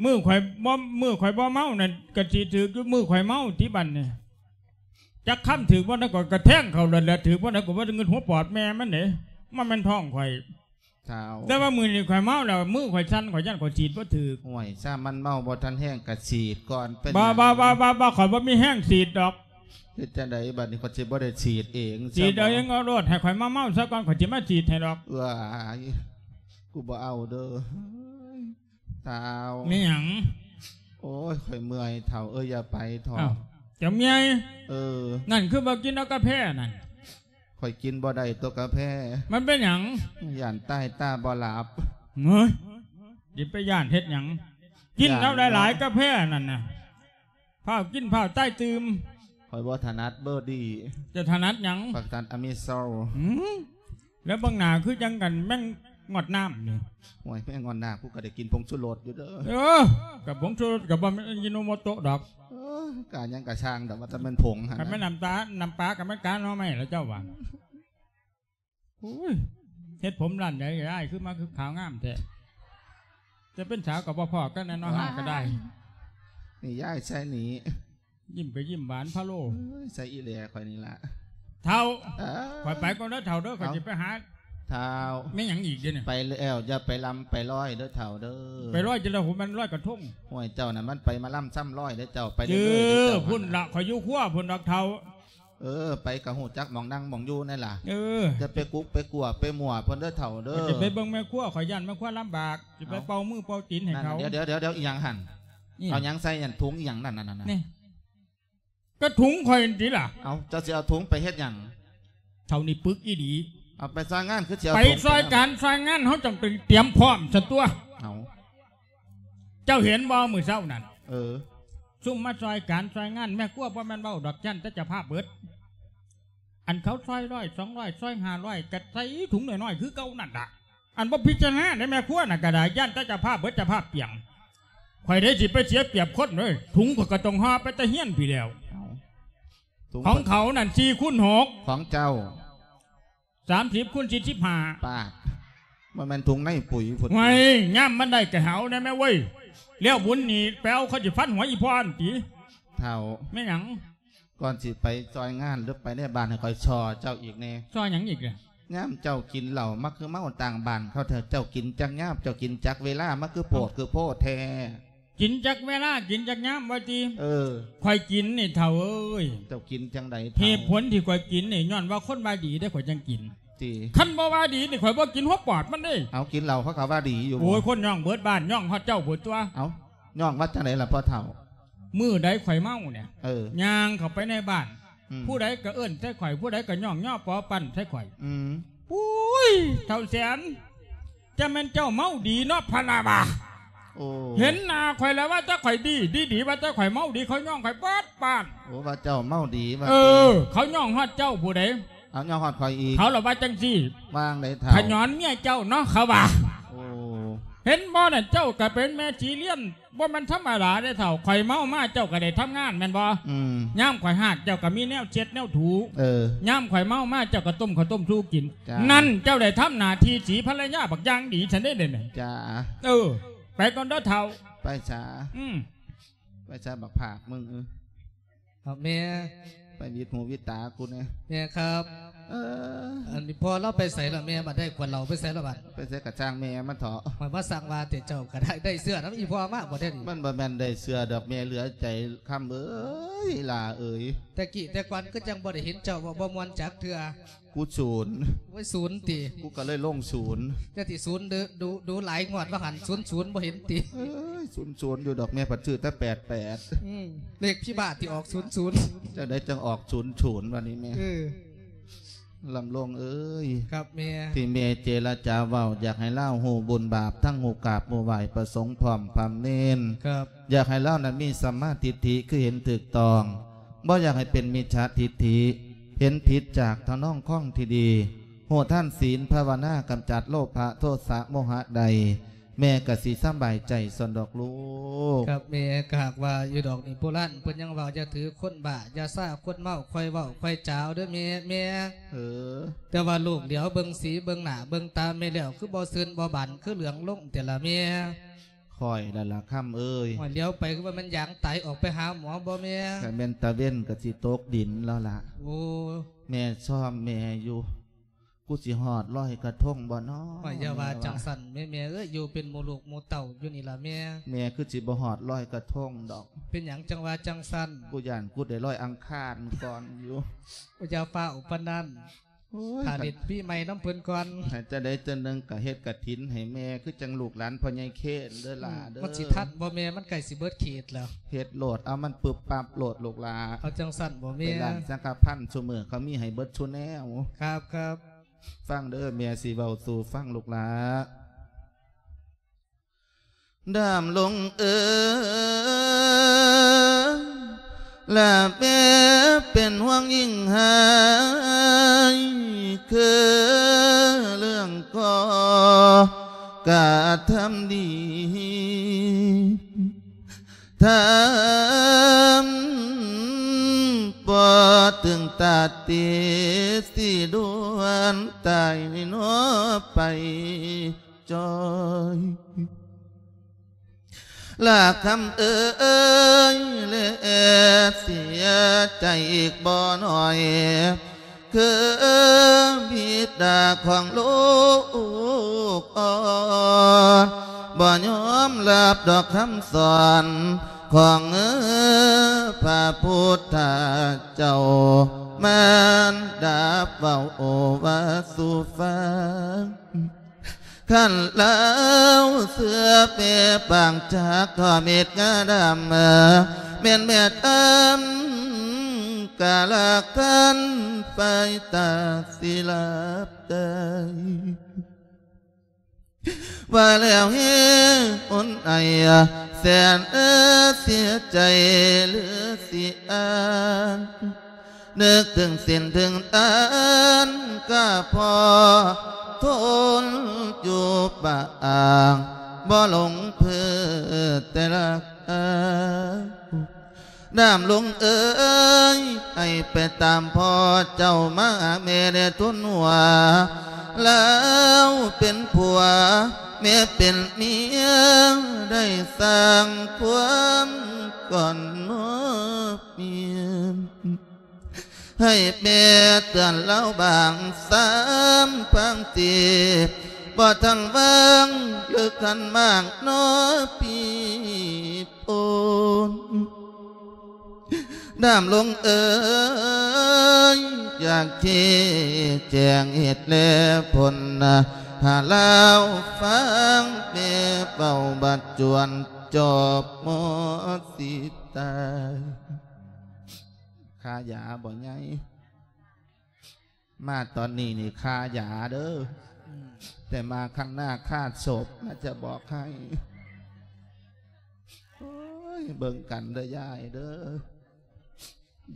ມື້ຂ້ອຍບໍ່ ມື້ຂ້ອຍບໍ່ເມົານັ້ນກໍສີດຖືກຢູ່ ມື້ຂ້ອຍເມົາຕິ ບາດນີ້ຈັກຄຳຖືກບໍ່ນະ ກໍກະແທງເຂົ້າໂລດແຫຼະ ຖືກບໍ່ນະ ກໍບໍ່ໄດ້ເງິນຫົວປອດແມ່ມັນເດ້ ມັນແມ່ນທ້ອງຂ້ອຍ. ທ້າວ ແຕ່ວ່າມື້ນີ້ຂ້ອຍເມົາແລ້ວ ມືຂ້ອຍສັ່ນ ຂ້ອຍຢ້ານຂ້ອຍສີດບໍ່ຖືກ. ໂອ້ຍ ຊ້ຳມັນເມົາບໍ່ທັນແຮງກະສີດກ່ອນ. ເປັນ ບໍ່ ຫຍັງ? ບໍ່ ບໍ່ ບໍ່ ຂ້ອຍບໍ່ມີແຮງສີດດອກ. ເຮັດຈັ່ງໃດບາດນີ້ ຂ້ອຍຊິບໍ່ໄດ້ສີດເອງ? ສີດເອົາເອງເອົາໂລດ ໃຫ້ຂ້ອຍມາເມົາຊະກ່ອນ ຂ້ອຍຊິມາສີດໃຫ້ດອກ. ເອີຍ ກູບໍ່ເອົາເດີ. ທ້າວ ມີຫຍັງ? ໂອ້ຍ ຂ້ອຍເມື່ອຍ ທ້າວເອີຍ ຢ່າໄປເຖາະ. ອ້າວ ເຈົ້າເມື່ອຍ? ເອີ ນັ້ນຄືບໍ່ກິນເອົາກາແຟນັ້ນ. ຂ້ອຍກິນບໍ່ໄດ້ຕົວະກາແຟ. ມັນເປັນຫຍັງ? ຢ້ານຕາຍຕາບໍ່ຫຼັບ. ເຮີ້ຍ ຊິໄປຢ້ານເຮັດຫຍັງ? ກິນເອົາຫຼາຍໆ ກາແຟນັ້ນນະ ຟ້າວກິນຟ້າວຕາຍຕື່ມ. ຂ້ອຍບໍ່ຖະໜັດເບີດີ້. ເຈົ້າຖະໜັດຫຍັງ? ຂ້ອຍຖະໜັດອາມິໂຊ. ຫືມ ແລ້ວເບິ່ງໜ້າຄືຈັ່ງກັນແມງງອດນ້ຳນີ້. ໂອ້ຍ ແມງງອດນ້ຳ ກູກໍໄດ້ກິນຜົງຊູລົດຢູ່ເດີ. ເອີ ກັບຜົງຊູລົດກໍບໍ່ແມ່ນອາຢິໂນໂມໂຕະດອກ. ເອີ ກະຫຍັງກະຊ່າງດອກ ວ່າແຕ່ແມ່ນຜົງຫັ້ນ. ຄັນແມ່ນນ້ຳຕາ ນ້ຳປາກໍແມ່ນກາໜໍ່ໄມ້ລະເຈົ້າວ່າ. ໂອ້ຍ ເຮັດຜົມຮ້ານໃດອ້າຍ ຄືມາຄືຂາວງາມແທ້. ຈະເປັນສາວກໍບໍ່ພໍ້ກັນແນ່ເນາະ ເຮົາກໍໄດ້. ນີ້ຍາຍໃສ່ນີ້. ຍິ້ມກໍຍິ້ມຫວານພະໂລ. ເອີຍ ໃສ່ອີແຫຼຂ້ອຍນີ້ລະ. ເຖົ້າ ເອີ ຂ້ອຍໄປກ່ອນເດີເຖົ້າເດີ ຂ້ອຍຊິໄປຫາ. ເຖົ້າ ແມ່ນຫຍັງອີກເດນີ້? ໄປແລ້ວຢ່າໄປລຳໄປລອຍເດີເຖົ້າເດີ. ໄປລອຍຈັ່ງໃດ ໂຫ ແມ່ນລອຍກະທົງ. ໂອ້ຍ ເຈົ້ານັ້ນມັນໄປມາລຳຊຳລອຍເດີເຈົ້າ. ໄປເລື້ອຍໆເດີເຈົ້າ. ພຸ້ນລະ ຂ້ອຍຢູ່ຄົວພຸ້ນດອກເຖົ້າ. ເອີ ໄປກະຮູ້ຈັກໝ່ອງນັ່ງໝ່ອງຢູ່ແນ່ລະ. ເອີ ຢ່າໄປກຸກໄປກົວໄປມົວເພິ່ນເດີເຖົ້າເດີ. ຂ້ອຍຊິໄປເບິ່ງແມ່ຄົວ ຂ້ອຍຢ້ານແມ່ຄົວລຳບາກ ຊິໄປເປົ່າມືເປົ່າຕີນໃຫ້ເຂົາ. ດຽວໆໆ ອີຫຍັງຫັ້ນ? ອີຫຍັງ? ເອົາຫຍັງໃສ່ຫັ້ນ ຖົງອີຫຍັງນັ້ນ? ນີ້ ກະຖົງຂ້ອຍຫັ້ນຕິລະ. ເອົາ ເຈົ້າຊິເອົາຖົງໄປເຮັດຫຍັງ? ເຖົ້ານີ້ປຶກອີ່ຫຼີ. ເອົາໄປຊ່ອຍງານ ຄືຊິເອົາ ໄປຊ່ອຍການຊ່ອຍງານ ເຮົາຕ້ອງໄປຕຽມພ້ອມຊັ້ນຕົວະ. ເອົາ ເຈົ້າເຫັນບໍ່ມື້ເຊົ້ານັ້ນ? ເອີ ຊຸມມາຊ່ອຍການຊ່ອຍງານ ແມ່ຄົວບໍ່ແມ່ນເວົ້າດອກ ຢ້ານແຕ່ເຈົ້າພາບເບິດ. ອັນເຂົາຊອຍຮ້ອຍສອງຮ້ອຍ ຊອຍຫ້າຮ້ອຍ ກໍໃສ່ຖົງນ້ອຍໆຄືເກົ່ານັ້ນລະ. ອັນບໍ່ພິຈາລະນາໃນແມ່ຄົວນະກໍໄດ້ ຢ້ານແຕ່ເຈົ້າພາບເບີດເຈົ້າພາບປ່ຽງ. ຂ້ອຍເດ້ຊິໄປເສຍປຽບຄົນເດ້ ຖົງຂ້ອຍກໍຕ້ອງຫໍ່ໄປແຕ່ເຮືອນພຸ້ນແລ້ວ. ເອົ້າ ຂອງເຂົານັ້ນສີ່ຄູນຫົກ ຂອງເຈົ້າ ສາມສິບຄູນສີ່ສິບຫ້າ. ປາດ ບໍ່ແມ່ນຖົງໃນປຸຍພຸ້ນ. ໂອ້ຍ ຍາມມັນໄດ້ກໍເອົາແດ່ແມ່ເວີຍ. ແລ້ວບຸນນີ້ໄປເອົາ ເຂົາຊິຟັນຫົວອີ່ພໍ່ຫັ້ນຕິ. ເຖົ້າ ແມ່ນຫຍັງ? ກ່ອນຊິໄປຊ່ອຍງານ ຫຼືໄປໃນບ້ານ ໃຫ້ຂ້ອຍສໍ່ເຈົ້າອີກແດ່. ສໍ່ຫຍັງອີກລະ? ຍາມເຈົ້າກິນເຫຼົ້າ ມັກຄືເມົາຕ່າງບ້ານເຂົາແທ້. ເຈົ້າກິນຈັກຍາມ ເຈົ້າກິນຈັກເວລາ ມັກຄືໂພດຄືໂພດແທ້. ກິນຈັກເວລາ ກິນຈັກຍາມວ່າຕິ? ເອີ ຂ້ອຍກິນນີ້ເຖົ້າເອີຍ. ເຈົ້າກິນຈັ່ງໃດເຖົ້າ? ເຫດຜົນທີ່ຂ້ອຍກິນນີ້ ຍ້ອນວ່າຄົນວ່າດີເດ້ ຂ້ອຍຈັ່ງກິນ. ຕິ? ຄັນບໍ່ວ່າດີນີ້ ຂ້ອຍບໍ່ກິນຫົວປອດມັນເດ້. ເອົາ ກິນເຫຼົ້າເຂົາກໍວ່າດີຢູ່. ໂອ້ຍ ຄົນຍ້ອງເບີດບ້ານ ຍ້ອງຮອດເຈົ້າພຸ້ນຕົວະ. ເອົາ ຍ້ອງວ່າຈັ່ງໃດລະພໍ່ເຖົ້າ? ມື້ໃດຂ້ອຍເມົານີ້ ເອີ ຍ່າງເຂົ້າໄປໃນບ້ານ ອືມ ຜູ້ໃດກໍເອີ້ນໃສ່ຂ້ອຍ ຜູ້ໃດກໍຍ້ອງຍໍປໍປັ່ນໃສ່ຂ້ອຍ. ອືມ ໂອ້ຍ ເຖົ້າແສນ ຈະແມ່ນເຈົ້າເມົາດີເນາະ ພະນາວ່າ. ໂອ້ ເຫັນໜ້າຂ້ອຍແລ້ວວ່າແຕ່ຂ້ອຍດີ ດີໆ ວ່າແຕ່ຂ້ອຍເມົາດີ ເຂົາຍ້ອງຂ້ອຍເບິດບ້ານ. ໂອ້ ວ່າເຈົ້າເມົາດີວ່າ. ເອີ ເຂົາຍ້ອງຮອດເຈົ້າຜູ້ໃດ? ເອົາ ຍ້ອງຮອດຂ້ອຍອີກ. ເຂົາລະວ່າຈັ່ງຊີ້. ວ່າຈັ່ງໃດເຖົ້າ? ຂະຫຍອນເມຍເຈົ້າເນາະ ເຂົາວ່າ. ໂອ້ ເຫັນບໍ່ນັ້ນ ເຈົ້າກໍເປັນແມ່ສີລຽນ ບໍ່ແມ່ນທຳມະດາເດ້ເຖົ້າ. ຂ້ອຍເມົາມາ ເຈົ້າກໍໄດ້ທຳງານແມ່ນບໍ່? ອືມ ຍາມຂ້ອຍຮາກ ເຈົ້າກໍມີແນວເຊັດແນວຖູ. ເອີ ຍາມຂ້ອຍເມົາມາ ເຈົ້າກໍຕົ້ມເຂົ້າຕົ້ມສູ່ກິນ. ຈ້າ ນັ້ນ ເຈົ້າໄດ້ທຳໜ້າທີ່ສີພັນລະຍາບັກຢ່າງດີຊັ້ນເດ້ເດ. ຈ້າ ເອີ ໄປກ່ອນເດີເຖົ້າ. ໄປສາ. ອືມ ໄປສາບັກຜາກມຶງ. ເອີ ຄັບແມ່. ໄປຫວີດຫູຫວີດຕາກູແດ່. ແມ່ຄັບ. ເອີ ອັນນີ້ພໍ່ລາວໄປໃສລະແມ່? ບັດໄດ້ຂວດເຫຼົ້າໄປໃສລະບັດ? ໄປໃສກະຊ່າງແມ່ມັນເຖາະ. ຂ້ອຍມາສັ່ງວ່າແຕ່ເຈົ້າກະໄດ້ ໄດ້ເສື້ອນຳອີ່ພໍ່ມາບໍ່ແທ້ນີ້? ມັນບໍ່ແມ່ນໄດ້ເສື້ອດອກແມ່ ເຫຼືອໃຈຄຳເອີຍ ຫຼ້າເອີຍ. ແຕ່ກີ້ແຕ່ກ່ອນຄືຈັ່ງບໍ່ໄດ້ເຫັນເຈົ້າເວົ້າບໍ່ມ່ວນຈັກເທື່ອ. ກູສູນ. ໂອ້ຍ ສູນຕິ? ກູກໍເລີຍລົງສູນ. ຢ່າຕິສູນດູ ດູ ດູຫຼາຍ ງວດວ່າຫັ້ນສູນສູນບໍ່ເຫັນຕິ? ເອີຍ ສູນສູນຢູ່ດອກ ແມ່ພັດຊື້ແຕ່ແປດແປດ. ອືມ ເລກພິບາດທີ່ອອກສູນສູນ. ຈັ່ງໃດຈັ່ງອອກສູນສູນ ວ່ານີ້ແມ່. ເອີ ລຳລົງເອີຍ. ຄັບແມ່. ທີ່ແມ່ເຈລະຈາເວົ້າ ຢາກໃຫ້ລາວຮູ້ບຸນບາບ ທັງຮູ້ກາບຮູ້ໄຫວ້ພະສົງພ້ອມພະເນນ. ຄັບ. ຢາກໃຫ້ລາວນັ້ນມີສຳມາທິດຖິ ຄືເຫັນຖືກຕ້ອງ, ບໍ່ຢາກໃຫ້ເປັນມິດສາທິດຖິ, ເຫັນຜິດຈາກທຳນອງຄອງທີ່ດີ, ຮູ້ທານສິນພາວະນາ ກຳຈັດໂລພະໂທສະໂມຫະໄດ້, ແມ່ກໍຊິສະບາຍໃຈສ່ວນດອກລູກ. ຄັບແມ່. ກໍຫາກວ່າຢູ່ດອກນີ້ ໂບລານເພິ່ນຍັງເວົ້າ ຢ່າຖືຄົນບ້າ, ຢ່າຊາຄົນເມົາ, ຄ່ອຍເວົ້າຄ່ອຍຈາເດີ້ແມ່, ແມ່. ເອີ. ແຕ່ວ່າລູກຫຼຽວເບິ່ງສີເບິ່ງໜ້າເບິ່ງຕາແມ່ແລ້ວ ຄືບໍ່ຊື່ນບໍ່ບານ ຄືເຫຼືອງລົງແຕ່ລະແມ່. ຂ້ອຍລະລະຄຳເອີຍ. ໂອ້ຍ ຫຼຽວໄປຄືວ່າແມ່ນຢາງຕາຍ ອອກໄປຫາໝໍບໍ່ແມ່? ຄັນແມ່ນຕາເວັນກໍຊິຕົກດິນແລ້ວລະ. ໂອ້ ແມ່ຊອມແມ່ຢູ່. ກູຊິຮອດລອຍກະທົງບໍ່ນໍ? ໂອ້ຍ ຢ່າວ່າຈັ່ງຊັ້ນແມ່, ແມ່ເອີຍ, ຢູ່ເປັນໝູ່ລູກໝູ່ເຕົ້າຢູ່ນີ້ລະແມ່. ແມ່ຄືຊິບໍ່ຮອດລອຍກະທົງດອກ. ເປັນຫຍັງຈັ່ງວ່າຈັ່ງຊັ້ນ? ກູຢ້ານກູໄດ້ລອຍອັງຄານກ່ອນຢູ່. ໂອ້ຍ ຢ່າຟ້າວປານນັ້ນ. ໂອ້ຍ ຖ້າເລັດປີໃໝ່ນຳເພິ່ນກ່ອນ. ໃຫ້ຈັ່ງໃດຈັ່ງໜຶ່ງກໍເຮັດກະຖິນໃຫ້ແມ່ ຄືຈັ່ງລູກຫຼານພໍ່ໃຫຍ່ເຄນເດີ້ຫຼ້າເດີ້. ອືມ ມັນຊິທັນບໍ່ແມ່? ມັນໃກ້ຊິເບິດເຂດແລ້ວ. ເຮັດໂລດ ເອົາມັນປຶບປັບໂລດລູກຫຼ້າ. ເອົາຈັ່ງຊັ້ນບໍ່ແມ່? ໄປຮ້ານສັງຄະພັນ ຊຸມື້ເຂົາມີໃຫ້ເບິດຊຸແນວ. ຄັບ ຄັບ. ຟັງເດີ້ ແມ່ຊິເວົ້າສູ່ຟັງລູກຫຼ້າ. ດຳລົງເອີຍ ລະແມ່ເປັນຫ່ວງຍິ່ງຫາຍ ຄືເລື່ອງກໍກະທຳດີ ທຳບໍ່ເຖິງຕາຕິ ຊິດ່ວນຕາຍໜໍໄປ. ຈ້ອຍ ລະຄຳເອີຍ ແລະເສຍໃຈອີກບໍ່ໜ້ອຍ ຄືບິດາຂອງລູກອ່ອນ ບໍ່ຍອມຮັບດອກຄຳສອນຂອງພະພຸດທະເຈົ້າ ມານດາເວົ້າວ່າສູ່ຟັງ. ຄັນລາວເຊື່ອແມ່ປາງຈາກທອດເມັດງາດຳ ແມ່ນແມ່ທຳກາລະຄັນໄຟຕາສິຫຼັບຕາຍ ວ່າແລ້ວເຮອຸ່ນໄອ ແສນເອີ ເສຍໃຈຫຼືຊິອ່ານ ນຶກເຖິງສິນເຖິງທານ ກະພໍທົນຢູ່ປາງ ບໍ່ຫຼົງເພີແຕ່ລະກາວ. ດຳລົງເອີຍ ໃຫ້ໄປຕາມພໍ່ເຈົ້າມາ ແມ່ໄດ້ທູນຫົວ ລາວເປັນຜົວ ແມ່ເປັນເມຍ ໄດ້ສ້າງຄວາມກ່ອນມອບເມຍ ໃຫ້ແມ່ເຕືອນລາວບາງສາມພັງສີ່ ບໍ່ທັນວາງເລີກຂັນໝາກນໍ ພີ່ໂອນ. ດຳລົງເອີຍ ຢາກຊີ້ແຈງເຫດແລຜົນ ໃຫ້ລາວຟັງ ແມ່ເວົ້າບັດຈວນຈອບໝໍຊິຕາຍ. ຄ່າຢາບໍ່ໃຫຍ່ ມາຕອນນີ້ນີ້ຄ່າຢາເດີ້ ອືມ ແຕ່ມາຄັ້ງໜ້າຄ່າສົບນະ ຈະບອກໃຫ້. ໂອ້ຍ ເບິ່ງກັນເດີ້ຍາຍເດີ້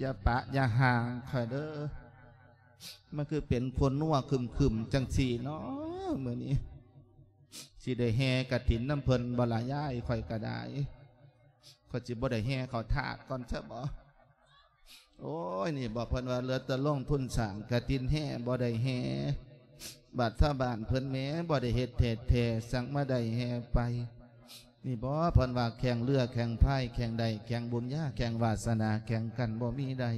ຢ່າປະຢ່າຫ່າງຂ້ອຍເດີ້. ມັນຄືເປັນຄົນນົວຄຶມໆ ຈັ່ງຊີ້ເນາະ ມື້ນີ້ ຊິໄດ້ແຫ່ກະຖິນນຳເພິ່ນບໍ່ລະຍາຍ? ຂ້ອຍກະໄດ້ ຂ້ອຍຊິບໍ່ໄດ້ແຫ່ເຂົ້າທາດກ່ອນຊະບໍ? ໂອ້ຍ ນີ້ບໍ ເພິ່ນວ່າເຫຼືອແຕ່ລົງທຶນສ້າງກະຖິນ ແຫ່ບໍ່ໄດ້ແຫ່ ບາດຊາວບ້ານເພິ່ນແໝ່ບໍ່ໄດ້ເຮັດແທ້ໆ ສັງມາໄດ້ແຫ່ໄປ. ນີ້ບໍ ເພິ່ນວ່າແຂ່ງເຮືອແຂ່ງພາຍ ແຂ່ງໄດ້ແຂ່ງບຸນຍາ ແຂ່ງວາສະໜາ ແຂ່ງກັນບໍ່ມີໄດ້.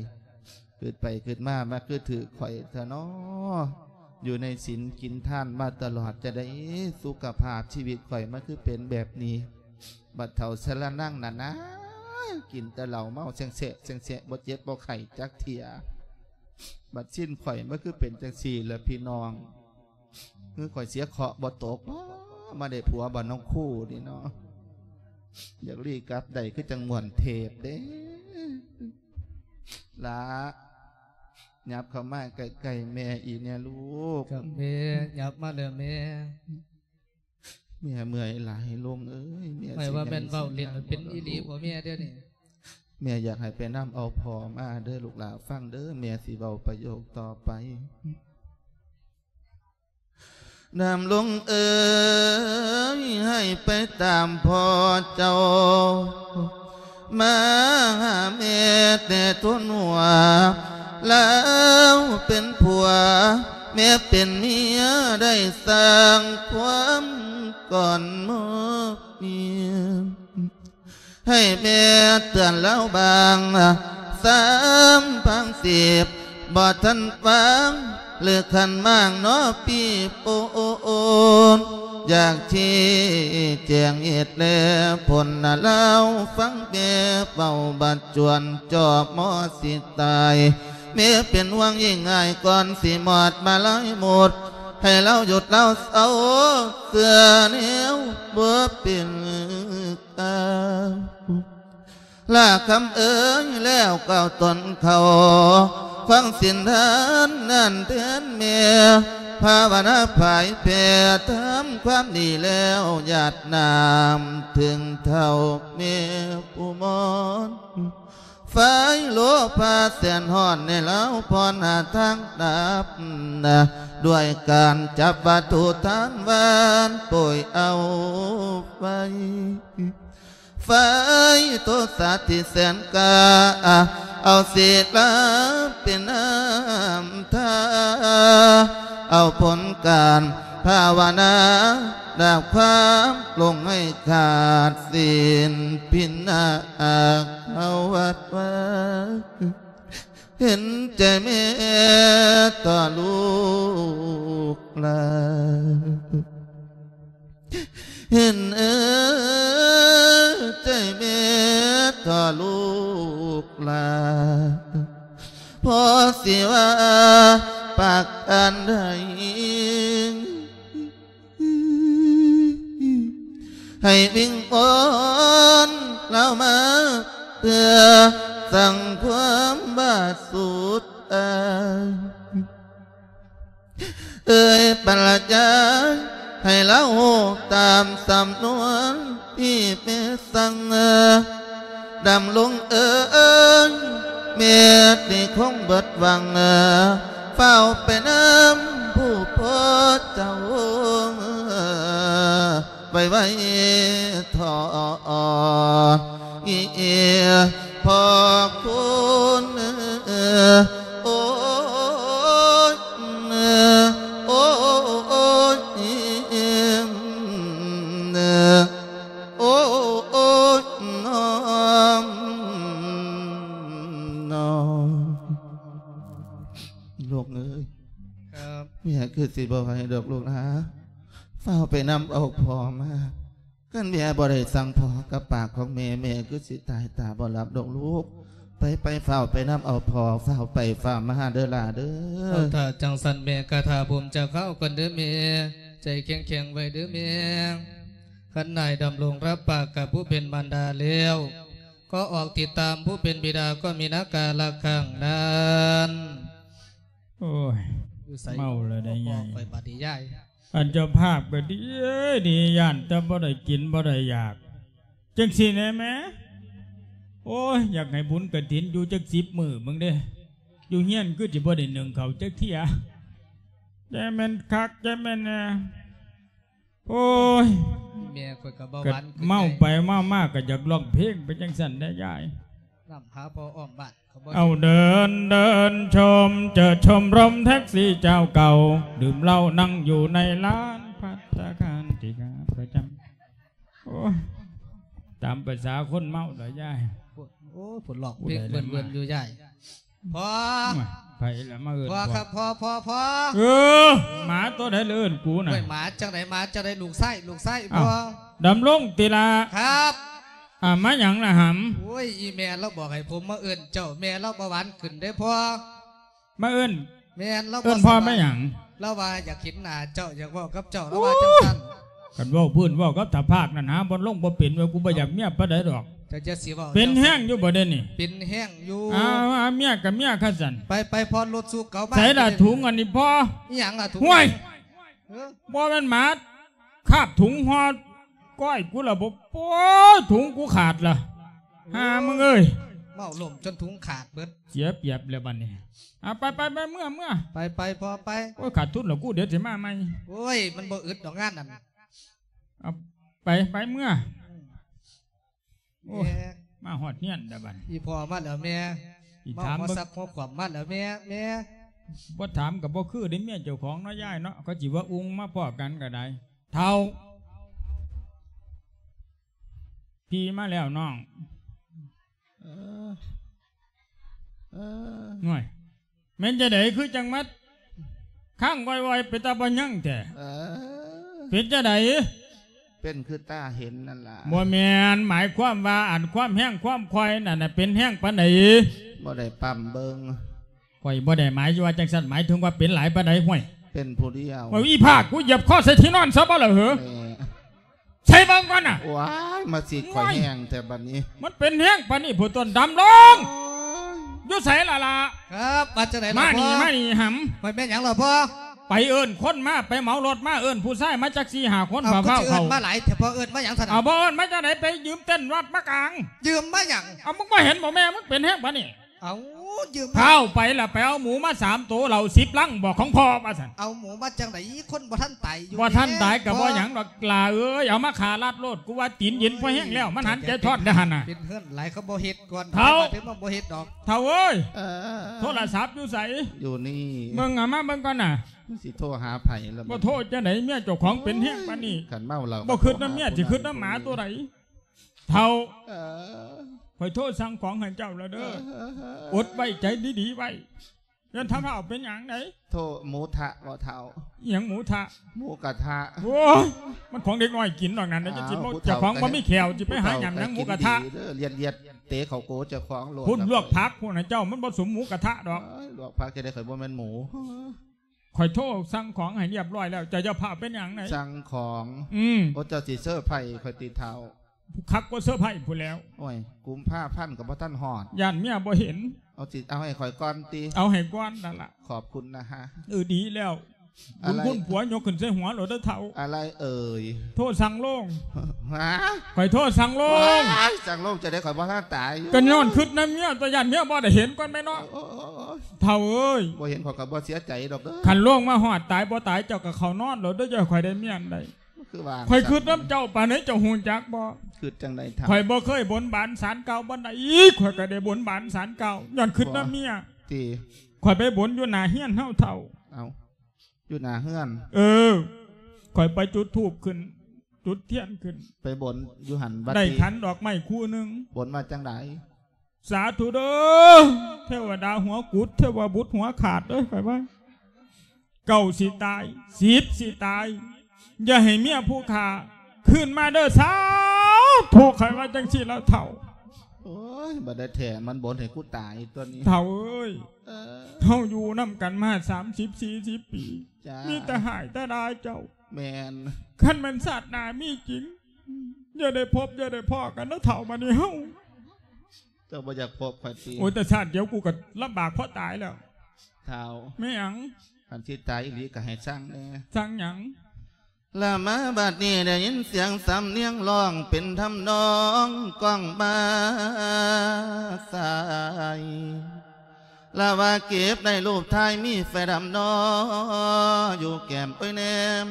ຄິດໄປຄິດມາ ມາຄືຖືກຂ້ອຍແທ້ນໍ ຢູ່ໃນສິນກິນທານມາຕະຫຼອດ ຈະໄດ້ສຸຂະພາບຊີວິດຂ້ອຍມາຄືເປັນແບບນີ້. ບັດເຖົ້າຊະລະນັງນັ້ນນາ ກິນແຕ່ເຫຼົ້າເມົາແຊງແຊະແຊງແຊະ ບໍ່ເຈັບບໍ່ໄຂ້ຈັກເທື່ອ. ບັດຊິນຂ້ອຍມັນຄືເປັນຈັ່ງຊີ້ລະພີ່ນ້ອງ. ຄືຂ້ອຍເສຍເຄາະບໍ່ຕົກບໍ ມາໄດ້ຜົວບ້ານນ້ອງຄູນີ້ເນາະ. ຢາກລີກັບໄດ້ຄືຈັ່ງມ່ວນເທບເດ້. ຫຼ້າ ຫຍັບເຂົ້າມາໃກ້ໆແມ່ອີກແດ່ລູກ. ຄັບແມ່ ຫຍັບມາແລ້ວແມ່. ແມ່ເມື່ອຍຫຼາຍລຸງເອີຍ ແມ່ ຂ້ອຍວ່າແມ່ນເວົ້າເລ່ນ ເປັນອີ່ຫຼີບໍ່ແມ່ດຽວນີ້? ແມ່ຢາກໃຫ້ໄປນຳເອົາພໍ່ມາເດີ້ລູກຫຼ້າ ຟັງເດີ້ ແມ່ຊິເວົ້າປະໂຫຍກຕໍ່ໄປ. ດຳລົງເອີຍ ໃຫ້ໄປຕາມພໍ່ເຈົ້າ ມາຫາແມ່ແຕ່ທົນຫົວ ລາວເປັນຜົວ ແມ່ເປັນເມຍ ໄດ້ສ້າງຄວາມກ່ອນມອບເມຍ ໃຫ້ແມ່ເຕືອນລາວບາງສາມພັງສິບ ບໍ່ທັນວາງ ຫຼືຂັນໝາກນໍ ພີ່ໂອນ. ຢາກຊີ້ແຈງເຫດແລຜົນ ລາວຟັງແມ່ເວົ້າ ບັດຈວນຈອບໝໍຊິຕາຍ ແມ່ເປັນຫ່ວງຍິ່ງອ້າຍ ກ່ອນຊິໝອດມາລາຍໝົດ ໃຫ້ລາວຢຸດລາວເຊົາ ເຊື່ອແນວບໍ່ເປັນກາວ. ລາຄຳເອີຍ ແລ້ວກ່າວຕົນເຂົ້າ ຟັງສິນທານນັ້ນແທນແມ່ ພາວະນາຜາຍແຜ່ ທຳຄວາມດີແລ້ວ ຢາດນ້ຳເຖິງເທົ້າແມ່ຜູ້ມອນ ໄຟໂລພາແສນຮ້ອນ ໃນລາວພອນຫາທາງດັບ ດ້ວຍການຈັບວັດຖຸທານຫວານ ໂປຍເອົາໄຟ ໄຟໂທສາທີ່ແສນກ້າ ເອົາສີລາເປັນນ້ຳທາ ເອົາຜົນການພາວະນາ ດາບຄວາມຫຼົງໃຫ້ຂາດສິ້ນພິນາອາກເອົາວັດວາ ເຫັນໃຈແມ່ຕໍ່ລູກຫຼານ ເຫັນໃຈແມ່ຕໍ່ລູກຫຼານ ພໍຊິວ່າປາກອັນໃດ ໃຫ້ວິງວອນລາວມາ ເພື່ອສ້າງຄວາມບາດສຸດອາຍ ເອີຍພະລະຍາ ໃຫ້ລາວຮູ້ຕາມສຳນວນທີ່ແມ່ສັ່ງ ດຳລົງເອີຍ ເມດນີ້ຄົງເບິດຫວັງ ຟ້າວໄປນຳຜູ້ພໍ່ເຈົ້າ ໄວໆເຖາະ ອີ ພໍ່ຄຸນ ໂອ້ຍ ໂອ້ຍ ໂອ້ຍ ໂອ້ຍ ນ້ອງ ນ້ອງ ລູກເອີຍ ຄັບ ແມ່ຄືຊິບໍ່ໄຫວດອກລູກຫຼາ ຟ້າວໄປນຳເອົາພໍ່ມາ ຄັນແມ່ບໍ່ໄດ້ສັ່ງພໍ່ກັບປາກຂອງແມ່ ແມ່ຄືຊິຕາຍຕາບໍ່ຫຼັບດອກລູກ ໄປໆ ຟ້າວໄປນຳເອົາພໍ່ ຟ້າວໄປຟ້າວມາເດີຫຼ້າເດີ. ເອົາ ຖ້າຈັ່ງຊັ້ນແມ່ກະຖ້າຜົມຈັກຄາວກ່ອນເດີແມ່ ໃຈແຂງໆ ໄວ້ເດີແມ່. ຄັນນາຍດຳລົງຮັບປາກກັບຜູ້ເປັນມານດາແລ້ວ ກໍອອກຕິດຕາມຜູ້ເປັນບິດາກໍມີນາກາລະຄັງນັ້ນ. ໂອ້ຍ ຢູ່ໃສ ເມົາແລ້ວໄດ໋ຍາຍ ຂ້ອຍບາດນີ້ຍາຍ. ອັນເຈົ້າພາບກໍດີ ເອີຍ ດີ ຢ້ານແຕ່ບໍ່ໄດ້ກິນບໍ່ໄດ້ຢາກ ຈັ່ງຊີ້ແນ່ແມ່. ໂອ້ຍ ຢາກໃຫ້ບຸນກະຖິນຢູ່ຈັກສິບມື້ເບິ່ງເດ້ ຢູ່ເຮືອນຄືຊິບໍ່ໄດ້ໜຶ້ງເຂົ້າຈັກເທື່ອ ແຕ່ແມ່ນຄັກ ແຕ່ແມ່ນແນ່. ໂອ້ຍ ແມ່ຂ້ອຍກໍເບົາຫວານຂຶ້ນ ເມົາໄປເມົາມາກໍຢາກຮ້ອງເພງໄປຈັ່ງຊັ້ນແດ່ຍາຍ. ນຳຫາພໍ່ອ້ອມບ້ານ ເອົາເດີນເດີນຊົມ ເຈີຊົມລົມແທັກຊີເຈົ້າເກົ່າ ດື່ມເຫຼົ້ານັ່ງຢູ່ໃນລານພັດຕາຄານທີ່ຂ້າພະເຈົ້າ. ໂອ້ຍ ຕາມປະສາຄົນເມົາດອກຍາຍ. ໂອ້ຍ ຜູ້ຮ້ອງເພງເວີນໆຢູ່ຍາຍ. ພໍ່ ໂອ້ຍ ໃຜລະມາເອີ້ນພໍ່? ພໍ່ຄັບ ພໍ່ ພໍ່ ພໍ່ ເອີ ໝາຕົວໃດລະເອີ້ນກູນະ? ໂອ້ຍ ໝາຈັ່ງໃດ ໝາຈັ່ງໃດ ລູກຊາຍ ລູກຊາຍ. ອ້າວ ພໍ່ ດຳລົງຕິລະ? ຄັບ. ອ່າ ມາຫຍັງລະຫຳ? ໂອ້ຍ ອີ່ແມ່ລາວບອກໃຫ້ຜົມມາເອີ້ນເຈົ້າ ແມ່ລາວເບົາຫວານຂຶ້ນເດ້ພໍ່. ມາເອີ້ນ ແມ່ນ ລາວ ເອີ້ນພໍ່ມາຫຍັງ? ລາວວ່າຢາກເຫັນໜ້າເຈົ້າ ຢາກເວົ້າກັບເຈົ້າ ລາວວ່າຈັ່ງຊັ້ນ. ຄັນເວົ້າພື້ນເວົ້າກັບຕາພາກນັ້ນ ຫາບ່ອນລົງບໍ່ເປັນເວີຍ ກູບໍ່ຢາກເມຍປານໃດດອກ. ເຈົ້າຈະຊິເວົ້າ ເປັນແຮງຢູ່ບໍ່ເດນີ້? ເປັນແຮງຢູ່. ອ້າວ ເມຍກໍເມຍຄັນຊັ້ນ. ໄປໆ ພໍລົດສູ່ເກົ່າມາ. ໃສລະຖົງອັນນີ້ພໍ່? ອີຫຍັງລະຖົງ? ຫ້ວຍ ເອີ ບໍ່ແມ່ນໝາ ຄາບຖົງຫໍ່ກ້ອຍກູລະບໍ່. ໂອ້ຍ ຖົງກູຂາດລະ ໂອ້ຍ ຫາມຶງເອີຍ ເມົາລົມຈົນຖົງຂາດເບິດ. ເສຍປຽບແລ້ວບັດນີ້. ເອົາ ໄປໆ ໄປ ເມືອ ເມືອ ໄປໆ ພໍ່ໄປ. ໂອ້ຍ ຂາດທຶນແລ້ວກູ ດຽວຊິມາໃໝ່. ໂອ້ຍ ມັນບໍ່ອຶດດອກງານນັ້ນ. ເອົາ ໄປ ໄປ ເມືອ. ອືມ ໂອ້ຍ ແມ່ ມາຮອດເຮືອນແລ້ວບັດ. ອີ່ພໍ່ມາແລ້ວແມ່. ອີ່ຖາມ ມາຫົວສັກຫົວຂວາມມາແລ້ວແມ່ ແມ່. ບໍ່ຖາມກໍບໍ່ຄືເດ້ ເມຍເຈົ້າຂອງເນາະຍາຍເນາະ ເຂົາຊິວ່າອຸ່ງມາພໍ້ກັນກໍໄດ້. ເຖົ້າ ພີ່ມາແລ້ວນ້ອງ. ເອີ ເອີ ໂອ້ຍ ແມ່ນຈັ່ງໃດຄືຈັ່ງມາຄ້າງໄວ້ໆ ເປັນຕາບໍ່ຍັງແທ້? ເອີ ເປັນຈັ່ງໃດ? ເປັນຄືຕາເຫັນນັ້ນລະ. ບໍ່ແມ່ນ ໝາຍຄວາມວ່າ ອັນຄວາມແຮງຄວາມຄ່ອຍນັ້ນນະ ເປັນແຮງປານໃດ? ບໍ່ໄດ້ປ້ຳເບິ່ງ. ຂ້ອຍບໍ່ໄດ້ໝາຍວ່າຈັ່ງຊັ້ນ ໝາຍເຖິງວ່າເປັນຫຼາຍປານໃດ? ຫ້ວຍ ເປັນຜູ້ດຽວ. ໂອ້ຍ ອີພາກ ກູຢຽບຄໍໃສ່ທີ່ນອນຊະບໍ່ລະເຫີ? ແມ່ ໃສ່ເບິ່ງກ່ອນນະ. ວ້າຍ ມາຊິຂ້ອຍແຮງແທ້ບັດນີ້. ມັນເປັນແຮງປານນີ້ພຸ້ນຕົນ ດຳລົງ. ໂອ້ຍ ຢູ່ໃສລະລະ? ຄັບ ວ່າຈັ່ງໃດລະ? ມານີ້ ມານີ້ຫຳ. ໄປແມ່ນຫຍັງລະພໍ່? ໄປເອີ້ນຄົນມາ ໄປເໝົາລົດມາ ເອີ້ນຜູ້ຊາຍມາຈັກສີ່ຫ້າຄົນ. ເອົາ ຟ້າວໆ ຄືຊິເອີ້ນມາຫຼາຍແທ້ພໍ່ ເອີ້ນມາຫຍັງຊັ້ນນະ? ເອົາ ບໍ່ເອີ້ນມາຈັ່ງໃດ ໄປຢືມເຕັ້ນວັດມາກາງ. ຢືມມາຫຍັງ? ເອົາ ມຶງບໍ່ເຫັນບໍ່ ແມ່ມຶງເປັນແຮງປານນີ້? ເອົາ ຢືມມາ. ທ້າວໄປລະ ໄປເອົາໝູມາສາມໂຕ ເຫຼົ້າສິບລັງ ບອກຂອງພໍ່ວ່າຊັ້ນ. ເອົາໝູມາຈັ່ງໃດ ຄົນບໍ່ທັນຕາຍຢູ່. ບໍ່ທັນຕາຍກໍບໍ່ຫຍັງດອກຫຼ້າເອີຍ ເອົາມາຂ້າລາດໂລດ. ກູວ່າຕີນເຢັນພໍແຮງແລ້ວ ມັນຫັນໃຈທອດເດ້ຫັ້ນນະ. ເປັນເຮືອນຫຼາຍ ເຂົາບໍ່ເຮັດກ່ອນ. ທ້າວ ເຂົາມາເຖິງມາບໍ່ເຮັດດອກ. ທ້າວເອີຍ ເອີ ໂທລະສັບຢູ່ໃສ? ຢູ່ນີ້. ເບິ່ງ ເອົາມາເບິ່ງກ່ອນນະ. ມັນຊິໂທຫາໃຜລະ? ບໍ່ໂທຈັ່ງໃດ ເມຍເຈົ້າຂອງເປັນແຮງປານນີ້. ຄັນເມົາແລ້ວ ບໍ່ຄິດນຳເມຍ ຊິຄິດນຳໝາຕົວໃດ? ເຖົ້າ ເອີ ຂ້ອຍໂທສັ່ງຂອງໃຫ້ເຈົ້າແລ້ວເດີ. ເອີ ອົດໄວ້ ໃຈດີໆໄວ້. ຢ້ານທ້າວເຖົ້າເປັນຫຍັງໃດ? ໂທໝູທະບໍ່ເຖົ້າ? ອີຫຍັງໝູທະ? ໝູກະທະ. ໂອ້ຍ ມັນຂອງເດັກນ້ອຍກິນດອກນັ້ນ. ເຈົ້າຂອງບໍ່ມີແຂ້ວ ຊິໄປຫາຫຍັງ ໝູກະທະ. ລຽດໆ ເຕະເຂົ້າໂກເຈົ້າຂອງໂລດ. ພຸ້ນ ລວກຜັກພຸ້ນນະເຈົ້າ ມັນບໍ່ສົມໝູກະທະດອກ. ໂອ້ຍ ລວກຜັກຈັ່ງໃດ ຂ້ອຍບໍ່ແມ່ນໝູ. ຂ້ອຍໂທສັ່ງຂອງໃຫ້ຮຽບຮ້ອຍແລ້ວ ເຈົ້າຢ່າຟ້າວເປັນຫຍັງໃດ. ສັ່ງຂອງ? ອືມ. ໂອ້ ເຈົ້າຊິເຊີໄພຂ້ອຍຕິເຖົ້າ? ຄັກກວ່າເຊີໄພພຸ້ນແລ້ວ. ໂອ້ຍ ກຸມພາພັນກໍບໍ່ທັນຮອດ. ຢ້ານເມຍບໍ່ເຫັນ. ເອົາຊິເອົາໃຫ້ຂ້ອຍກ່ອນຕິ? ເອົາໃຫ້ກ່ອນນັ້ນລະ. ຂອບຄຸນນະຮະ. ເອີ ດີແລ້ວ. ບຸນຄຸນຜົວຍົກຂຶ້ນໃສ່ຫົວໂລດເດີເຖົ້າ. ອາໄລເອີຍ? ໂທດສັ່ງໂລງ. ຫາ? ຂ້ອຍໂທດສັ່ງໂລງ. ວ້າຍ ສັ່ງໂລງຈັ່ງໃດ ຂ້ອຍບໍ່ທັນຕາຍຢູ່. ກໍຍ້ອນຄຶດນຳເມຍ ຕົວະ ຢ້ານເມຍບໍ່ໄດ້ເຫັນກ່ອນແມ່ເນາະ. ໂອ້ຍ ເຖົ້າເອີຍ ບໍ່ເຫັນຂ້ອຍກໍບໍ່ເສຍໃຈດອກເດີ. ຄັນໂລງມາຮອດຕາຍບໍ່ຕາຍ ເຈົ້າກໍເຂົ້ານອນໂລດເດີ ຢ່າໃຫ້ຂ້ອຍໄດ້ເມຍໃດ. ຄືວ່າ ຂ້ອຍຄຶດນຳເຈົ້າປານໃດເຈົ້າຮູ້ຈັກບໍ່? ຄຶດຈັ່ງໃດເຖົ້າ? ຂ້ອຍບໍ່ເຄີຍບົນບານສານກ່າວບ່ອນໃດອີກ ຂ້ອຍກໍໄດ້ບົນບານສານກ່າວ ຍ້ອນຄຶດນຳເມຍ. ຕິ? ຂ້ອຍໄປບົນຢູ່ໜ້າເຮືອນເຮົາເຖົ້າ. ເອົ້າ ຢູ່ໜ້າເຮືອນ? ເອີ ຂ້ອຍໄປຈຸດທູບຂຶ້ນ ຈຸດທຽນຂຶ້ນ ໄປບົນຢູ່ຫັ້ນວ່າ ໄດ້ຂັນດອກໄມ້ຄູ່ໜຶ່ງ. ບົນວ່າຈັ່ງໃດ? ສາທຸເດີ ເທວະດາຫົວກຸດ ເທວະບຸດຫົວຂາດເດີ ຂ້ອຍວ່າ ເກົ້າຊິຕາຍ ສິບຊິຕາຍ ຢ່າໃຫ້ເມຍຜູ້ຂ້າຄືນມາເດີສາທຸ ຂ້ອຍວ່າຈັ່ງຊີ້ລະເຖົ້າ. ໂອ້ຍ ບັດໃດແທ້ມັນບົນໃຫ້ກູຕາຍຕົວະນີ້ ເຖົ້າເອີຍ. ເອີ ເຮົາຢູ່ນຳກັນມາສາມສິບສີ່ສິບປີ ຈ້າ ມີແຕ່ຮ້າຍແຕ່ດ່າເຈົ້າ. ແມ່ນ. ຄັນແມ່ນຊາດໜ້າມີຈິງ ຢ່າໄດ້ພົບຢ່າໄດ້ພໍ້ກັນເນາະເຖົ້າ ບາດນີ້ເຮົາ. ເຈົ້າບໍ່ຢາກພົບຂ້ອຍຕິ? ໂອ້ຍ ແຕ່ຊາດດຽວກູກໍລຳບາກພໍຕາຍແລ້ວ ທ້າວ. ແມ່ນຫຍັງ? ຄັນຊິຕາຍອີ່ຫຼີກໍໃຫ້ສັ່ງແດ່. ສັ່ງຫຍັງ? ລະມາບັດນີ້ໄດ້ຍິນສຽງສຳນຽງຮ້ອງເປັນທຳນອງກ້ອງມາສາຍ ລະວ່າເກັບໄດ້ຮູບຖ່າຍມີແຟດຳນໍ ຢູ່ແກ້ມໂອ້ຍແນມ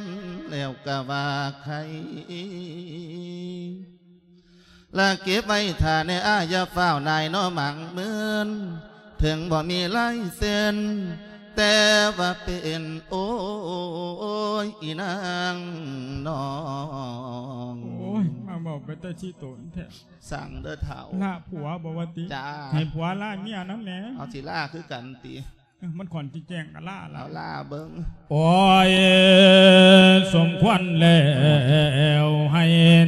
ແລ້ວກະວ່າໄຄ ລະເກັບໄວ້ຖ້າແນ່ອ້າຍ ຢ່າຟ້າວນາຍນໍ ໝັ້ງມື່ນ ເຖິງບໍ່ມີລາຍເຊັນ ແຕ່ວ່າເປັນ ໂອ້ຍ ອີນາງນ້ອງ. ໂອ້ຍ ມາເວົ້າເປັນຕາຂີ້ຕົນແທ້. ສັ່ງເດີທ້າວ. ລາຜົວບໍ່ວ່າຕິ? ຈ້າ. ໃຫ້ຜົວລາເມຍນຳແດ່. ເອົາ ຊິລາຄືກັນຕິ? ເອີ ມັນຂ້ອນຊິແຈ້ງກໍລາລະ. ເອົາ ລາເບິ່ງ. ໂອ້ຍ ສົມຄວນແລ້ວໃຫ້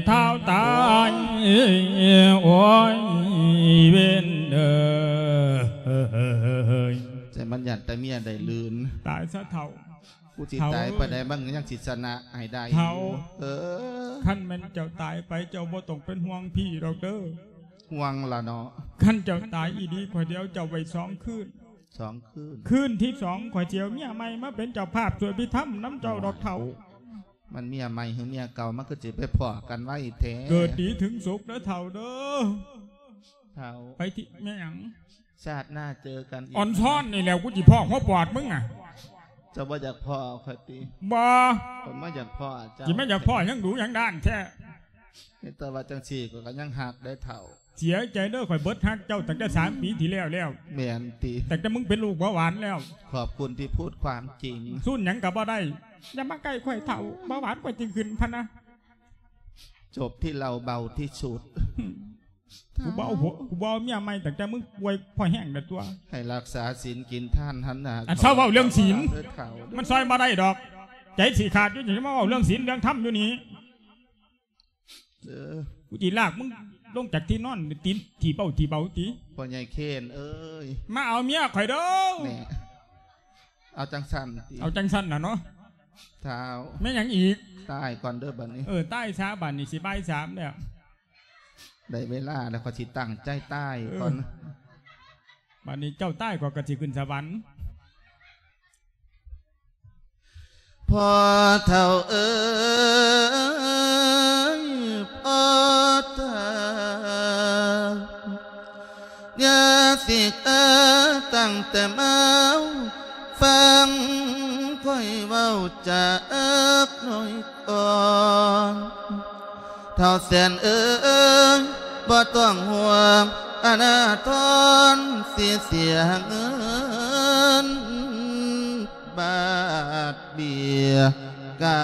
ທ້າວຕາຍ ໂອ້ຍ ເວນເອີຍ. ແຕ່ມັນຢ້ານແຕ່ເມຍໄດ້ລື່ນ. ຕາຍຊະເຖົ້າ. ກູຊິຕາຍປານໃດ ມັນຍັງຊິຊະນະໃຫ້ໄດ້ຢູ່. ເອີ ຄັນແມ່ນເຈົ້າຕາຍໄປ ເຈົ້າບໍ່ຕ້ອງເປັນຫ່ວງພີ່ດອກເດີ. ຫ່ວງລະເນາະ. ຄັນເຈົ້າຕາຍອີ່ຫຼີ ຂ້ອຍຊິເອົາເຈົ້າໄວ້ສອງຄືນ. ສອງຄືນ. ຄືນທີສອງ ຂ້ອຍຊິເອົາເມຍໃໝ່ມາເປັນເຈົ້າພາບຊ່ວຍພິທຳນຳເຈົ້າດອກເຖົ້າ. ມັນເມຍໃໝ່ຫຼືເມຍເກົ່າ ມັນຄືຊິໄປພໍ້ກັນໄວແທ້. ເກີດດີເຖິງສຸກເດີເຖົ້າເດີ. ເຖົ້າ. ໄປທີ່ ແມ່ນຫຍັງ? ຊາດໜ້າເຈີກັນອີກ. ອ່ອນຊ້ອນນີ້ແຫຼ້ວ ກູຊິພໍ້ຫົວປອດມຶງນະ. ເຈົ້າບໍ່ຢາກພໍ້ຂ້ອຍຕິ? ບໍ່. ຂ້ອຍມາຢາກພໍ້ເຈົ້າ. ຊິມາຢາກພໍ້ຫຍັງດຸຫຍັງດ້ານແທ້? ເຮັດແຕ່ວ່າຈັ່ງຊີ້ ຂ້ອຍກໍຍັງຮັກໄດ້ເຖົ້າ. ເສຍໃຈເດີ ຂ້ອຍເບິດຮັກເຈົ້າຕັ້ງແຕ່ສາມປີທີ່ແລ້ວແລ້ວ. ແມ່ນຕິ? ຕັ້ງແຕ່ມຶງເປັນໂລກເບົາຫວານແລ້ວ. ຂອບຄຸນທີ່ພູດຄວາມຈິງ. ສູນຫຍັງກໍບໍ່ໄດ້. ຢ່າມາໃກ້ຂ້ອຍເຖົ້າ, ເບົາຫວານຂ້ອຍຊິຂຶ້ນພະນະ. ຈົບທີ່ເຫຼົ້າເບົາທີ່ສຸດ. ກູບໍ່ເອົາຜົວ ກູບໍ່ເອົາເມຍໃໝ່ຕັ້ງແຕ່ມຶງປ່ວຍພໍແຮງແລ້ວຕົວະ. ໃຫ້ຮັກສາສິນກິນທານຫັ້ນນະ. ອັນເຊົາເວົ້າເລື່ອງສິນ ມັນຊ່ອຍບໍ່ໄດ້ດອກ. ໃຈຊິຂາດຢູ່ ຈະມາເວົ້າເລື່ອງສິນເລື່ອງທຳຢູ່ນີ້. ເອີ ກູຊິລາກມຶງລົງຈາກທີ່ນອນ ຕີນຖີບເອົາຖີບເອົາຕິ. ພໍ່ໃຫຍ່ເຄນເອີຍ ມາເອົາເມຍຂ້ອຍເດີ. ແນ່ ເອົາຈັ່ງຊັ້ນຕິ? ເອົາຈັ່ງຊັ້ນນະເນາະ. ທ້າວ. ແມ່ນຫຍັງອີກ? ຕາຍກ່ອນເດີບັດນີ້. ເອີ ຕາຍຊະ ບັດນີ້ຊິບ່າຍສາມແລ້ວ. ໄດ້ເວລາແລ້ວ ຂ້ອຍຊິຕັ້ງໃຈຕາຍກ່ອນ. ເອີ ບັດນີ້ເຈົ້າຕາຍ ຂ້ອຍກໍຊິຂຶ້ນສະຫວັນ. ພໍ່ເຖົ້າເອີຍ ພໍ່ເຖົ້າ ຢ່າສິກາຕັ້ງແຕ່ມາວ ຟັງຂ້ອຍເວົ້າຈັກໜ້ອຍກ່ອນ. ທ້າວແສນເອີຍ ບໍ່ຕ້ອງຫ່ວງ ອານາທອນຊິເສຍເງິນ ບາດເບຍກັ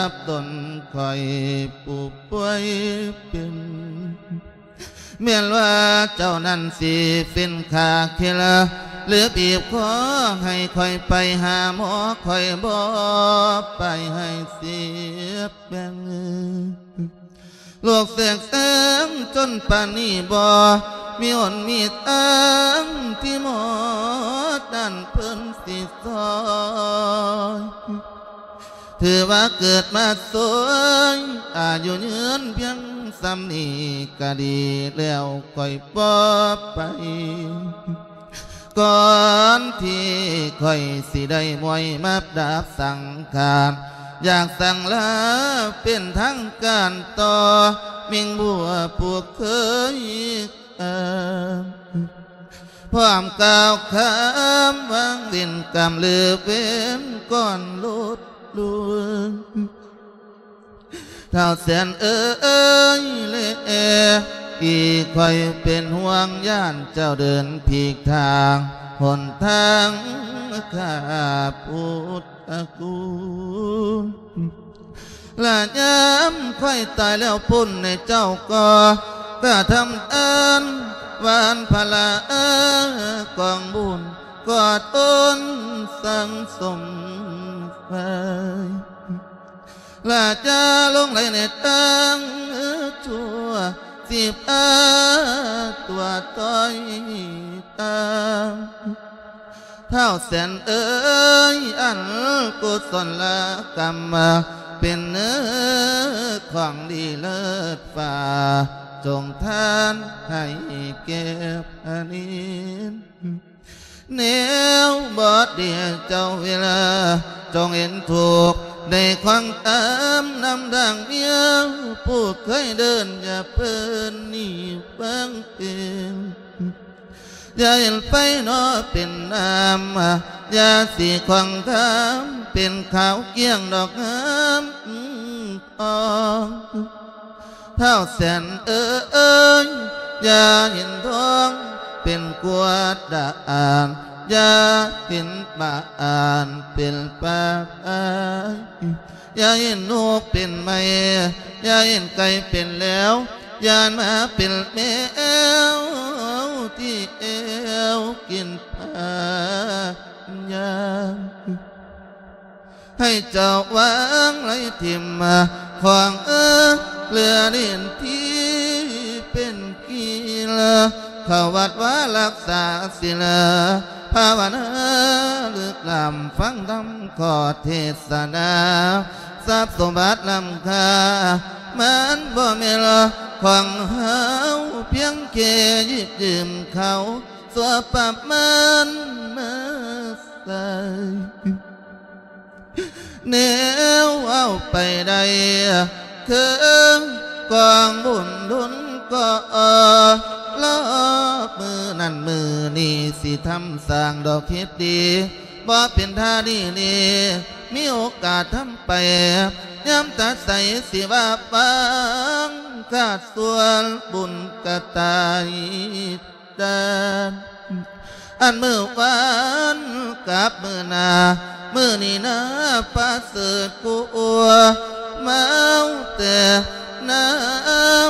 ບຕົນຂ້ອຍຜູ້ປ່ວຍເປັນ. ແມ່ນວ່າເຈົ້ານັ້ນຊິເປັນຂ້າເຄລາ ຫຼືບີບຄໍໃຫ້ຂ້ອຍໄປຫາໝໍ ຂ້ອຍບໍ່ໄປໃຫ້ເສຍແປ້ງ. ໂລກແຕກແຕງຈົນປານນີ້ ບໍ່ມີຫົນມີທາງທີ່ໝໍນັ້ນເພິ່ນຊິຊ່ອຍ. ຖືວ່າເກີດມາສວຍ ອາຍຸຍືນພຽງສ່ຳນີ້ກະດີແລ້ວ ຂ້ອຍບໍ່ໄປ. ກ່ອນທີ່ຂ້ອຍຊິໄດ້ມວຍມາບດາບສັງຂານ ຢາກສັງລາເປັນທາງການຕໍ່ມິ່ງບົວຜູ້ເຄີຍ ເອີ ພ້ອມກ່າວຄຳວາງວິນກຳລືເວັນກ່ອນຫຼຸດລຸຍ. ທ້າວແສນເອີຍແລ ອີຂ້ອຍເປັນຫ່ວງຢ້ານເຈົ້າເດີນຜິດທາງຫົນທາງຂ້າພຸດທະກຸນ ລະຍາມຂ້ອຍຕາຍແລ້ວພຸ້ນໃນເຈົ້າກໍກະທຳທານຫວ່ານພະລາກອງບຸນ ກອດອົນສັງສົມໄວ້ ລະຈະຫຼົງໄຫຼໃນທາງຊົ່ວ ສິບອາຕົວຕ້ອຍຕາມ. ທ້າວແສນເອີຍ ອັນກຸສົນລະກຳເປັນເນື້ອຂອງດີເລີດຟ້າ ຈົ່ງທານໃຫ້ແກ່ພະນິນ ແນວບໍ່ດີເຈົ້າເວລາ ຈົ່ງເຫັນທຸກໄດ້ຂວາງຕາມນຳທາງເມຍ ຜູ້ເຄີຍເດີນຢ່າເພີນໜີເບິ່ງເປັນ ຢ່າເຫັນໄຟເນາະເປັນນ້ຳ ຢ່າສີຂອງຄາມເປັນຂາວກ້ຽງດອກງາມ ອອງ ທ້າວແສນເອີຍ ຢ່າເຫັນທອງເປັນກວດດາອ່ານ ຢ່າເຫັນປາອ່ານເປັນປາອາຍ ຢ່າເຫັນນົກເປັນໄມ້ ຢ່າເຫັນໄກ່ເປັນແລວ ຢ່າມາເປັນແມວທີ່ແອວກິນປາ ຢ່າ ໃຫ້ເຈົ້າວາງໄຫຼຖິ້ມຂອງເອີ ເຫຼືອດິນທີ່ເປັນກີລາ ເຂົ້າວັດວາລັກສາສິລ ພາວະນາລຶກລ້ຳ ຟັງທຳຂໍເທດສະນາ ຊັບສົມບັດລ້ຳຄ່າ ມັນບໍ່ແມ່ນຂອງເຮົາ ພຽງແຄ່ຢິບຢືມເຂົາຊົ່ວປະມານມາ ໃສ່ ແນວເວົ້າໄປໄດ້ ເຄີງກອງບຸນດຸນກໍລໍ ມື້ນັ້ນມື້ນີ້ຊິທຳສ້າງດອກເຮັດດີ ບໍ່ເປັນທ່າດີນີ້ ມີໂອກາດທຳໄປ ຍາມຕາໃສຊິວ່າຟັງ ຂາດສ່ວນບຸນກະຕາຍ ດານ ອັນມື້ວານກັບມື້ໜ້າ ມື້ນີ້ນາປະເສີດກວ່າ ເມົາແຕ່ນ້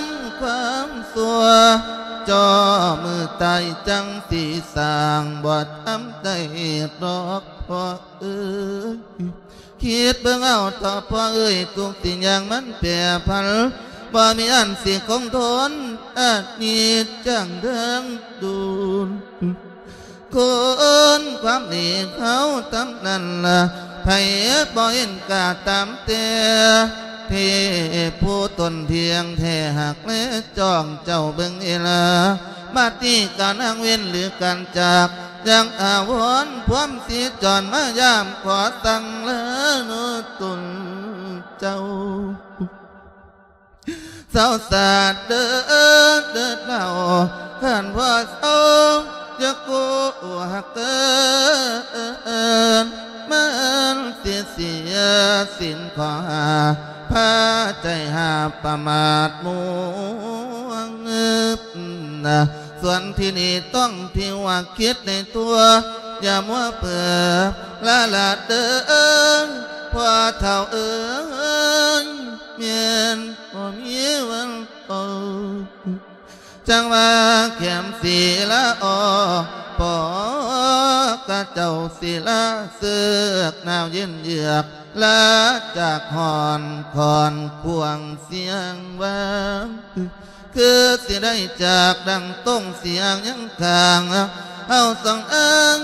ຳຄວາມຊົ່ວ ຈ່ອມື້ຕາຍຈັ່ງຊິສ້າງ ບໍ່ທຳໄດ້ດອກພໍ່ເອີຍ. ຄິດເບິ່ງເອົາເຖາະພໍ່ເອີຍ ທຸກສິ່ງຢ່າງມັນແປຜັນ ບໍ່ມີອັນຊິຄົງທົນ ອະນິດຈັງເດີງດູນ ຄົນຄວາມດີເຮົາຕຳນັ້ນລະ ໃຜບໍ່ເຫັນກະຕາມແຕ່ ເທບຜູ້ຕົນທ່ຽງແທ້ຮັກແລຈ້ອງເຈົ້າເບິ່ງເອລາ ບັດນີ້ການຫາງເວັ້ນຫຼືການຈາກ ຍັງອາວອນພວມສີຈອນມາຢາມ ຂໍສັ່ງລາໂນຕົນເຈົ້າ ເຊົາສາດເດີ ເດີດເລົ່າ ຄັນພໍ່ເຊົາ ຢ່າໂກຫາເກີນ ມັນຊິເສຍສິນຂໍ້ຫ້າ ພາໃຈຫາປະໝາດມົວງເງີບນະ ສ່ວນທີ່ນີ້ຕ້ອງທີ່ວ່າຄິດໃນຕົວ ຢ່າມົວເຜີລະລະເດີ ພໍ່ເຖົ້າເອີຍ ແມ່ນບໍ່ມີວັນໂຕ ຈັ່ງວ່າແຄມສີລະອໍ ພໍ່ກະເຈົ້າສີລະເຊືອກ ໜາວເຢັນເຍືອກ ລາຈາກຮ້ອນຄອນຂວາງສຽງວາງ ຄືຊິໄດ້ຈາກດັ່ງຕົງສຽງຍັງຄ້າງ ເຮົາສອງອ້າງ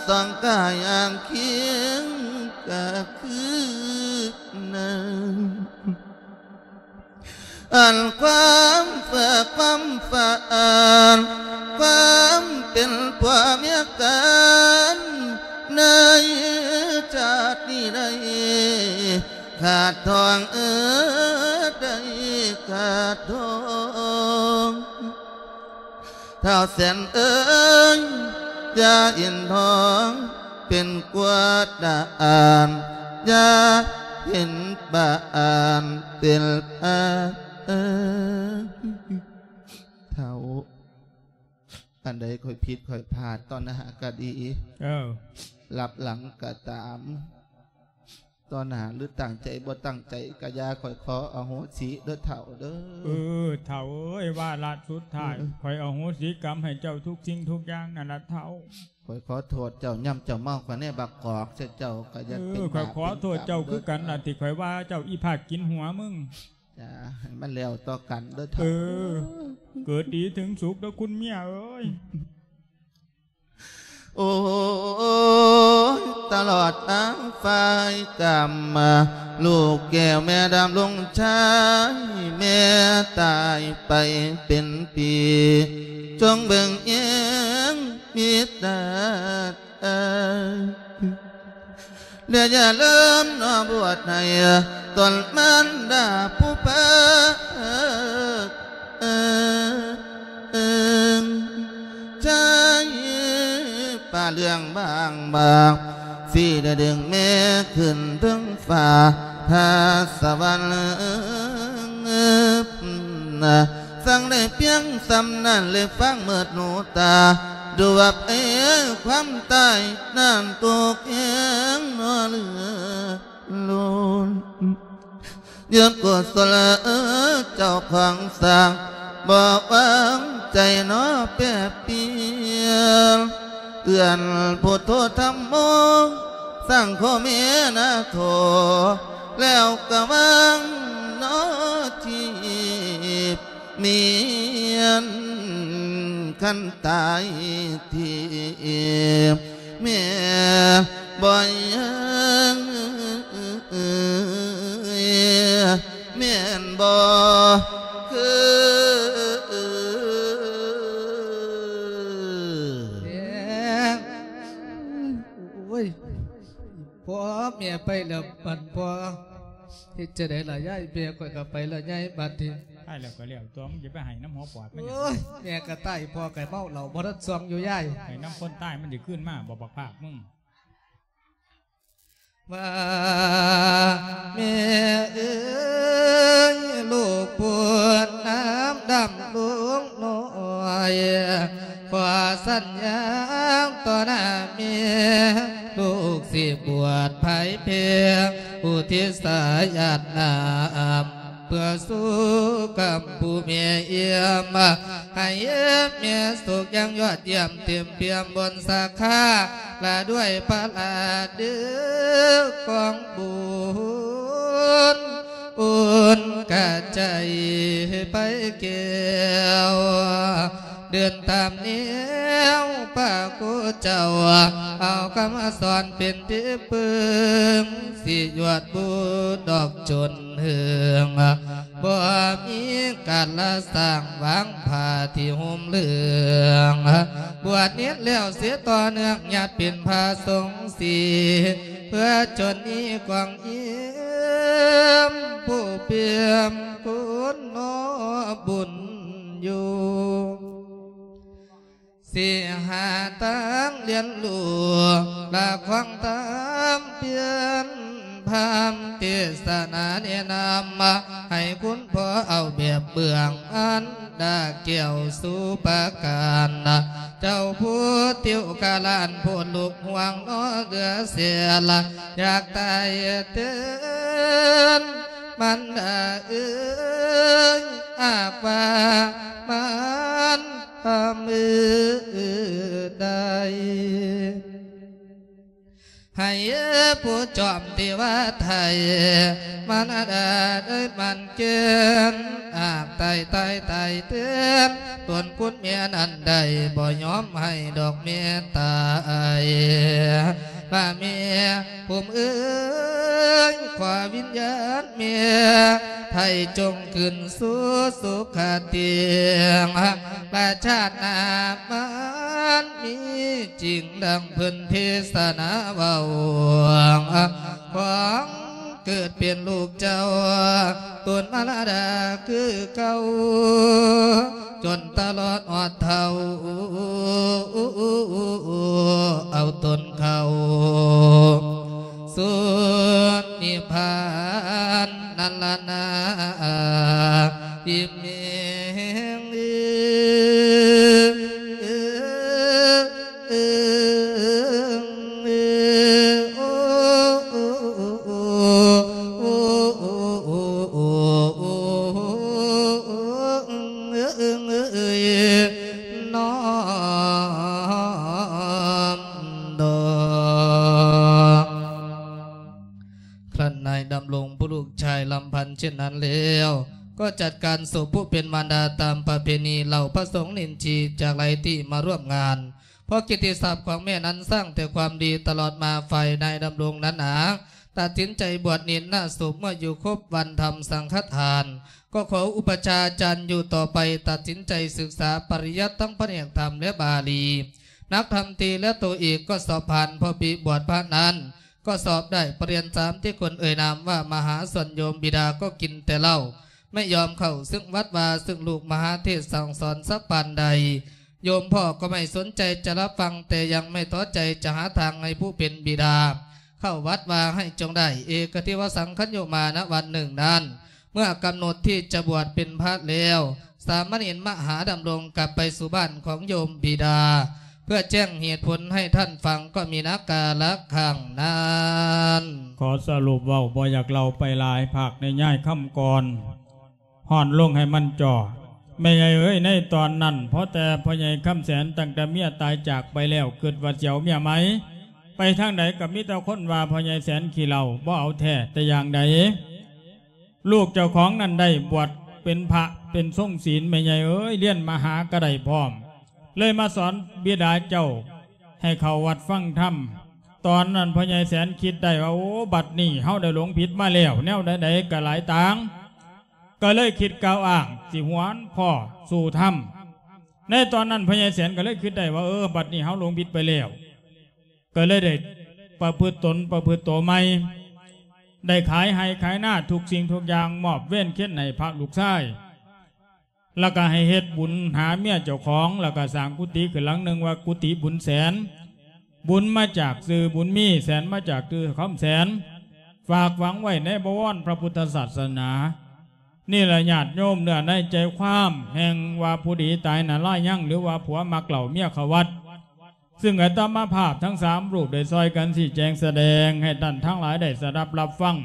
ສອງກາຍອ້າງຄຽງກະຄືນັ້ນ ອັນຄວາມເຝື່ອຄວາມຝັນ ຄວາມເປັນຜົວເມຍກັນ ໃນຊາດນີ້ໄດ້ຂາດທອງເອີ ໄດ້ຂາດທອງ. ທ້າວແສນເອີຍ ຢ່າເຫັນທອງເປັນກວດດາອ່ານ ຢ່າເຫັນປາອ່ານເປັນປາເອີຍ. ທ້າວ ອັນໃດຂ້ອຍຜິດຂ້ອຍພາດ ຕໍ່ໜ້າກະດີ ເອີ ລັບຫຼັງກະຕາມ ຕໍ່ໜ້າຫຼືຕັ້ງໃຈບໍ່ຕັ້ງໃຈກະຢ່າ ຂ້ອຍຂໍອະໂຫສິເດີທ້າວເດີ. ເອີ ທ້າວເອີຍ ວາລະສຸດທ້າຍ ເອີ ຂ້ອຍອະໂຫສິກຳໃຫ້ເຈົ້າທຸກສິ່ງທຸກຢ່າງນັ້ນລະທ້າວ. ຂ້ອຍຂໍໂທດເຈົ້າ ຍາມເຈົ້າເມົາຂ້ອຍແນບບັກກອກໃສ່ເຈົ້າກະຢ່າ ເອີ ເປັນ ຂ້ອຍຂໍໂທດເຈົ້າຄືກັນລະ ທີ່ຂ້ອຍວ່າເຈົ້າອີພາກກິນຫົວມຶງ. ຈ້າ ໃຫ້ມັນແລ້ວຕໍ່ກັນເດີທ້າວ. ເອີ ເກີດດີເຖິງສຸກເດີຄຸນເມຍເອີຍ. ໂອ້ຍ ຕະຫຼອດທາງຝ່າຍກຳມາ ລູກແກ້ວແມ່ດຳລົງຊາຍ ແມ່ຕາຍໄປເປັນປີ ຈົ່ງເບິ່ງແຍງມິດຕາ ແລະຢ່າລືມເນາະ ບວດໃຫ້ຕົນມານດາຜູ້ເພິ່ງ ໃຈປ່າເລື່ອງບາງບາງ ຊິໄດ້ດຶງແມ່ຂຶ້ນເທິງຟ້າ ຖ້າສະຫວັນ ສັ່ງໄດ້ພຽງສ່ຳນັ້ນ ແລະຟັງເມີດຫູຕາ ດູວ່າໄອ້ຄວາມຕາຍນັ້ນໂຕແຂງເນາະເຫຼືອລົ້ນ. ຍາມກຸສົນເຈົ້າຂອງສ້າງ ບໍ່ວາງໃຈເນາະແປບປ່ຽນ ເອື້ອນພຸດໂທທຳໂມ ສັງໂຄເມນະໂທ ແລ້ວກະວາງເນາະທີ່ ເມນ ຄັນຕາຍທີ່ແມ່ບໍ່ຍັງ ແມ່ນບໍ່ຄື ໂອ້ຍ ພໍ່ແມ່ໄປແລ້ວ ບັດພໍ່ ເຮັດຈັ່ງໃດລະຍາຍ ແມ່ຂ້ອຍກໍໄປແລ້ວຍາຍ ບັດນີ້ ຕາຍແລ້ວກໍແລ້ວຕົວະ ມຶງຈະໄປໄຫ້ນຳຫົວປອດມັນຫຍັງ ໂອ້ຍ ແມ່ກໍຕາຍ ພໍ່ກໍເມົາເຫຼົ້າບໍ່ທັນຊ່ວງຢູ່ຍາຍ ໄຫ້ນຳຄົນຕາຍມັນຊິຄືນມາບໍ່ ບັກພາກມຶງ ວ່າແມ່ເອີຍ ລູກຜູ້ນ້ຳດຳລູກນ້ອຍ ຂໍສັນຍາຕໍ່ໜ້າແມ່ ລູກຊິບວດພາຍເພຍ ອຸທິດສາຍາດນ້ຳ ເພື່ອສູ່ກຳຜູ້ແມ່ຢ້ຽມ ໃຫ້ແມ່ສຸກຢ່າງຍອດຢ້ຽມ ເຕັມປ່ຽມບົນສາຂາ ລະດ້ວຍພະລາເດີກອງບຸນ ອຸ່ນກະໃຈໄປແກ້ວ ເດີນຕາມແນວພະຄູເຈົ້າ ເອົາຄຳສອນເປັນທີ່ປຶງ ຊິຍອດບຸດດອກຈົນເຮືອງ ບໍ່ມີການລະສ້າງວາງຜ້າທີ່ຫຸ້ມເຫຼືອງ ບວດນິດແລ້ວເສຍຕໍ່ເນື່ອງ ຍາດເປັນພະສົງສີ ເພື່ອຈົນມີກອງ ຢ້ຽມຜູ້ປ່ຽມຄຸນເນາະບຸນຢູ່ ຊິຫາທາງລຽນຮູ້ ລະຂວາງທາງປ່ຽນ ພາມເທດສະໜາແນະນຳ ໃຫ້ຄຸນພໍ່ເອົາແບບເບື້ອງ ອັນດາແກ້ວສຸປະການ ເຈົ້າຜູ້ຕິວກະລານ ໂພດລູກ ຫ່ວງເນາະເຫຼືອແສນ ຢາກຕາຍແທນ ມັນດາເອີຍ ຫາກວ່າມັນທຳມືໄດ້ ໃຫ້ຜູ້ຈອມເທວາໄທ ມັນດາເອີຍ ມັນ ເກນອາກຕາຍຕາຍຕາຍແທນ ຕົນຄຸນແມ່ນັ້ນໄດ້ບໍ່ຍອມໃຫ້ດອກແມ່ຕາຍ ວ່າແມ່ຜົມເອີຍ ຂໍວິນຍານແມ່ໄທຈົ່ງຂຶ້ນສູ່ສຸຄະຕິ ລະຊາດໜ້າມັນມີຈິງ ດັ່ງເພິ່ນເທສະນາເວົ້າ ຂອງເກີດເປັນລູກເຈົ້າ ຕົນມາລະດາຄືເກົ່າ ຈົນຕະຫຼອດຮອດເຖົ້າ ເອົາຕົນເຂົ້າສູ່ນິບພານນັ້ນລະນາ ອີກແມ່ງເອີ. ຄັ້ນນາຍດຳລົງຜູ້ລູກຊາຍລຳພັນເຊັ່ນນັ້ນແລ້ວ ກໍຈັດການສົບຜູ້ເປັນມານດາຕາມປະເພນີ ເຫຼົ່າພະສົງນິນຊີຈາກຫຼາຍທີ່ມາຮ່ວມງານ ເພາະກິດຕິສັບຂອງແມ່ນັ້ນສ້າງແຕ່ຄວາມດີຕະຫຼອດມາ ຝ່າຍນາຍດຳລົງນັ້ນນາ ຕັດສິນໃຈບວດນິນນະສົບເມື່ອຢູ່ຄົບວັນທຳສັງຄະທານ ກໍຂໍອຸປະຊາຈານຢູ່ຕໍ່ໄປ ຕັດສິນໃຈສຶກສາປະລິຍັດທັງພະແນກທຳ ແລະ ບາລີ ນັກທຳຕີ ແລະ ໂຕເອກກໍສອບຜ່ານ ເພາະປີບວດພະນັ້ນ ກໍສອບໄດ້ປະລິນຍາສາມທີ່ຄົນເອີ່ຍນາມວ່າມະຫາຊົນ ໂຍມບິດາກໍກິນແຕ່ເຫຼົ້າ ໄມ່ຍອມເຂົ້າເຊິ່ງວັດວາ ເຊິ່ງລູກມະຫາເທດສັ່ງສອນສັກປານໃດ ໂຍມພໍ່ກໍໄມ່ສົນໃຈຈະຮັບຟັງ ແຕ່ຍັງໄມ່ທໍ້ໃຈຈະຫາທາງໃຫ້ຜູ້ເປັນບິດາເຂົ້າວັດວາໃຫ້ຈົ່ງໄດ້ ເອກະທິວະສັງຄະໂຍມານະວັນໜຶ່ງນັ້ນ ເມື່ອກຳນົດທີ່ຈະບວດເປັນພະແລ້ວ ສາມະເນນມະຫາດຳລົງກັບໄປສູ່ບ້ານຂອງໂຍມບິດາ ເພື່ອແຈ້ງເຫດຜົນໃຫ້ທ່ານຟັງ ກໍມີນາກາລະຄັ້ງນັ້ນ. ຂໍສະຫຼຸບເວົ້າບໍ່ຢາກເລົ່າໄປຫຼາຍ ພາກໃນຍາຍຄຳກ່ອນ ຮ້ອນລົງໃຫ້ມັນຈ່ອ ແມ່ໃຫຍ່ເອີຍ ໃນຕອນນັ້ນ ພໍແຕ່ພໍ່ໃຫຍ່ຄຳແສນ ຕັ້ງແຕ່ເມຍຕາຍຈາກໄປແລ້ວ ຄິດວ່າຊິເອົາເມຍໃໝ່ ໄປທາງໃດກໍມີແຕ່ຄົນວ່າພໍ່ໃຫຍ່ແສນຂີ້ເຫຼົ້າ ບໍ່ເອົາແທ້ແຕ່ຢ່າງໃດ. ລູກເຈົ້າຂອງນັ້ນໄດ້ບວດເປັນພະເປັນຊົງສິນ ແມ່ໃຫຍ່ເອີຍ ຮຽນມະຫາກໍໄດ້ພ້ອມ ເລີຍມາສອນບິດາເຈົ້າໃຫ້ເຂົ້າວັດຟັງທຳ. ຕອນນັ້ນພໍ່ໃຫຍ່ແສນຄິດໄດ້ວ່າ ໂອ້ ບັດນີ້ເຮົາໄດ້ຫຼົງຜິດມາແລ້ວ ແນວໃດໆກໍຫຼາຍຕ່າງ ກໍເລີຍຄິດກ່າວອ້າງຊິຫວນພໍ່ສູ່ທຳ. ໃນຕອນນັ້ນພໍ່ໃຫຍ່ແສນກໍເລີຍຄິດໄດ້ວ່າ ເອີ ບັດນີ້ເຮົາຫຼົງຜິດໄປແລ້ວ ກໍເລີຍໄດ້ປະພຶດຕົນປະພຶດໂຕໃໝ່ ໄດ້ຂາຍໄຮ່ຂາຍນາທຸກສິ່ງທຸກຢ່າງ ມອບເວນເຄນໃຫ້ພະລູກຊາຍ ແລ້ວກໍໃຫ້ເຮັດບຸນຫາເມຍເຈົ້າຂອງ ແລ້ວກໍສ້າງກຸຕິຂຶ້ນຫຼັງໜຶ່ງວ່າກຸຕິບຸນແສນ ບຸນມາຈາກຊື່ບຸນມີ ແສນມາຈາກຊື່ຄຳແສນ ຝາກຝັງໄວ້ໃນບະວອນພະພຸດທະສາສະໜາ. ນີ້ລະຍາດໂຍມ ເນື້ອໃນໃຈຄວາມແຫ່ງວ່າຜູ້ດີຕາຍນະລາຍຍັງ ຫຼືວ່າຜົວມັກເຫຼົ້າເມຍເຂົ້າວັດ ຊຶ່ງອາດຕະມາພາບທັງສາມຮູບໄດ້ຊ່ອຍກັນຊີ້ແຈງສະແດງໃຫ້ທ່ານທັງຫຼາຍໄດ້ສະດັບຮັບຟັງ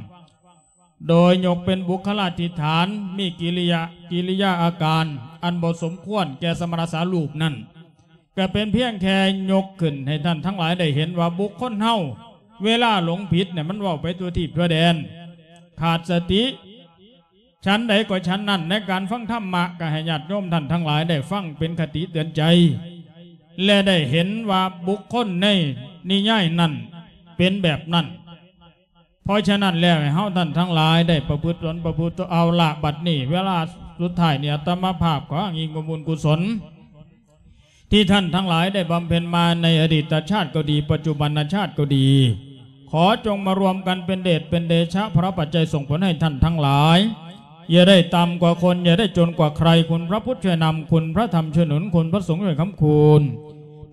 ໂດຍຍົກເປັນບຸກຄະລາທິຖານ ມີກິລິຍາ ກິລິຍາອາການອັນບໍ່ສົມຄວນແກ່ສະມະນະສາຮູບນັ້ນ ກະເປັນພຽງແຄ່ຍົກຂຶ້ນໃຫ້ທ່ານທັງຫຼາຍໄດ້ເຫັນວ່າບຸກຄົນເຮົາ ເວລາຫຼົງຜິດນີ້ ມັນເວົ້າໄປທົ່ວທີບທົ່ວແດນ ຂາດສະຕິ ຊັ້ນໃດກໍຊັ້ນນັ້ນ ໃນການຟັງທຳມະ ກໍໃຫ້ຍາດໂຍມທ່ານທັງຫຼາຍໄດ້ຟັງເປັນຄະຕິເຕືອນໃຈ ແລະ ໄດ້ເຫັນວ່າບຸກຄົນໃນນິຍາຍນັ້ນເປັນແບບນັ້ນ. ເພາະສະນັ້ນແລ້ວ ໃຫ້ເຮົາທ່ານທັງຫຼາຍໄດ້ປະພຶດຕົນປະພຶດຕົວ ເອົາລະ ບັດນີ້ເວລາສຸດທ້າຍນີ້ ອາດຕະມາພາບຂໍອ້າງອີງບຸນກຸສົນ ທີ່ທ່ານທັງຫຼາຍໄດ້ບຳເພັນມາໃນອະດີດຕະຊາດກໍດີ ປັດຈຸບັນນະຊາດກໍດີ ຂໍຈົ່ງມາລວມກັນເປັນເດດເປັນເດຊະ ພະປັດໄຈສົ່ງຜົນໃຫ້ທ່ານທັງຫຼາຍ ຢ່າໄດ້ຕ່ຳກວ່າຄົນ ຢ່າໄດ້ຈົນກວ່າໃຄ ຄຸນພະພຸດຊ່ວຍນຳ ຄຸນພະທຳຊ່ວຍໜູນ ຄຸນພະສົງຊ່ວຍຄ້ຳຄູນ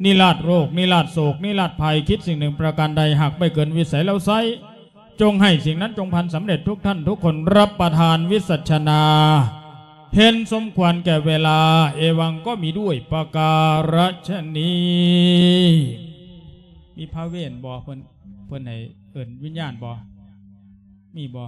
ນິລາດໂລກ ນິລາດໂສກ ນິລາດໄພ ຄິດສິ່ງໜຶ່ງປະການໃດ ຫາກໄມ່ເກີນວິໄສແລ້ວໄຊ ຈົ່ງໃຫ້ສິ່ງນັ້ນຈົ່ງພັນສຳເລັດທຸກທ່ານທຸກຄົນ ຮັບປະທານວິສັດຊະນາ ເຫັນສົມຄວນແກ່ເວລາ ເອວັງ ກໍມີດ້ວຍປະກາລະຊະນີ້. ມີພະເວນບໍ່? ເພິ່ນ ເພິ່ນໃຫ້ເອີ້ນວິນຍານບໍ່? ມີບໍ່?